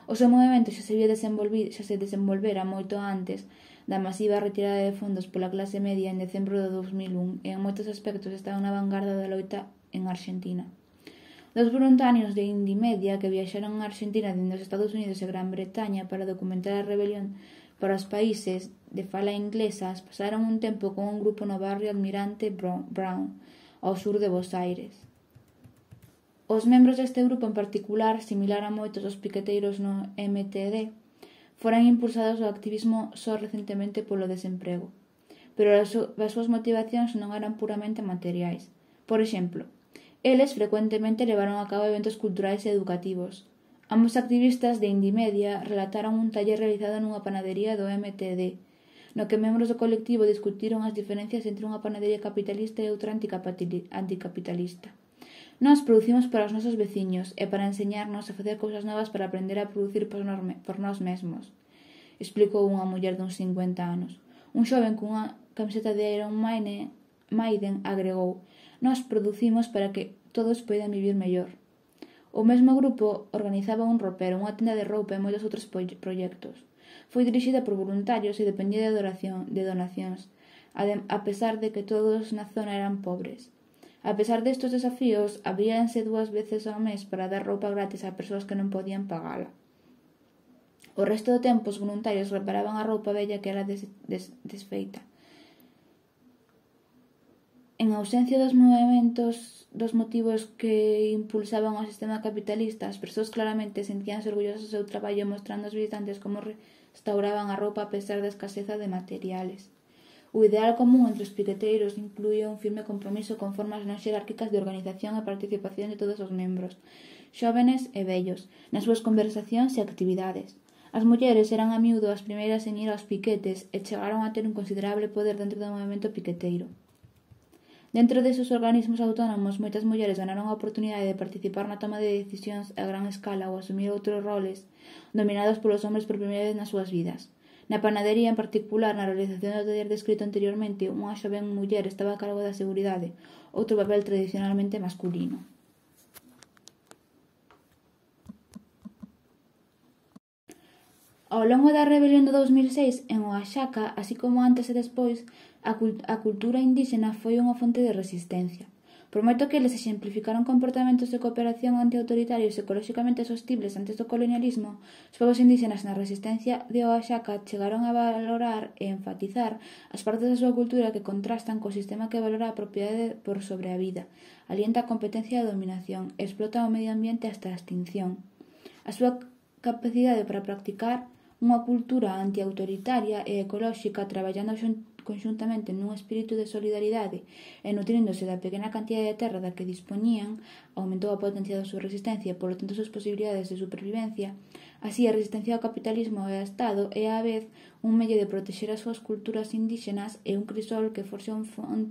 O seu movimento xa se, xa se desenvolvera moito antes da masiva retirada de fondos pola clase media en decembro de dos mil un e en moitos aspectos estaban na vanguarda da loita en Argentina. Dos voluntarios de Indymedia que viaxaron a Argentina dende os Estados Unidos e Gran Bretaña para documentar a rebelión para os países de fala inglesas pasaron un tempo con un grupo no barrio Almirante Brown, ao sur de Buenos Aires. Os membros deste grupo en particular, similar a moitos dos piqueteiros no M T D, foran impulsados ao activismo só recentemente polo desemprego, pero as súas motivacións non eran puramente materiais. Por exemplo, eles frecuentemente levaron a cabo eventos culturais e educativos. Ambos activistas de Indymedia relataron un taller realizado nunha panadería do M T D, no que membros do colectivo discutiron as diferencias entre unha panadería capitalista e outra anticapitalista. Nós producimos para os nosos veciños e para enseñarnos a facer cousas novas para aprender a producir por nós mesmos, explicou unha muller duns cincuenta anos. Un xoven cunha camiseta de Iron Maiden agregou: nós producimos para que todos poidan vivir mellor. O mesmo grupo organizaba un ropero, unha tenda de roupa e moitos outros proxectos. Foi dirixida por voluntarios e dependía de, adoración, de donacións, a pesar de que todos na zona eran pobres. A pesar destes desafíos, abríanse dúas veces ao mes para dar roupa gratis a persoas que non podían pagala. O resto do tempo, os voluntarios reparaban a roupa vella que era des, des, desfeita. En ausencia dos movimentos, dos motivos que impulsaban o sistema capitalista, as persoas claramente sentíanse orgullosas do seu traballo mostrando aos visitantes como restauraban a roupa a pesar da escaseza de materiales. O ideal común entre os piqueteiros incluía un firme compromiso con formas non xerárquicas de organización e participación de todos os membros, xóvenes e vellos, nas súas conversacións e actividades. As mulleres eran a miúdo as primeiras en ir aos piquetes e chegaron a ter un considerable poder dentro do movimento piqueteiro. Dentro deses organismos autónomos, moitas mulleres ganaron a oportunidade de participar na toma de decisións a gran escala ou asumir outros roles dominados polos homes por primeira vez nas súas vidas. Na panadería, en particular, na realización do taller descrito anteriormente, unha xoven muller estaba a cargo da seguridade, outro papel tradicionalmente masculino. Ao longo da rebelión do dous mil seis, en Oaxaca, así como antes e despois, a, cult a cultura indíxena foi unha fonte de resistencia. Por moito que eles exemplificaron comportamentos de cooperación antiautoritarios ecolóxicamente sostibles antes do colonialismo, os povos indíxenas na resistencia de Oaxaca chegaron a valorar e enfatizar as partes da súa cultura que contrastan co sistema que valora a propiedade por sobre a vida, alienta a competencia e a dominación, e explota o medio ambiente hasta a extinción. A súa capacidade para practicar unha cultura antiautoritaria e ecolóxica traballando conxuntamente nun espírito de solidaridade e nutríndose da pequena cantidade de terra da que dispoñían, aumentou a potencia da súa resistencia e, polo tanto, as súas posibilidades de supervivencia. Así, a resistencia ao capitalismo e ao Estado é, á vez, un medio de protexer as súas culturas indíxenas e un crisol que forxa un,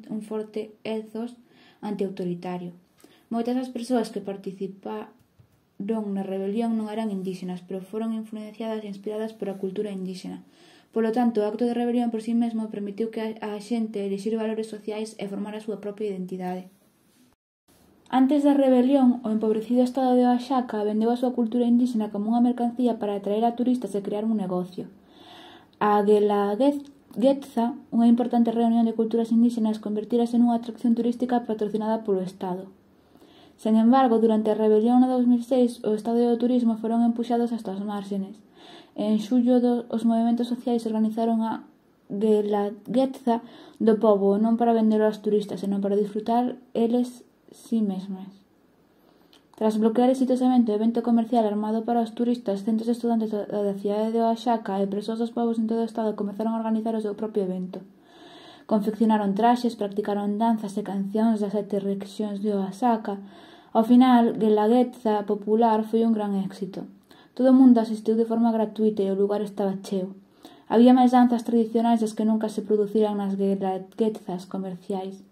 un forte ethos antiautoritario. Moitas das persoas que participaron na rebelión non eran indíxenas, pero foron influenciadas e inspiradas por a cultura indíxena. Polo tanto, o acto de rebelión por si mesmo permitiu que a xente elixir valores sociais e formar a súa propia identidade. Antes da rebelión, o empobrecido estado de Oaxaca vendeu a súa cultura indíxena como unha mercancía para atraer a turistas e crear un negocio. A Guelaguetza, unha importante reunión de culturas indíxenas, convertírase nunha atracción turística patrocinada polo Estado. Sen embargo, durante a rebelión no dous mil seis, o Estado e o turismo foron empuxados hasta as márgenes. En xullo, os movementos sociais organizaron a Guelaguetza do pobo, non para vendelo aos turistas, senón para disfrutar eles si mesmas. Tras bloquear exitosamente o evento comercial armado para os turistas, centos de estudantes da cidade de Oaxaca e persoas dos povos en todo o estado comezaron a organizar o seu propio evento. Confeccionaron traxes, practicaron danzas e cancións das sete rexións de Oaxaca. Ao final, Guelaguetza popular foi un gran éxito. Todo o mundo asistiu de forma gratuita e o lugar estaba cheo. Había máis danzas tradicionais das que nunca se produciran nas Guelaguetzas comerciais.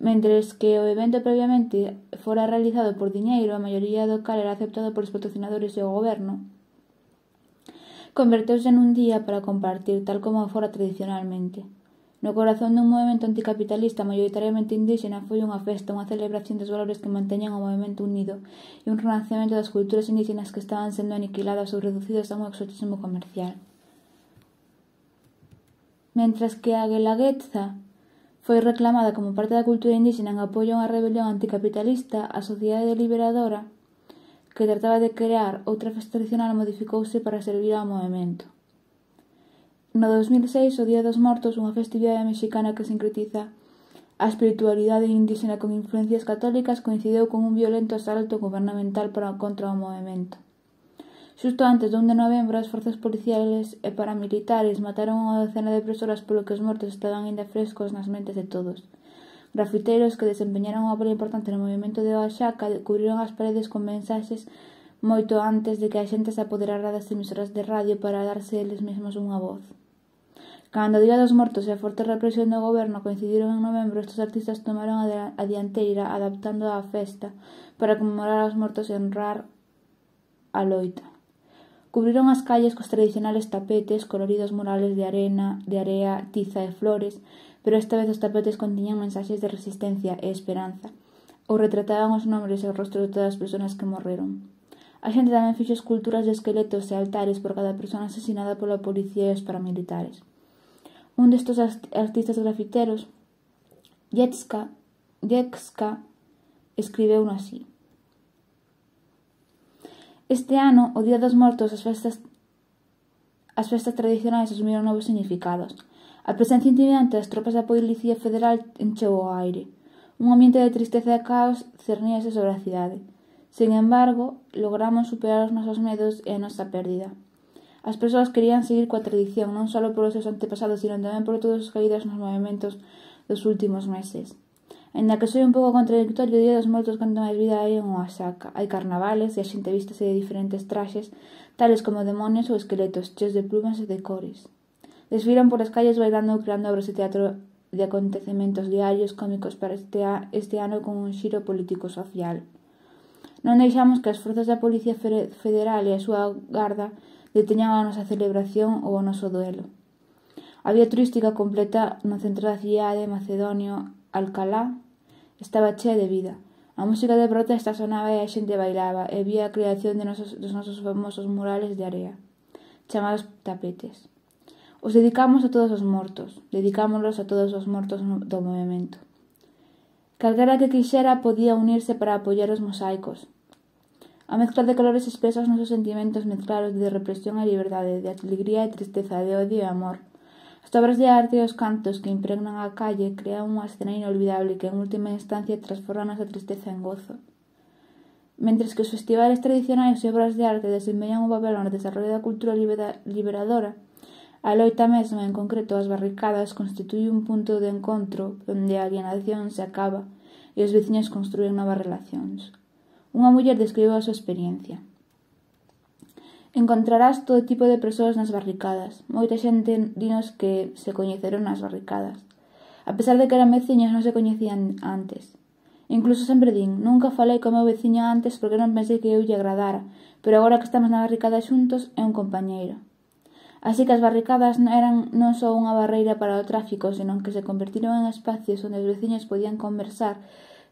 Mentres que o evento previamente fora realizado por diñeiro, a maioría do cal era aceptado polos patrocinadores e o goberno, converteuse nun día para compartir, tal como fora tradicionalmente. No corazón dun movemento anticapitalista maioritariamente indíxena foi unha festa, unha celebración dos valores que manteñan o movemento unido e un renacemento das culturas indíxenas que estaban sendo aniquiladas ou reducidas a un exotismo comercial. Mentras que a Guelaguetza foi reclamada como parte da cultura indíxena en apoio a unha rebelión anticapitalista, a Sociedade Liberadora, que trataba de crear outra festa tradicional, modificouse para servir ao movemento. No dous mil seis, o Día dos Mortos, unha festividade mexicana que sincretiza a espiritualidade indíxena con influencias católicas, coincidiu con un violento asalto gubernamental para contra o movemento. Xusto antes do un de novembro, as forzas policiales e paramilitares mataron unha docena de persoas polo que os mortos estaban aínda frescos nas mentes de todos. Grafiteiros que desempeñaron unha papel importante no movemento de Oaxaca cubriron as paredes con mensaxes moito antes de que a xente se apoderara das emisoras de radio para darse eles mesmos unha voz. Cando o Día dos Mortos e a forte represión do goberno coincidiron en novembro, estes artistas tomaron a dianteira adaptando a festa para conmemorar aos mortos e honrar a loita. Cubriron as calles cos tradicionales tapetes, coloridos murales de arena, de area, tiza e flores, pero esta vez os tapetes contiñan mensaxes de resistencia e esperanza, ou retrataban os nombres e os rostros de todas as persoas que morreron. A xente tamén fixo esculturas de esqueletos e altares por cada persona asesinada pola policía e os paramilitares. Un destes artistas grafiteros, Yexka, Yexka, escribeu así: Este ano, o Día dos Mortos, as festas, as festas tradicionais asumiron novos significados. A presencia intimidante das tropas da Policía Federal encheu o aire. Un ambiente de tristeza e caos cerníase sobre a cidade. Sen embargo, logramos superar os nosos medos e a nosa pérdida. As persoas querían seguir coa tradición, non só polos seus antepasados, sino tamén por todos os caídos nos movimentos dos últimos meses. Ainda que soy un pouco contradictorio, o Día dos Mortos canto máis vida hai en Oaxaca. Hai carnavales e a xente vístese de diferentes traxes, tales como demonios ou esqueletos, cheos de plumas e de cores. Desfilan por as calles bailando ou creando obras de teatro de acontecementos diarios cómicos para este, a, este ano con un xiro político-social. Non deixamos que as forzas da Policía Federal e a súa garda deteñan a nosa celebración ou o noso duelo. A vía turística completa no centro da cidade macedonio Alcalá estaba chea de vida. A música de protesta sonaba e a xente bailaba, e vía a creación de nosos, dos nosos famosos murales de area, chamados tapetes. Os dedicamos a todos os mortos, dedicámoslos a todos os mortos do movimento. Calquera que quixera podía unirse para apoiar os mosaicos. A mezcla de colores expresa os nosos sentimentos mezclados de represión e liberdade, de alegría e tristeza, de odio e amor. As obras de arte e os cantos que impregnan a calle crean unha escena inolvidable que en última instancia transforma a nosa tristeza en gozo. Mentres que os festivales tradicionais e obras de arte desempeñan un papel no desarrollo da cultura liberadora, a loita mesma, en concreto as barricadas, constituye un punto de encontro onde a alienación se acaba e os veciños construen novas relacións. Unha muller describe a súa experiencia. Encontrarás todo tipo de persoas nas barricadas. Moita xente dinos que se coñeceron nas barricadas. A pesar de que eran veciños, non se coñecían antes. Incluso sempre din, nunca falei co meu veciño antes porque non pensei que eu lle agradara, pero agora que estamos na barricada xuntos é un compañeiro. Así que as barricadas non eran non só unha barreira para o tráfico, senón que se convertiron en espacios onde os veciños podían conversar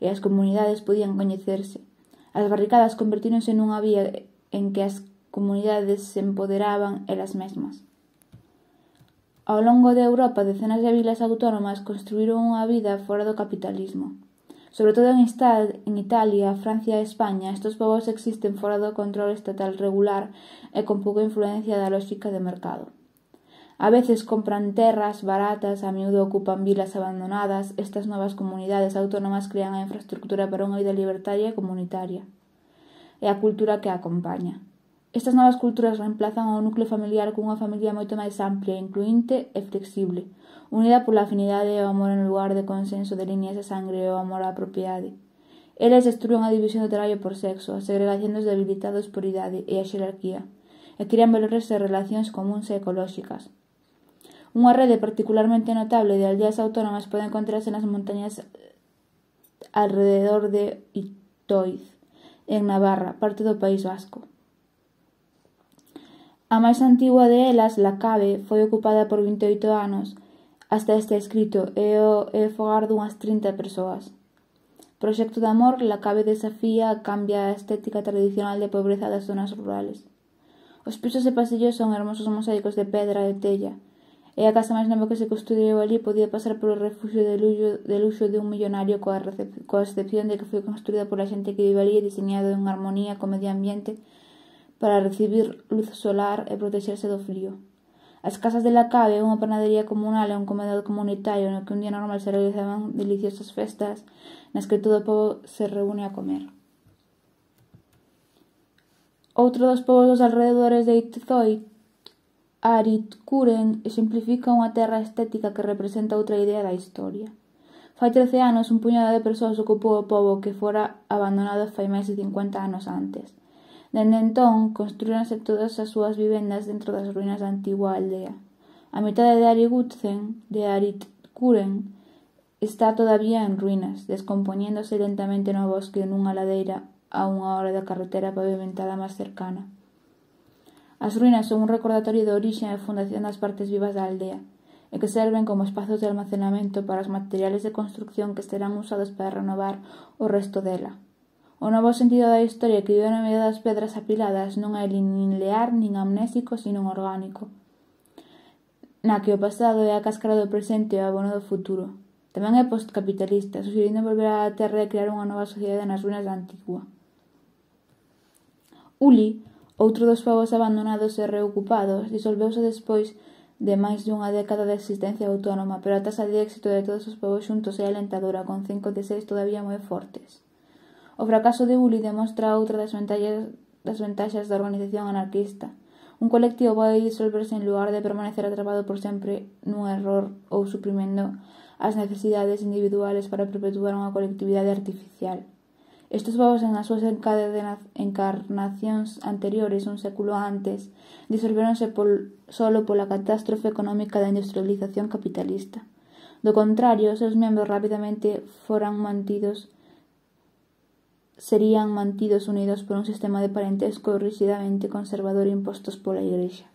e as comunidades podían coñecerse. As barricadas convertíronse nunha vía en que as comunidades se empoderaban elas mesmas. Ao longo de Europa, decenas de vilas autónomas construíron unha vida fora do capitalismo. Sobre todo en Italia, Francia e España, estes povos existen fora do control estatal regular e con pouca influencia da lógica de mercado. A veces compran terras baratas, a miúdo ocupan vilas abandonadas. Estas novas comunidades autónomas crean a infraestructura para unha vida libertaria e comunitaria, e a cultura que a acompaña. Estas novas culturas reemplazan ao núcleo familiar cunha familia moito máis amplia, incluínte e flexible, unida pola afinidade e o amor en lugar de consenso de liñas de sangre e o amor á propiedade. Eles destruen a división do traballo por sexo, a segregación dos debilitados por idade e a xerarquía, e crean valores e relacións comúns e ecolóxicas. Unha rede particularmente notable de aldeas autónomas pode encontrarse nas montañas alrededor de Itoiz, en Navarra, parte do País Vasco. A máis antigua de elas, La Cabe, foi ocupada por vinte e oito anos, hasta este escrito, e o é fogar dunhas trinta persoas. Proxecto de amor, La Cabe desafía cambia a estética tradicional de pobreza das zonas rurales. Os pisos e pasillos son hermosos mosaicos de pedra e tella, e a casa máis nova que se construiu ali podía pasar polo refuxio de luxo de, luxo de un millonario coa, coa excepción de que foi construída pola xente que vive ali e diseñado en armonía co medio ambiente para recibir luz solar e protexerse do frío. As casas de La Cabe, unha panadería comunal e un comedor comunitario no que un día normal se realizaban deliciosas festas nas que todo o pobo se reúne a comer. Outro dos povos dos alrededores de Itzoy, Aritkuren, exemplifica unha terra estética que representa outra idea da historia. Fai trece anos, un puñado de persoas ocupou o pobo que fora abandonado fai máis de cincuenta anos antes. Dende entón, construíronse todas as súas vivendas dentro das ruínas da antigua aldea. A mitade de Arigutsen, de Aritkuren, está todavía en ruínas, descompoñéndose lentamente no bosque nunha ladeira a unha hora da carretera pavimentada máis cercana. As ruínas son un recordatorio da orixe e fundación das partes vivas da aldea, e que serven como espazos de almacenamento para os materiales de construcción que serán usados para renovar o resto dela. O novo sentido da historia que vive no medio das pedras apiladas non é nin linear, nin amnésico, sino orgánico, na que o pasado é a cáscara do presente e o abono do futuro. Tamén é postcapitalista, sugerindo volver á terra e crear unha nova sociedade nas ruínas da antigua. Uli, outro dos povos abandonados e reocupados, disolveuse despois de máis dunha década de existencia autónoma, pero a taxa de éxito de todos os povos xuntos é alentadora, con cinco de seis todavía moi fortes. O fracaso de Uli demostra outra das vantaxas, das vantaxas da organización anarquista. Un colectivo pode disolverse en lugar de permanecer atrapado por sempre nun error ou suprimendo as necesidades individuales para perpetuar unha colectividade artificial. Estes povos, en as súas encarnacións anteriores, un século antes, disolveronse pol, solo pola catástrofe económica da industrialización capitalista. Do contrario, os seus membros rapidamente foran mantidos serían mantidos unidos por un sistema de parentesco ríxidamente conservador impostos pola Igrexa.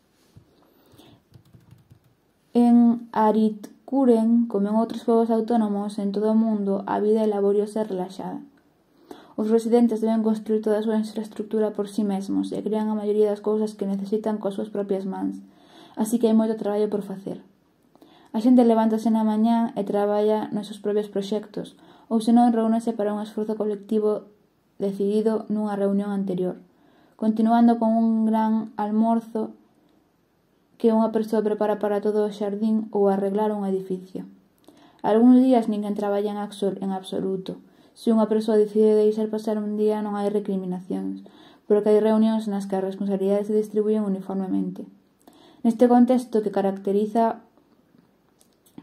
En Aritkuren, como en outros povos autónomos en todo o mundo, a vida é laboriosa e relaxada. Os residentes deben construir toda a súa infraestructura por si mesmos e crean a maioría das cousas que necesitan coas súas propias mans, así que hai moito traballo por facer. A xente levántase na mañá e traballa nos seus propios proxectos, ou senón reúnese para un esforzo colectivo decidido nunha reunión anterior, continuando con un gran almorzo que unha persoa prepara para todo o xardín ou arreglar un edificio. Algúns días ninguén traballa en absoluto. Se unha persoa decide deixar pasar un día non hai recriminacións, porque hai reunións nas que as responsabilidades se distribuyen uniformemente. Neste contexto que caracteriza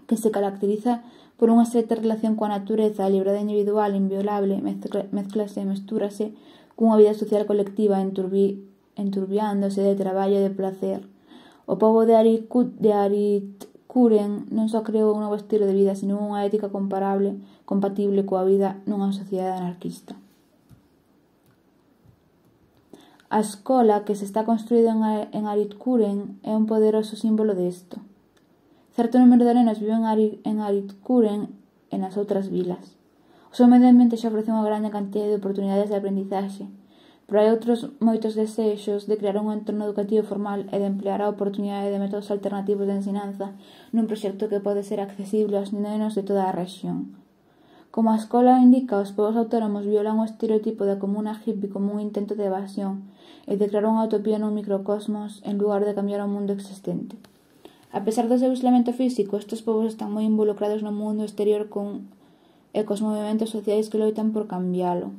que se caracteriza por unha estreita relación coa natureza, a liberdade individual inviolable, mezclase e mestúrase cunha vida social colectiva enturbi, enturbiándose de traballo e de placer. O pobo de Aritkuren non só creou un novo estilo de vida, sino unha ética comparable, compatible coa vida nunha sociedade anarquista. A escola que se está construída en Aritkuren é un poderoso símbolo disto. Certo número de nenos viven en Aritkuren e nas outras vilas. O seu medio ambiente xa ofrece unha grande cantidad de oportunidades de aprendizaxe, pero hai outros moitos desexos de crear un entorno educativo formal e de emplear a oportunidade de métodos alternativos de ensinanza nun proxecto que pode ser accesible aos nenos de toda a rexión. Como a escola indica, os povos autónomos violan o estereotipo da comuna hippie como un intento de evasión e de crear unha utopía nun microcosmos en lugar de cambiar o mundo existente. A pesar do seu aislamiento físico, estes povos están moi involucrados no mundo exterior con, e cos movementos sociais que loitan por cambiálo.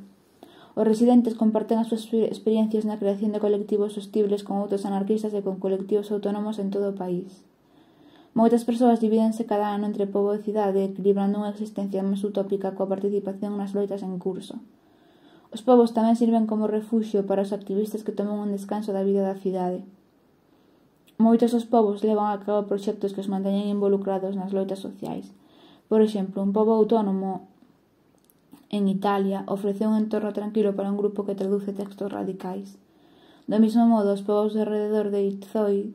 Os residentes comparten as súas experiencias na creación de colectivos sostibles con outros anarquistas e con colectivos autónomos en todo o país. Moitas persoas divídense cada ano entre pobo e cidade, equilibrando unha existencia máis utópica coa participación nas loitas en curso. Os povos tamén sirven como refuxio para os activistas que toman un descanso da vida da cidade. Moitos dos povos levan a cabo proxectos que os manteñen involucrados nas loitas sociais. Por exemplo, un pobo autónomo en Italia ofrece un entorno tranquilo para un grupo que traduce textos radicais. Do mesmo modo, os povos de alrededor de Itzoid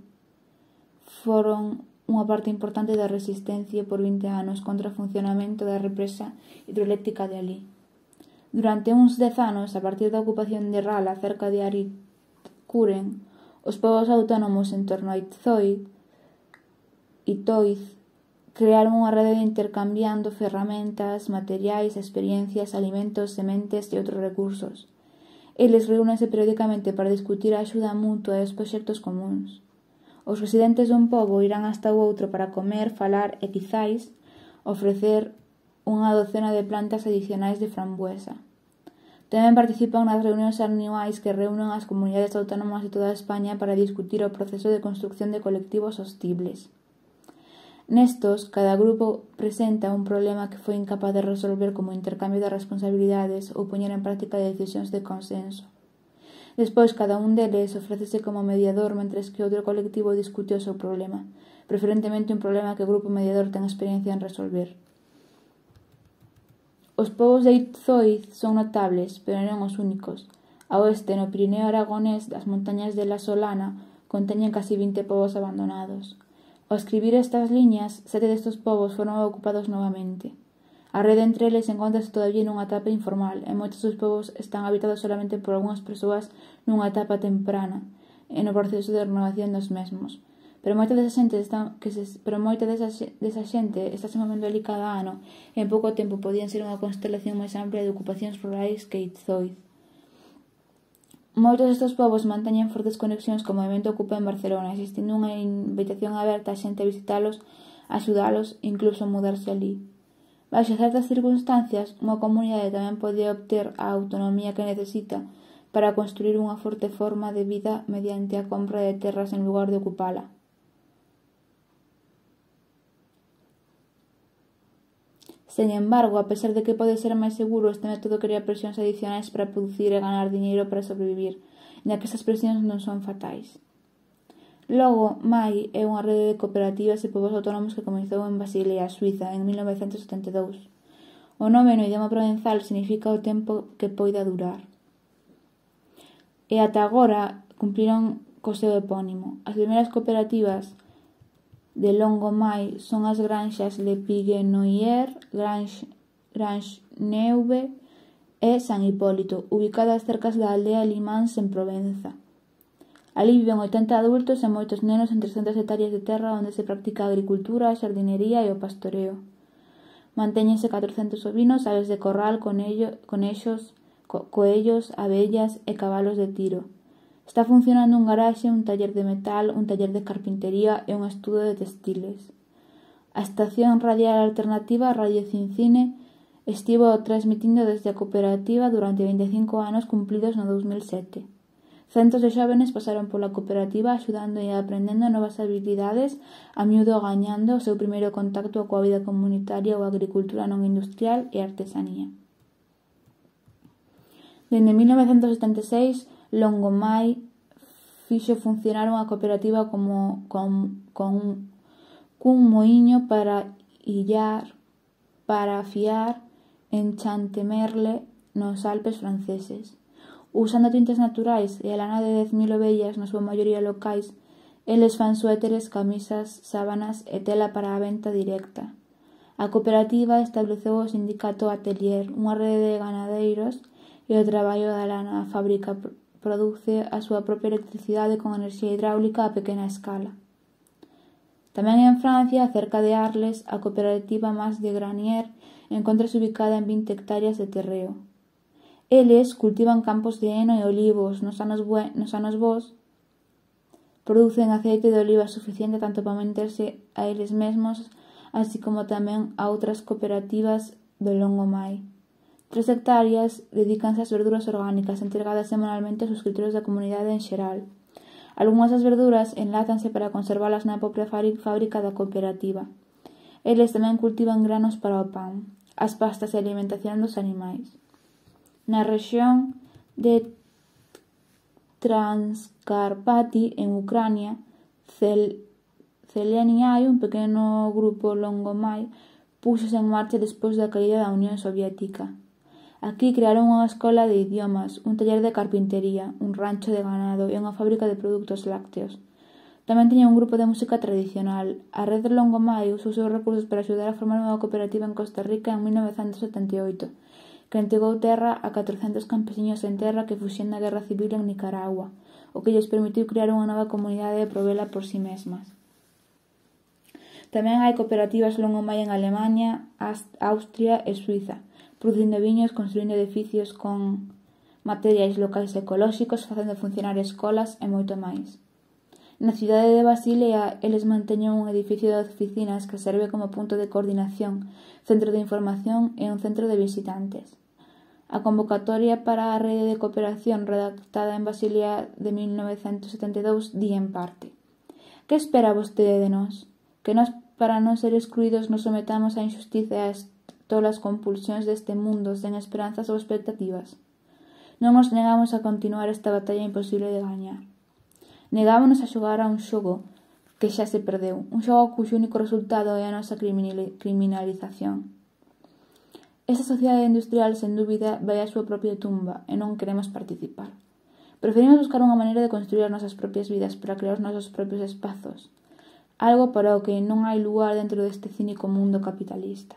foron unha parte importante da resistencia por vinte anos contra o funcionamento da represa hidroeléctrica de alí. Durante uns dez anos, a partir da ocupación de Rala cerca de Aritkuren, os povos autónomos en torno a Itzoid, Itoiz, crearon unha rede de intercambiando ferramentas, materiais, experiencias, alimentos, sementes e outros recursos. Eles reúnense periódicamente para discutir a axuda mutua e os proxectos comuns. Os residentes dun pobo irán hasta o outro para comer, falar e, quizáis, ofrecer unha docena de plantas adicionais de frambuesa. Tamén participan nas reunións anuais que reúnen as comunidades autónomas de toda España para discutir o proceso de construcción de colectivos sostibles. Nestos, cada grupo presenta un problema que foi incapaz de resolver como intercambio de responsabilidades ou poñer en práctica decisións de consenso. Despois, cada un deles ofrécese como mediador mentres que outro colectivo discute o seu problema, preferentemente un problema que o grupo mediador ten experiencia en resolver. Os povos de Itzoid son notables, pero non os únicos. A oeste, no Pirineo aragonés, das montañas de La Solana, conteñen casi vinte povos abandonados. Ao escribir estas liñas, sete destes povos foron ocupados novamente. A rede entre eles encontrase todavía nunha etapa informal, e moitos dos povos están habitados solamente por algunhas persoas nunha etapa temprana, e no proceso de renovación dos mesmos. Pero moita desa xente está, que se, pero moita desa, desa xente está se movendo ali cada ano, e en pouco tempo podían ser unha constelación máis amplia de ocupacións rurais que Itzoid. Moitos destes povos manteñen fortes conexións co movemento Ocupa en Barcelona, existindo unha invitación aberta a xente a visitalos, a axudalos e incluso a mudarse ali. Baixo certas circunstancias, unha comunidade tamén pode obter a autonomía que necesita para construir unha forte forma de vida mediante a compra de terras en lugar de ocupala. Sen embargo, a pesar de que pode ser máis seguro, este método crea presións adicionais para producir e ganar diñeiro para sobrevivir, ya que estas presións non son fatais. Logo Mai é unha rede de cooperativas e povos autónomos que comezou en Basilea, Suiza, en mil novecentos setenta e dous. O nome no idioma provenzal significa o tempo que poida durar. E ata agora cumpriron co seu epónimo. As primeiras cooperativas de Longomai son as granxas Le Piguenoier, Grange, Grange Neuve e San Hipólito, ubicadas cerca da aldea Limáns en Provenza. Alí viven oitenta adultos e moitos nenos en trescentas hectáreas de terra onde se practica a agricultura, a xardinería e o pastoreo. Mantéñense catrocentos ovinos, aves de corral, conello, conexos, co coellos, abellas e cabalos de tiro. Está funcionando un garaxe, un taller de metal, un taller de carpintería e un estudo de textiles. A estación radial alternativa Radio Cincine estivo transmitindo desde a cooperativa durante vinte e cinco anos cumplidos no dous mil sete. Centos de xóvenes pasaron pola cooperativa axudando e aprendendo novas habilidades, a miúdo gañando o seu primeiro contacto coa vida comunitaria ou agricultura non industrial e artesanía. Dende mil novecentos setenta e seis, Longomai fixo funcionar unha cooperativa como con, con cun moiño para illar, para afiar en Chantemerle nos Alpes franceses. Usando tintes naturais e a lana de dez mil ovellas, na súa maioría locais, eles fan suéteres, camisas, sábanas e tela para a venta directa. A cooperativa estableceu o sindicato Atelier, unha rede de ganadeiros, e o traballo da lana. A fábrica produce a súa propia electricidade con enerxía hidráulica a pequena escala. Tamén en Francia, cerca de Arles, a cooperativa Mas de Granier encontrase ubicada en vinte hectáreas de terreo. Eles cultivan campos de heno e olivos nos anos, bue, nos anos bons, producen aceite de oliva suficiente tanto para manterse a eles mesmos, así como tamén a outras cooperativas do Longomai. Tres hectáreas dedícanse ás verduras orgánicas, entregadas semanalmente aos suscriptores da comunidade en xeral. Algúnas das verduras enlátanse para conservalas na propia fábrica da cooperativa. Eles tamén cultivan granos para o pan, as pastas e a alimentación dos animais. Na rexión de Transcarpati, en Ucrania, Cel Zeleniai, un pequeno grupo Longomai, púxose en marcha despois da caída da Unión Soviética. Aquí crearon unha escola de idiomas, un taller de carpintería, un rancho de ganado e unha fábrica de produtos lácteos. Tamén tiña un grupo de música tradicional. A rede Longomai usou os seus recursos para axudar a formar unha cooperativa en Costa Rica en mil novecentos setenta e oito, que entregou terra a catrocentos campesiños en terra que fuxían da guerra civil en Nicaragua, o que lles permitiu crear unha nova comunidade e provela por si mesmas. Tamén hai cooperativas Longomai en Alemania, Austria e Suiza, producindo viños, construindo edificios con materiais locais ecolóxicos, facendo funcionar escolas e moito máis. Na cidade de Basilea, eles manteñen un edificio de oficinas que serve como punto de coordinación, centro de información e un centro de visitantes. A convocatoria para a rede de cooperación redactada en Basilea de mil novecentos setenta e dous di en parte: que espera vostede de nós? Que nós, para non ser excluídos, nos sometamos á injustiza e ás tolas compulsións deste mundo sen esperanzas ou expectativas? Non nos negamos a continuar esta batalla imposible de gañar. Negámonos a xogar a un xogo que xa se perdeu, un xogo cuxo único resultado é a nosa criminalización. Esta sociedade industrial, sen dúbida, vai á súa propia tumba e non queremos participar. Preferimos buscar unha maneira de construir as nosas propias vidas para crear os nosos propios espazos, algo para o que non hai lugar dentro deste cínico mundo capitalista.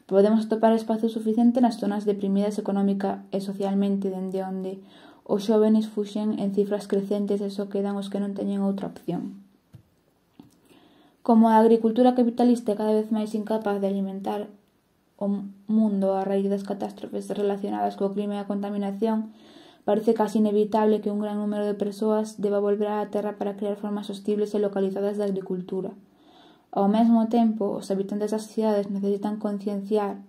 Podemos atopar espazo suficiente nas zonas deprimidas económica e socialmente, dende onde os xóvenes fuxen en cifras crecentes e só quedan os que non teñen outra opción. Como a agricultura capitalista é cada vez máis incapaz de alimentar o mundo a raíz das catástrofes relacionadas co crime e a contaminación, parece casi inevitable que un gran número de persoas deba volver á terra para crear formas sostibles e localizadas de agricultura. Ao mesmo tempo, os habitantes das cidades necesitan concienciar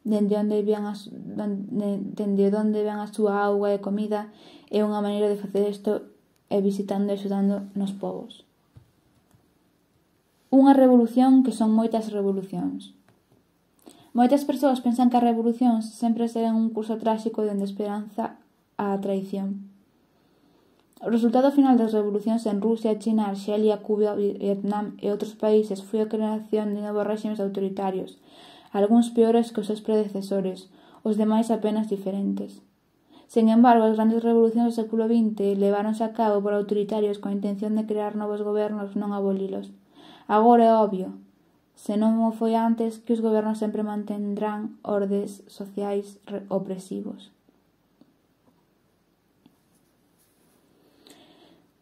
dende onde ven a, dende onde ven a súa auga e comida, e unha maneira de facer isto é visitando e axudando nos povos. Unha revolución que son moitas revolucións. Moitas persoas pensan que as revolucións sempre seguen un curso tráxico dende a esperanza á traición. O resultado final das revolucións en Rusia, China, Arxelia, Cuba, Vietnam e outros países foi a creación de novos réximes autoritarios, algúns peores que os seus predecesores, os demais apenas diferentes. Sen embargo, as grandes revolucións do século vinte leváronse a cabo por autoritarios con a intención de crear novos gobernos, non abolilos. Agora é obvio, se non o foi antes, que os gobernos sempre mantendrán ordes sociais opresivos.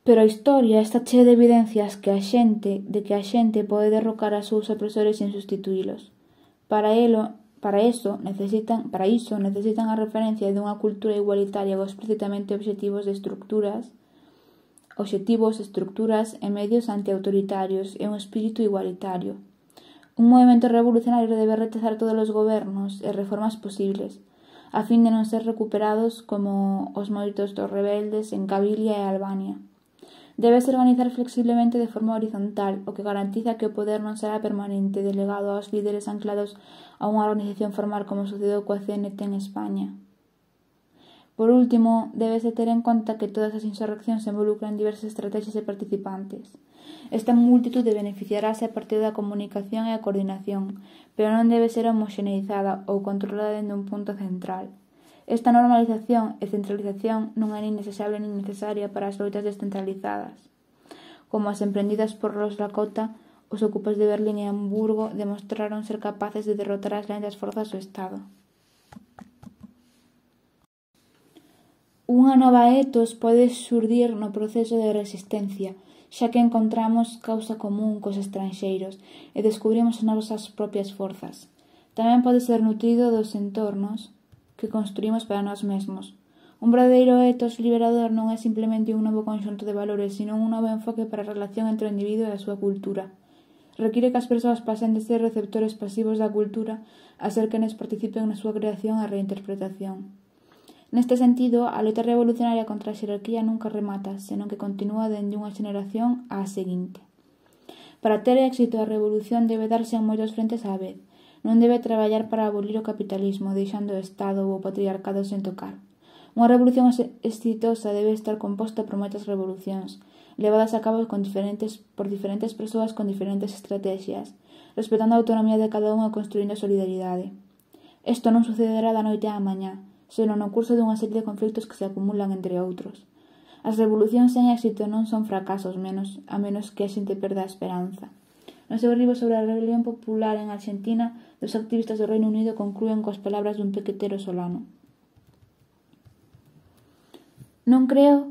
Pero a historia está chea de evidencias que a xente, de que a xente pode derrocar a seus opresores sen sustituílos. Para elo, para iso necesitan, para iso necesitan a referencia dunha cultura igualitaria con explícitamente obxectivos de estructuras, obxectivos, estructuras e medios antiautoritarios e un espírito igualitario. Un movimento revolucionario debe rechazar todos os gobernos e reformas posibles, a fin de non ser recuperados como os moitos dos rebeldes en Cabilia e Albania. Debese organizar flexiblemente de forma horizontal, o que garantiza que o poder non será permanente, delegado aos líderes anclados a unha organización formal como sucedeu coa C N T en España. Por último, débese ter en conta que todas as insurreccións involucran diversas estrategias e participantes. Esta multitude beneficiarase a partir da comunicación e a coordinación, pero non debe ser homoxeneizada ou controlada dende un punto central. Esta normalización e centralización non é nin desexable nin necesaria para as loitas descentralizadas. Como as emprendidas por los Lakota, os ocupas de Berlín e Hamburgo demostraron ser capaces de derrotar as lentas forzas do Estado. Unha nova etos pode xurdir no proceso de resistencia, xa que encontramos causa común cos estranxeiros e descubrimos as nosas propias forzas. Tamén pode ser nutrido dos entornos que construímos para nós mesmos. Un verdadeiro etos liberador non é simplemente un novo conxunto de valores, sino un novo enfoque para a relación entre o individuo e a súa cultura. Require que as persoas pasen de ser receptores pasivos da cultura a ser quenes participen na súa creación e reinterpretación. Neste sentido, a loita revolucionaria contra a xerarquía nunca remata, senón que continúa dende unha xeneración á seguinte. Para ter éxito, a revolución debe darse en moitos frentes á vez. Non debe traballar para abolir o capitalismo, deixando o Estado ou o patriarcado sen tocar. Unha revolución exitosa debe estar composta por moitas revolucións, levadas a cabo con diferentes, por diferentes persoas con diferentes estrategias, respetando a autonomía de cada unha e construindo a solidaridade. Isto non sucederá da noite á mañá, senón no curso dunha serie de conflitos que se acumulan entre outros. As revolucións sen éxito non son fracasos, menos, a menos que a xente perda a esperanza. No seu libro sobre a rebelión popular en Argentina, dos activistas do Reino Unido conclúen coas palabras dun pequetero solano. Non creo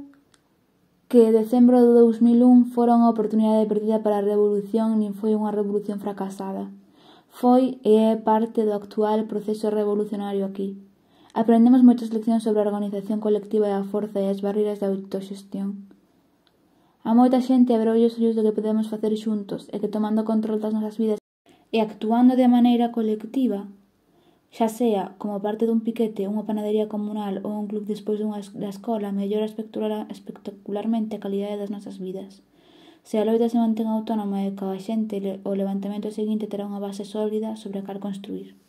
que decembro de dous mil un fora unha oportunidade perdida para a revolución nin foi unha revolución fracasada. Foi e é parte do actual proceso revolucionario aquí. Aprendemos moitas leccións sobre a organización colectiva e a forza e as barreiras da autoxestión. A moita xente abreu os ollos do que podemos facer xuntos e que tomando control das nosas vidas e actuando de maneira colectiva, xa sea como parte dun piquete, unha panadería comunal ou un club despois dunha da escola, mellora espectacularmente a calidade das nosas vidas. Se a loita se mantén autónoma e coa xente, o levantamento seguinte terá unha base sólida sobre a cal construir.